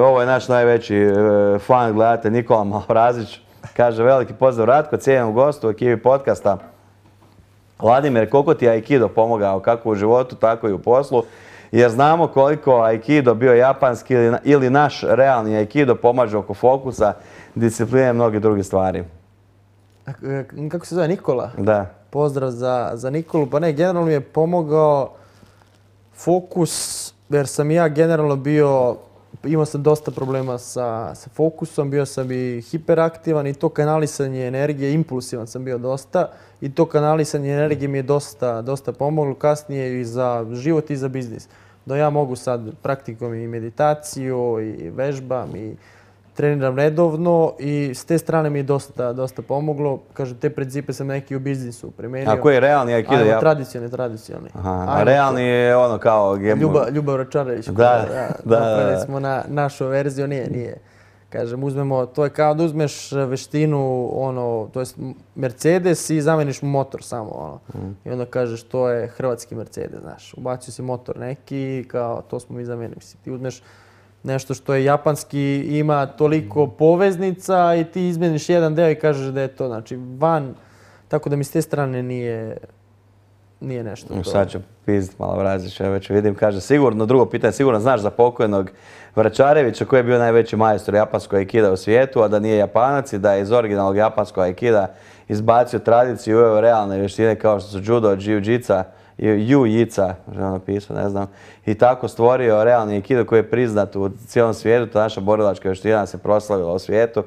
ovo je naš najveći fan, gledate, Nikola Malorazić. Kaže, veliki pozdrav Ratko, cijenjenom gostu u ekipi podcasta. Vladimir, koliko ti je Aikido pomogao, kako u životu, tako i u poslu? Jer znamo koliko Aikido, bio japanski ili naš realni Aikido, pomaže oko fokusa, discipline i mnogi drugi stvari. Kako se zove, Nikola? Da. Pozdrav za Nikolu. Pa ne, generalno mi je pomogao fokus, jer sam ja generalno bio, imao sam dosta problema sa fokusom, bio sam i hiperaktivan i to kanalisanje energije, impulsivan sam bio dosta i to kanalisanje energije mi je dosta pomoglo kasnije i za život i za biznis. Da ja mogu sad praktikom i meditaciju i vežbam i treniram redovno i s te strane mi je dosta pomoglo. Kažem, te principe sam neki u biznisu primenio. A koji je realni Aikido? Ajmo, tradicionalni. Aha, a realni je ono kao... Ljubav Račarević. Da. Napravili smo na našu verziju, nije. Kažem, uzmemo, to je kao da uzmeš veštinu, to je Mercedes i zameniš mu motor samo, I onda kažeš, to je hrvatski Mercedes, znaš. Ubacio si motor neki, kao, to smo mi zamenili. Ti uzmeš nešto što je japanski, ima toliko poveznica i ti izmeniš jedan deo i kažeš da je to, znači, van, tako da mi s te strane nije nešto. Sad ću pizdit malo vrazić, već vidim, kaže, sigurno, drugo pitanje, sigurno znaš za pokojnog Vračarevića koji je bio najveći majstor japanskog aikida u svijetu, a da nije Japanac i da je iz originalnog japanskog aikida izbacio tradiciju i uveo realne vještine kao što su judo, jiu-jitsa, ju-jica, možda napisao, ne znam, i tako stvorio realni aikido koji je priznat u cijelom svijetu, ta naša borilačka vještina se proslavila u svijetu.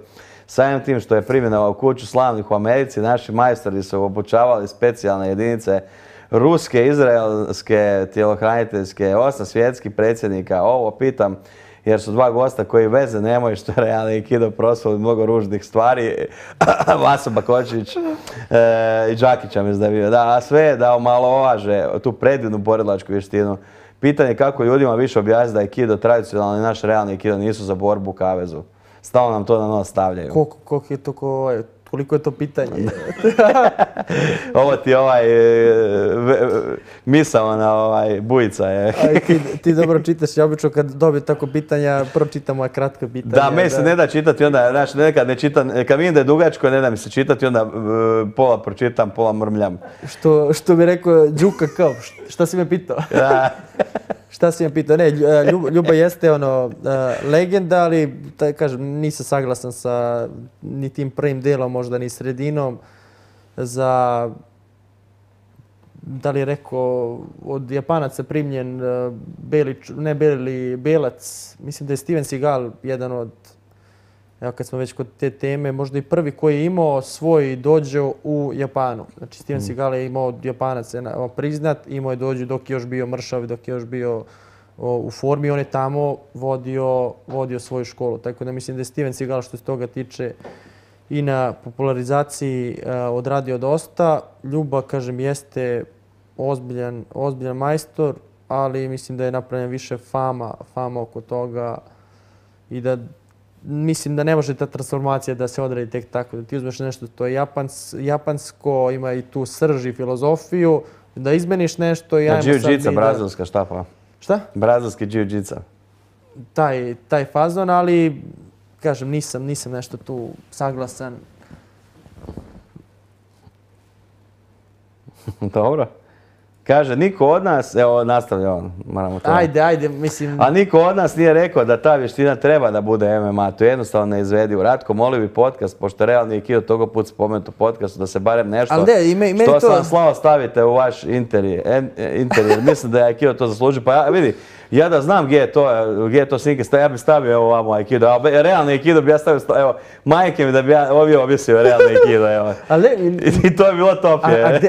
Samim tim što je primjena u kuću slavnih u Americi, naši majstori su obučavali specijalne jedinice ruske, izraelske, tjelohraniteljske, 8 svjetskih predsjednika. Ovo pitam jer su dva gosta koji veze nemaju što je realni aikido proslavili mnogo ružnih stvari. Vaso Bakočević i Đakića mislim da je bio. Da, a sve da omalovaže tu predivnu borilačku vještinu. Pitanje kako ljudima više objasniti da aikido tradicionalni naš realni aikido nisu za borbu u kavezu. Stalno nam to na nos stavljaju. Koliko je to pitanje? Ovo ti misao na bujica je. Ti dobro čitaš, ja obično kad dobijem tako pitanja, pročitam moja kratka pitanja. Da, meni se ne da čitati, onda, znači nekad ne čitam, kad vidim da je dugačko, ne da mi se čitati, onda pola pročitam, pola mrmljam. Što bi rekao Đuka kao, šta si me pitao? Šta si me pitao? Ne, Ljuba jeste legenda, ali kažem, nisam saglasan sa ni tim prvim delom, možda ni sredinom. Za, da li je rekao, od Japanaca primljen Belac, mislim da je Steven Seagal jedan od, evo kad smo već kod te teme, možda i prvi koji je imao svoj dođo u Japanu. Znači Steven Seagal je imao od Japanaca priznat, imao je dođu dok je još bio mršav, dok je još bio u formi, on je tamo vodio svoju školu. Tako da mislim da je Steven Seagal što se toga tiče i na popularizaciji odradio dosta. Ljuba, kažem, jeste ozbiljan majstor, ali mislim da je napravljen više fama oko toga i da mislim da ne može ta transformacija da se odradi tek tako. Da ti uzmeš nešto to je japansko, ima i tu srž i filozofiju, da izmeniš nešto i ajmo sad... Jiu-jitsa, brazilska, šta pa? Šta? Brazilski jiu-jitsa. Taj fazon, ali kažem, nisam nešto tu saglasan. Dobro. Kaže, niko od nas, evo nastavlja on, moramo to... Ajde, mislim... A niko od nas nije rekao da ta vještina treba da bude MMA, to je jednostavno neizvedivo. Ratko, molio bi podcast, pošto realni aikido toga put spomenut u podcastu, da se barem nešto što sam slao stavite u vaš interijer. Mislim da je aikido to zaslužio, pa vidi, ja da znam gdje je to sinke, ja bi stavio evo ovamo aikido, a realni aikido bi ja stavio, evo, majke mi da bi ja ovdje objesio realni aikido, evo. I to je bilo top.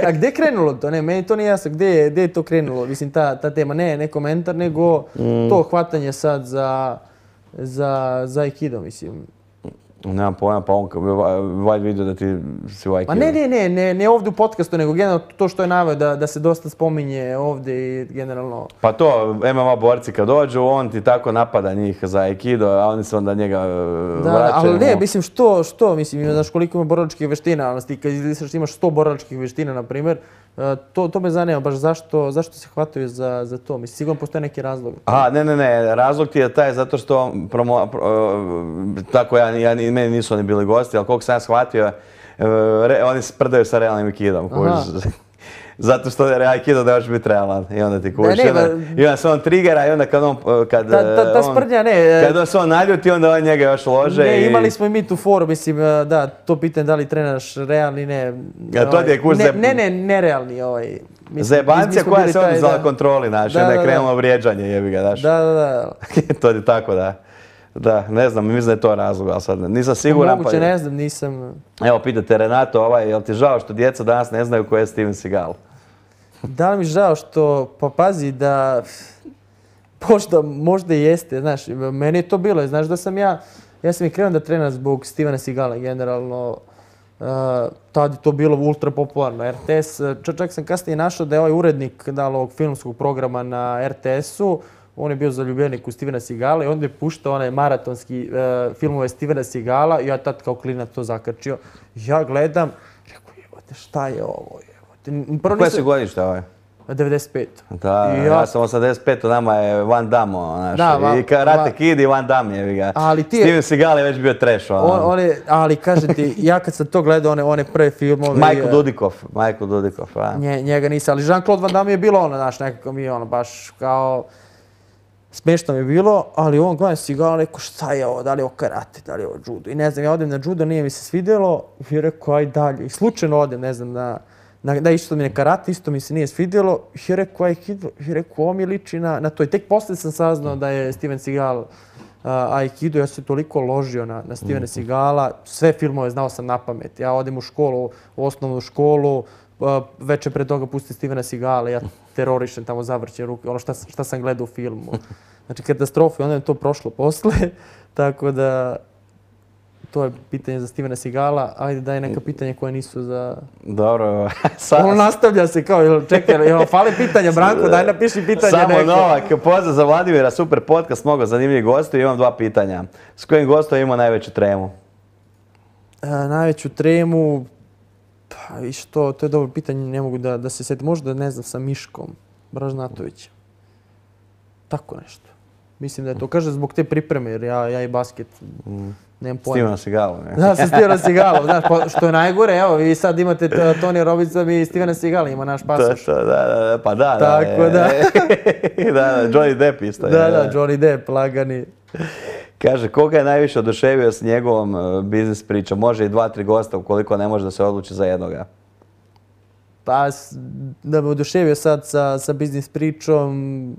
A gdje je krenulo to? Ne, meni to nije jasno, gdje je to krenulo? Mislim, ta tema, ne komentar, nego to hvatanje sad za aikido, mislim. Nemam pojma, pa on valjda vidio da ti si u Pa Aikidu. ne ovdje u podcastu, nego generalno to što je naveo da se dosta spominje ovdje i generalno... Pa to, MMA borci kad dođu, on ti tako napada njih za Aikido, a oni se onda njega vraćaju. Ali ne, mislim mislim, znaš koliko ima borilačkih veština, ali ti kad izlisaš imaš 100 borilačkih veština, na primjer, to me zanima baš zašto se hvataju za to, mislim, sigurno postoje neki razlog. Aha, ne, razlog ti je taj zato što tako meni nisu oni bili gosti, ali koliko sam ja shvatio, oni sprdaju sa realnim Aikidom. Zato što je Aikido da još biti realan i onda ti kužiš. I onda se on triggera i onda Ta sprdnja, kad se on naljuti, onda on njega još lože. Ne, imali smo i mi tu foru, mislim, da, to pitanje da li trenaš realni, ne. To ti je kurs nerealni. Zebancija koja se oduzela kontroli, znaš, onda je krenulo vrijeđanje, jebi ga, znaš. Da. To je tako, da. Da, ne znam, mislim da je to razlog, ali sad nisam siguran. Moguće, ne znam, nisam... Evo, pitate Renato, jel ti žao što djeca danas ne znaju ko je Steven Seagal? Da li mi žao što, pa pazi da... Možda i jeste, znaš, meni je to bilo, znaš da sam ja sam i krenuo da trenam zbog Stevena Seagala, generalno, tad je to bilo ultra popularno, RTS, čak sam kasnije našao da je ovaj urednik ovog filmskog programa na RTS-u, on je bio zaljubljenik u Stevena Seagala i onda je puštao onaj maratonski filmove Stevena Seagala i ja tad kao klinac to zakačio. Ja gledam, rekao, jebote, šta je ovo? Koje si godište ovaj? 95. Da, ja sam 85, nama je Van Damme, znaš, i Karate Kid i Van Damme, jevi ga. Steven Seagal je već bio trash, ali kažem ti, ja kad sam to gledao, one prve filmove... Michael Dudikoff, a? Njega nisam, ali Jean-Claude Van Damme je bilo ono, znaš, nekako mi je ono, baš kao... Smiješno mi je bilo, ali on gledam Seagala, rekao šta je ovo, da li je ovo karate, da li je ovo judo. I ne znam, ja odem na judo, nije mi se svidjelo i rekao aj dalje. I slučajno odem, ne znam, da isto mi je karate, isto mi se nije svidjelo. I rekao aikido, i rekao ovo mi liči na to. I tek poslije sam saznao da je Steven Seagal aikido, ja sam toliko ložio na Stevena Seagala, sve filmove znao sam na pamet. Ja odem u školu, u osnovnu školu, večer pre toga pusti Stevena Seagala, ja terorišem tamo, zavrćem ruke, ono šta sam gledao u filmu. Znači katastrofa, onda je to prošlo posle, tako da to je pitanje za Stevena Seagala. Ajde daj neka pitanja koja nisu za... Dobro. Ono nastavlja se kao, čekaj, fali pitanja, Branko, daj napiši pitanja neko. Samo Novak, pozdrav za Vladimira, super podcast, mnogo zanimljivih gostiju, imam 2 pitanja. S kojim gostom imao najveću tremu? Najveću tremu... Pa i što, to je dobro pitanje, ne mogu da se sjetim. Možda, ne znam, sa Miškom Bražnatovićem. Tako nešto. Mislim da je to. Kaže zbog te pripreme, jer ja i basket nemam pojma. Steven Seagalom, ne? Da, sa Stevenom Seagalom. Znaš, što je najgore, evo, vi sad imate Tony Robbinson i Stevena Seagala, ima naš pasoš. Pa da. Tako da. Da, Johnny Depp isto. Da, Johnny Depp, lagani. Kaže, koga je najviše oduševio s njegovom biznis pričom? Može i 2-3 gosta ukoliko ne može da se odluči za jednoga. Pa, da me oduševio sad sa biznis pričom,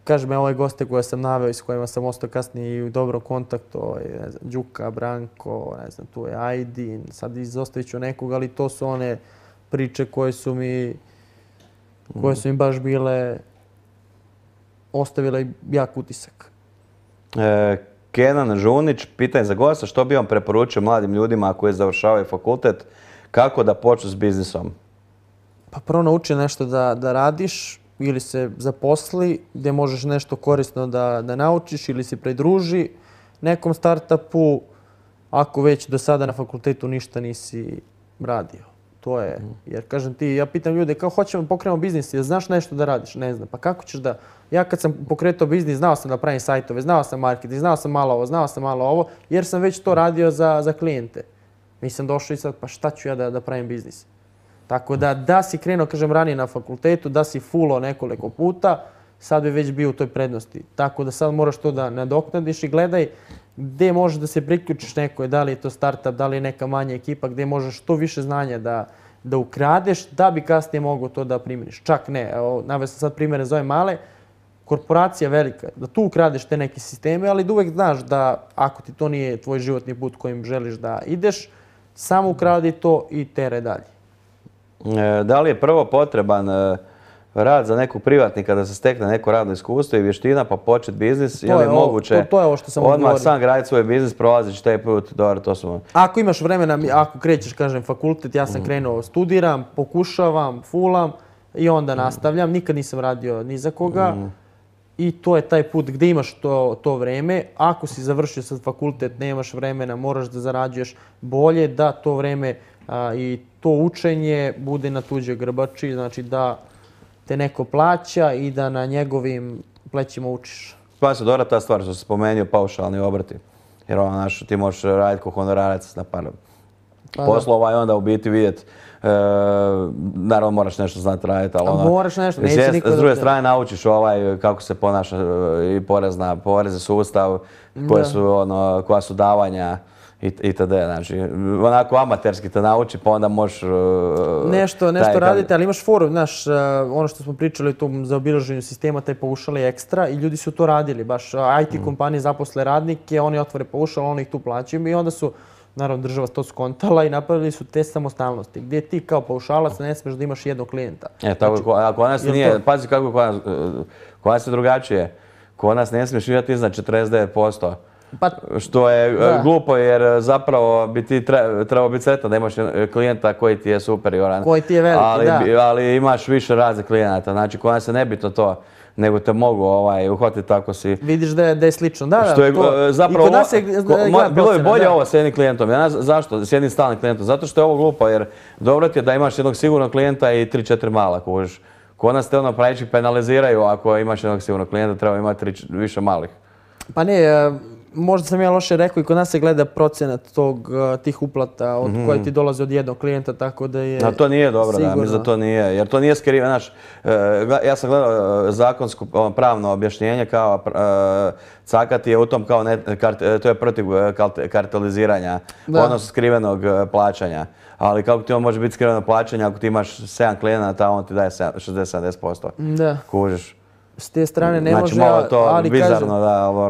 kažem, ovaj goste koje sam naveo i s kojima sam ostao kasnije i u dobrom kontaktu, ne znam, Đuka, Branko, ne znam, tu je Ajdin, sad izostavit ću nekog, ali to su one priče koje su mi baš bile, ostavile jak utisak. Kenan Žunić, pitanje za gosta, što bi vam preporučio mladim ljudima koji završavaju fakultet, kako da počnu s biznisom? Pa prvo nauči nešto da radiš ili se zaposli gdje možeš nešto korisno da naučiš ili se pridruži nekom startupu ako već do sada na fakultetu ništa nisi radio. To je, jer kažem ti, ja pitam ljude kao hoćemo pokrenemo biznis, jel znaš nešto da radiš? Ne znam, pa kako ćeš da... Ja kad sam pokretao biznis, znao sam da pravim sajtove, znao sam marketing, znao sam malo ovo, jer sam već to radio za klijente. Nisam došao i sad, pa šta ću ja da pravim biznis? Tako da si krenuo, kažem, ranije na fakultetu, da si fulao nekoliko puta, sad bi već bio u toj prednosti. Tako da sad moraš to da nadoknadiš i gledaj gdje možeš da se priključiš nekoj, da li je to startup, da li je neka manja ekipa, gdje možeš što više znanja da ukradeš, da bi kasnije mogao to da primjeniš. Čak ne, naveo sam sad primjere za ove male, korporacija velika, da tu ukradeš te neke sisteme, ali da uvek znaš da ako ti to nije tvoj životni put kojim želiš da ideš, samo ukradi to i tere dalje. Da li je prvo potreban rad za nekog privatnika da se stekne neko radno iskustvo i vještina pa početi biznis, je li moguće to je ovo što sam odmah odgovorio. sam graditi svoj biznis, prolazići taj put, dobro, to smo... Ako imaš vremena, ako krećeš, kažem, fakultet, ja sam krenuo, studiram, pokušavam, fulam i onda nastavljam. Nikad nisam radio ni za koga. I to je taj put gdje imaš to vreme. Ako si završio sad fakultet, nemaš vremena, moraš da zarađuješ bolje, da to vreme i to učenje bude na tuđoj grbači, znači da te neko plaća i da na njegovim plećima učiš. Pa se dobra ta stvar što si spomenuo, paušalni obrti. Jer ti možeš raditi kao honorarac na par poslova i onda u biti vidjeti. Naravno moraš nešto znati raditi, ali moraš nešto, neće niko s druge strane naučiš kako se ponaša i porezni sustav, koja su davanja itd. Znači, onako amaterski te nauči, pa onda možeš... Nešto raditi, ali imaš forum, znaš, ono što smo pričali o tom zaobilaženju sistema, taj paušal je ekstra i ljudi su to radili, baš IT kompanije zaposle radnike, oni otvore paušal, oni ih tu plaćaju i onda su, naravno, država to skontala i napravili su te samostalnosti, gdje ti kao paušalac ne smiješ da imaš jednog klijenta. Tako, a kod nas nije, pazi kako kod nas je drugačije. Kod nas ne smiješ imati iznad 49%. Što je glupo jer zapravo bi ti trebao biti sretan da imaš klijenta koji ti je superioran. Koji ti je veliki, da. Ali imaš više raznih klijenata. Znači, kod nas je nebitno to, nego te mogu uhvatiti tako si... Vidiš da je slično. Da, što je zapravo... Bilo je bolje ovo s jednim klijentom. Zašto? S jednim stalnim klijentom. Zato što je ovo glupo jer dobro ti je da imaš jednog sigurnog klijenta i 3-4 mala kužiš. Kod nas te pravići penaliziraju ako imaš jednog sigurnog klijenta, treba imati više malih. Pa ne, možda sam ja loše rekao i kod nas se gleda procenat tih uplata od koje ti dolaze od jednog klijenta, tako da je... A to nije dobro, da, mislim da to nije, jer to nije skriveno, znaš, ja sam gledao zakonsko pravno objašnjenje kao cakati je u tom kao, to je protiv karteliziranja, odnosno skrivenog plaćanja. Ali kako ti on može biti skriveno plaćanje ako ti imaš 7 klijenata, on ti daje 60-70%. Da. Kužiš. S te strane ne može,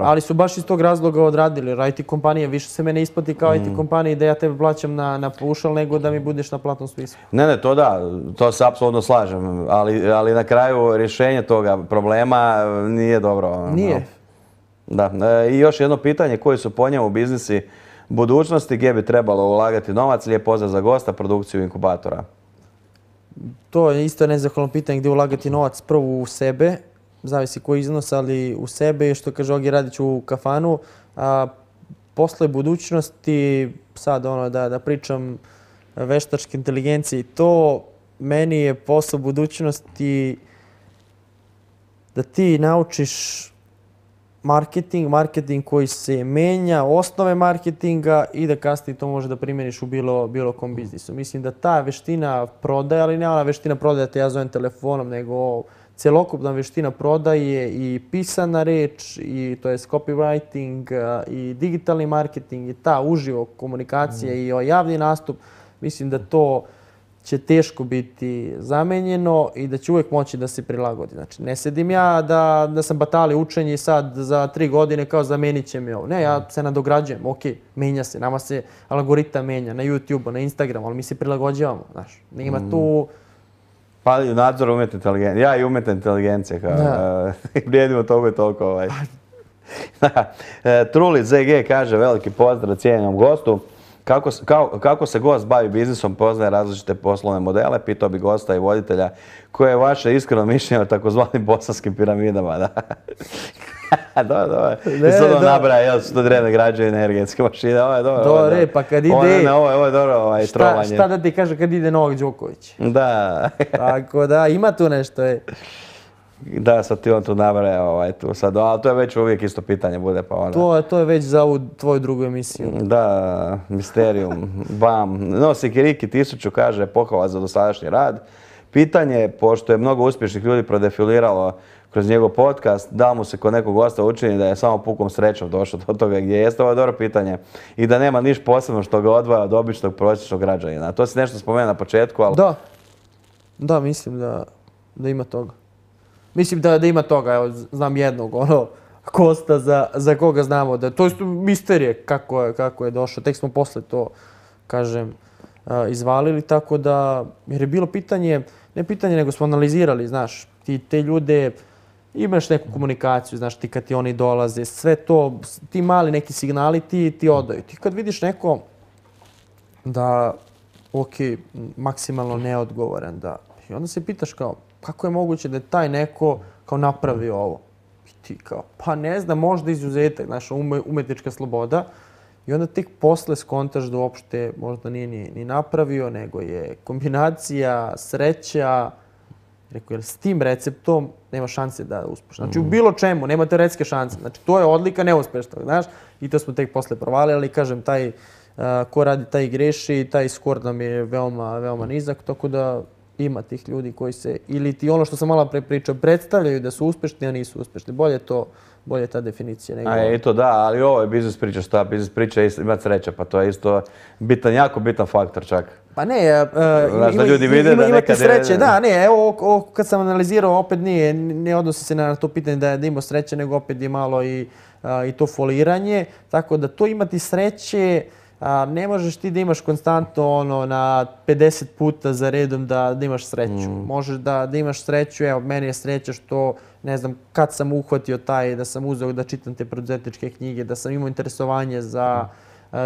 ali su baš iz tog razloga odradili. IT kompanije, više se mene isplati kao IT kompanije da ja tebe plaćam na paušal nego da mi budeš na platnom spisku. Ne, to da, to se apsolutno slažem, ali na kraju rješenje toga problema nije dobro. Nije. Da, i još jedno pitanje, koji su po njemu biznisi budućnosti, gdje bi trebalo ulagati novac, lijep pozdrav za gosta, produkciju inkubatora? To je isto nezahvalno pitanje gdje ulagati novac, prvo u sebe, zavisi koji iznos, ali u sebe, što kaže Ogi Radić u kafanu. Posle budućnosti, sad da pričam veštačke inteligencije i to, meni je posao budućnosti da ti naučiš marketing koji se menja, osnove marketinga i da kasnije to može da primjeniš u bilo kom biznisu. Mislim da ta veština prodaje, ali ne ona veština prodaje te ja zovem telefonom, nego celokupna veština prodaje i pisana reč, i to je copywriting, i digitalni marketing, i ta uživo komunikacija i javni nastup. Mislim da to će teško biti zamenjeno i da će uvijek moći da se prilagodi. Znači, ne sedim ja da sam batali učenje i sad za 3 godine kao zamenit će mi ovo. Ne, ja se nadograđujem, ok, menja se, nama se algoritam menja na YouTube, na Instagramu, ali mi se prilagođavamo, znaš. Nema tu... Pa nadzor umjetne inteligencije. Ja i umjetna inteligencija. Vrijedimo toliko i toliko. Truli ZG kaže veliki pozdrav cijenjenom gostu. Kako se gost bavi biznisom, poznaje različite poslovne modele, pitao bi gosta i voditelja koje je vaše iskreno mišljenje o takozvanim bosanskim piramidama. Dobro. I sad on nabraja, jel su to drevne građevine, energetske mašine, ovo je dobro. Dobre, pa kad ide... Ovo je dobro, trovanje. Šta da ti kaže kad ide Novak Đoković? Da. Tako da, ima tu nešto, Da, sad ti on tu nabraja tu sad, ali to je već uvijek isto pitanje bude pa onda. To je već za ovu tvoju drugu emisiju. Da, Misterium, bam. No, Sikiriki 1000 kaže pohvala za dosadašnji rad. Pitanje, pošto je mnogo uspješnih ljudi prodefiliralo kroz njegov podcast, da mu se kod nekog gosta učini da je samo pukom srećom došao do toga gdje jeste, ovo je dobro pitanje. I da nema niš posebno što ga odvaja od običnog prosječnog građanina. To si nešto spomenuo na početku, ali... Da, mislim da ima toga. Mislim da ima toga, evo, znam jednog, Kosta za koga znamo da... To je misterije kako je došao, tek smo posle to, kažem, izvalili, tako da... Jer je bilo pitanje, ne pitanje, nego smo analizirali, znaš, Ti te ljude, imaš neku komunikaciju, znaš, ti kad ti oni dolaze, sve to, ti mali neki signali ti odaju. Ti kad vidiš neko da, ok, maksimalno neodgovoran, da, i onda se pitaš kao, kako je moguće da je taj neko kao napravi ovo? I ti kao, pa ne znam, možda izuzetak, znaš, umetnička sloboda. I onda tek posle skontaš da uopšte možda nije ni napravio, nego je kombinacija, sreća. Rekao, jer s tim receptom nema šanse da uspeš. Znači, u bilo čemu nema teoretske šanse. Znači, to je odlika neuspešnog, znaš. I to smo tek posle provalili, ali kažem, taj ko radi, taj i greši, taj skor nam je veoma, veoma nizak, tako da ima tih ljudi koji se, ili ti ono što sam malo pre pričao, predstavljaju da su uspešni, a nisu uspešni. Bolje ta definicija nego... I to da, ali ovo je biznis priča, šta? Biznis priča je ima sreća, pa to je isto bitan, jako bitan faktor čak. Pa ne, znaš, da ljudi vide da imate nekad sreće, da, ne, evo kad sam analizirao, opet ne odnosi se na to pitanje da ima sreće, nego opet je malo i to foliranje, tako da to imati sreće, ne možeš ti da imaš konstantno ono na 50 puta za redom da imaš sreću. Možeš da imaš sreću, evo, meni je sreća što, ne znam, kad sam uhvatio da sam uzeo da čitam te preduzetničke knjige, da sam imao interesovanje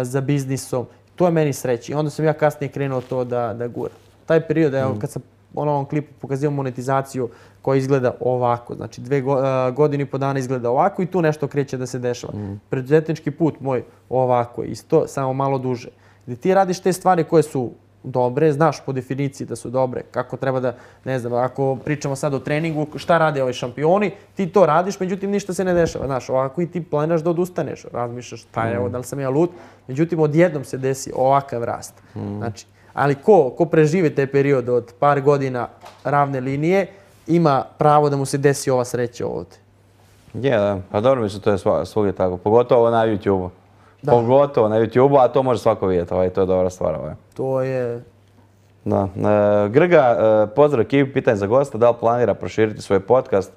za biznisom. To je meni sreća. I onda sam ja kasnije krenuo to da guram. Taj period, evo, kad sam u ovom klipu pokazivao monetizaciju koja izgleda ovako, znači 2 godine i po dana izgleda ovako i tu nešto kreće da se dešava. Preduzetnički put moj ovako, isto, samo malo duže. Gdje ti radiš te stvari koje su dobre, znaš po definiciji da su dobre, kako treba da, ne znam, ako pričamo sad o treningu, šta rade ovi šampioni, ti to radiš, međutim ništa se ne dešava, znaš, ovako i ti planiraš da odustaneš, razmišljaš šta je ovo, da li sam ja lud, međutim odjednom se desi ovakav rast. Znači, ali ko preživi taj period od par godina ravne linije, ima pravo da mu se desi ova sreća ovdje. Je, da. Pa dobro, mislim, to je svugdje tako. Pogotovo na YouTube-u. Pogotovo na YouTube-u, a to može svako vidjeti. To je dobra stvar. To je... Da. Grga, pozdrav ekipi, pitanje za gosta. Da li planira proširiti svoj podcast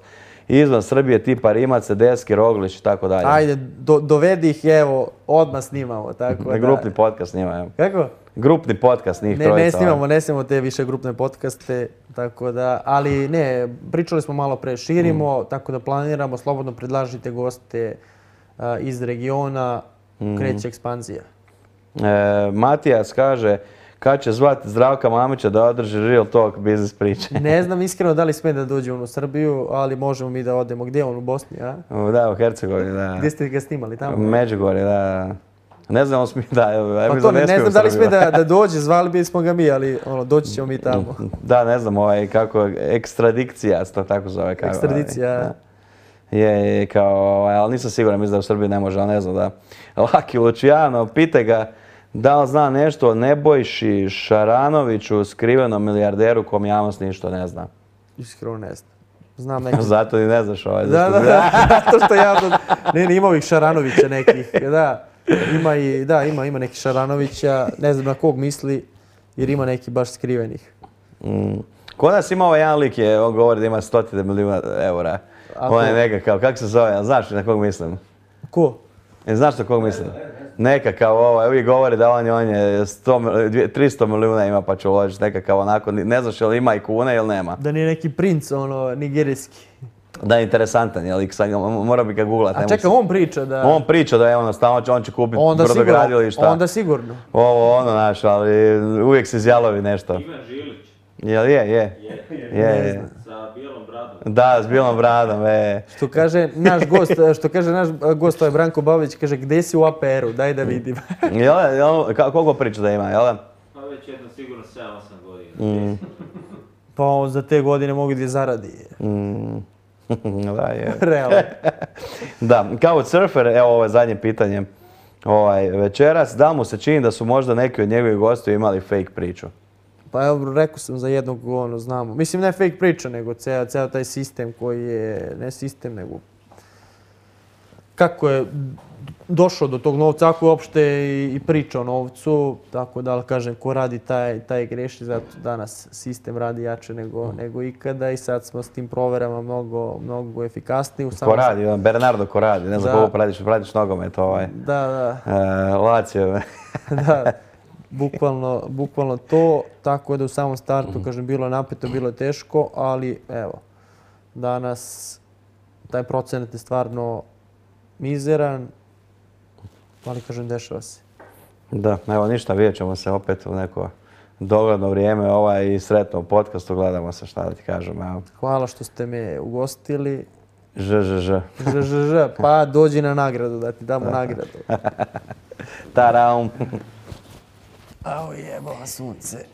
izvan Srbije tipa Rimac, Deski, Roglić i tako dalje? Ajde, dovedi ih, evo, odmah snimamo. Grupni podcast snima, Kako? Grupni podcast, njih trojica. Ne snimamo te više grupne podcaste, tako da, ali ne, pričali smo malo pre, širimo, tako da planiramo, slobodno predlažite goste iz regiona, kreće ekspanzija. Matijas kaže, kad će zvati Zdravka Mamića da održi Real Talk biznis priče? Ne znam iskreno da li sme da dođe on u Srbiju, ali možemo mi da odemo. Gdje je on, u Bosni, a? Da, u Hercegovini, da. Gdje ste ga snimali, tamo? Međugorje, da. Ne znam, pa to ne znam da li sme da dođe, zvali bismo ga mi, ali doći ćemo mi tamo. Da, ne znam, kako, ekstradikcija, to tako zove. Ekstradicija. Je, kao, ali nisam siguran, mislim da u Srbiji ne može, ali ne znam da. Laki Luciano, pitaj ga da li zna nešto o Nebojši Šaranoviću, skrivenom milijarderu kom javnost ništa ne zna. Iskreno ne znam. Znam neki... Zato ni ne znaš ovaj. Da, to što javno... Ne, ima ovih Šaranovića nekih, da. Ima neki Šaranovića, ne znam na kog misli, jer ima neki baš skrivenih. Kod nas ima ovaj jedan lik, on govori da ima 100 milijuna eura. On je nekakav, kako se zove, znaš na kog mislim? Ko? Znaš na kog mislim? Nekakav uvijek govori da on je 300 milijuna ima pa će uložiti nekakav onako, ne znaš je li ima i kune ili nema. Da nije neki princ, nigerijski. Da je interesantan, je lik, mora bi ga googlati. A čekaj, on priča da... On priča da je on će kupiti brodogradilišta. Onda sigurno. Ovo, naš, ali uvijek se izjalovi nešto. Ivan Žilić. Jel je? Je. Sa bijelom bradom. Da, s bijelom bradom, Što kaže naš gost, to je Branko Babić, kaže gdje si u APR-u, daj da vidim. Koliko priča da ima, jel? Pa već jedno sigurno 7-8 godina. Pa za te godine mogu da zaradi. Da, je. Realno. Da, kao surfer, evo ovo je zadnje pitanje večeras, da mu se čini da su možda neki od njegovih gostiju imali fake priču? Pa evo, rekao sam za jednog, znamo. Mislim, ne fake priča, nego ceo taj sistem koji je, ne sistem, nego kako je došao do tog novca, ako je uopšte i priča o novcu, tako da, ali kažem, ko radi taj greši, zato danas sistem radi jače nego ikada i sad smo s tim proverama mnogo efikasniji. Ko radi, Bernardo ko radi, ne znam koliko pratiš nogomet, Da. Lazio. Da, bukvalno to, tako da u samom startu, kažem, bilo je napeto, bilo je teško, ali evo, Danas taj procenat je stvarno mizeran, ali kažem, dešava se. Da, evo ništa, vidjet ćemo se opet u neko dogledno vrijeme i sretno u podcastu, gledamo se, šta da ti kažem. Evo. Hvala što ste me ugostili. Ž. Pa dođi na nagradu, da ti damo nagradu. Taraum. Au jebo, sunce.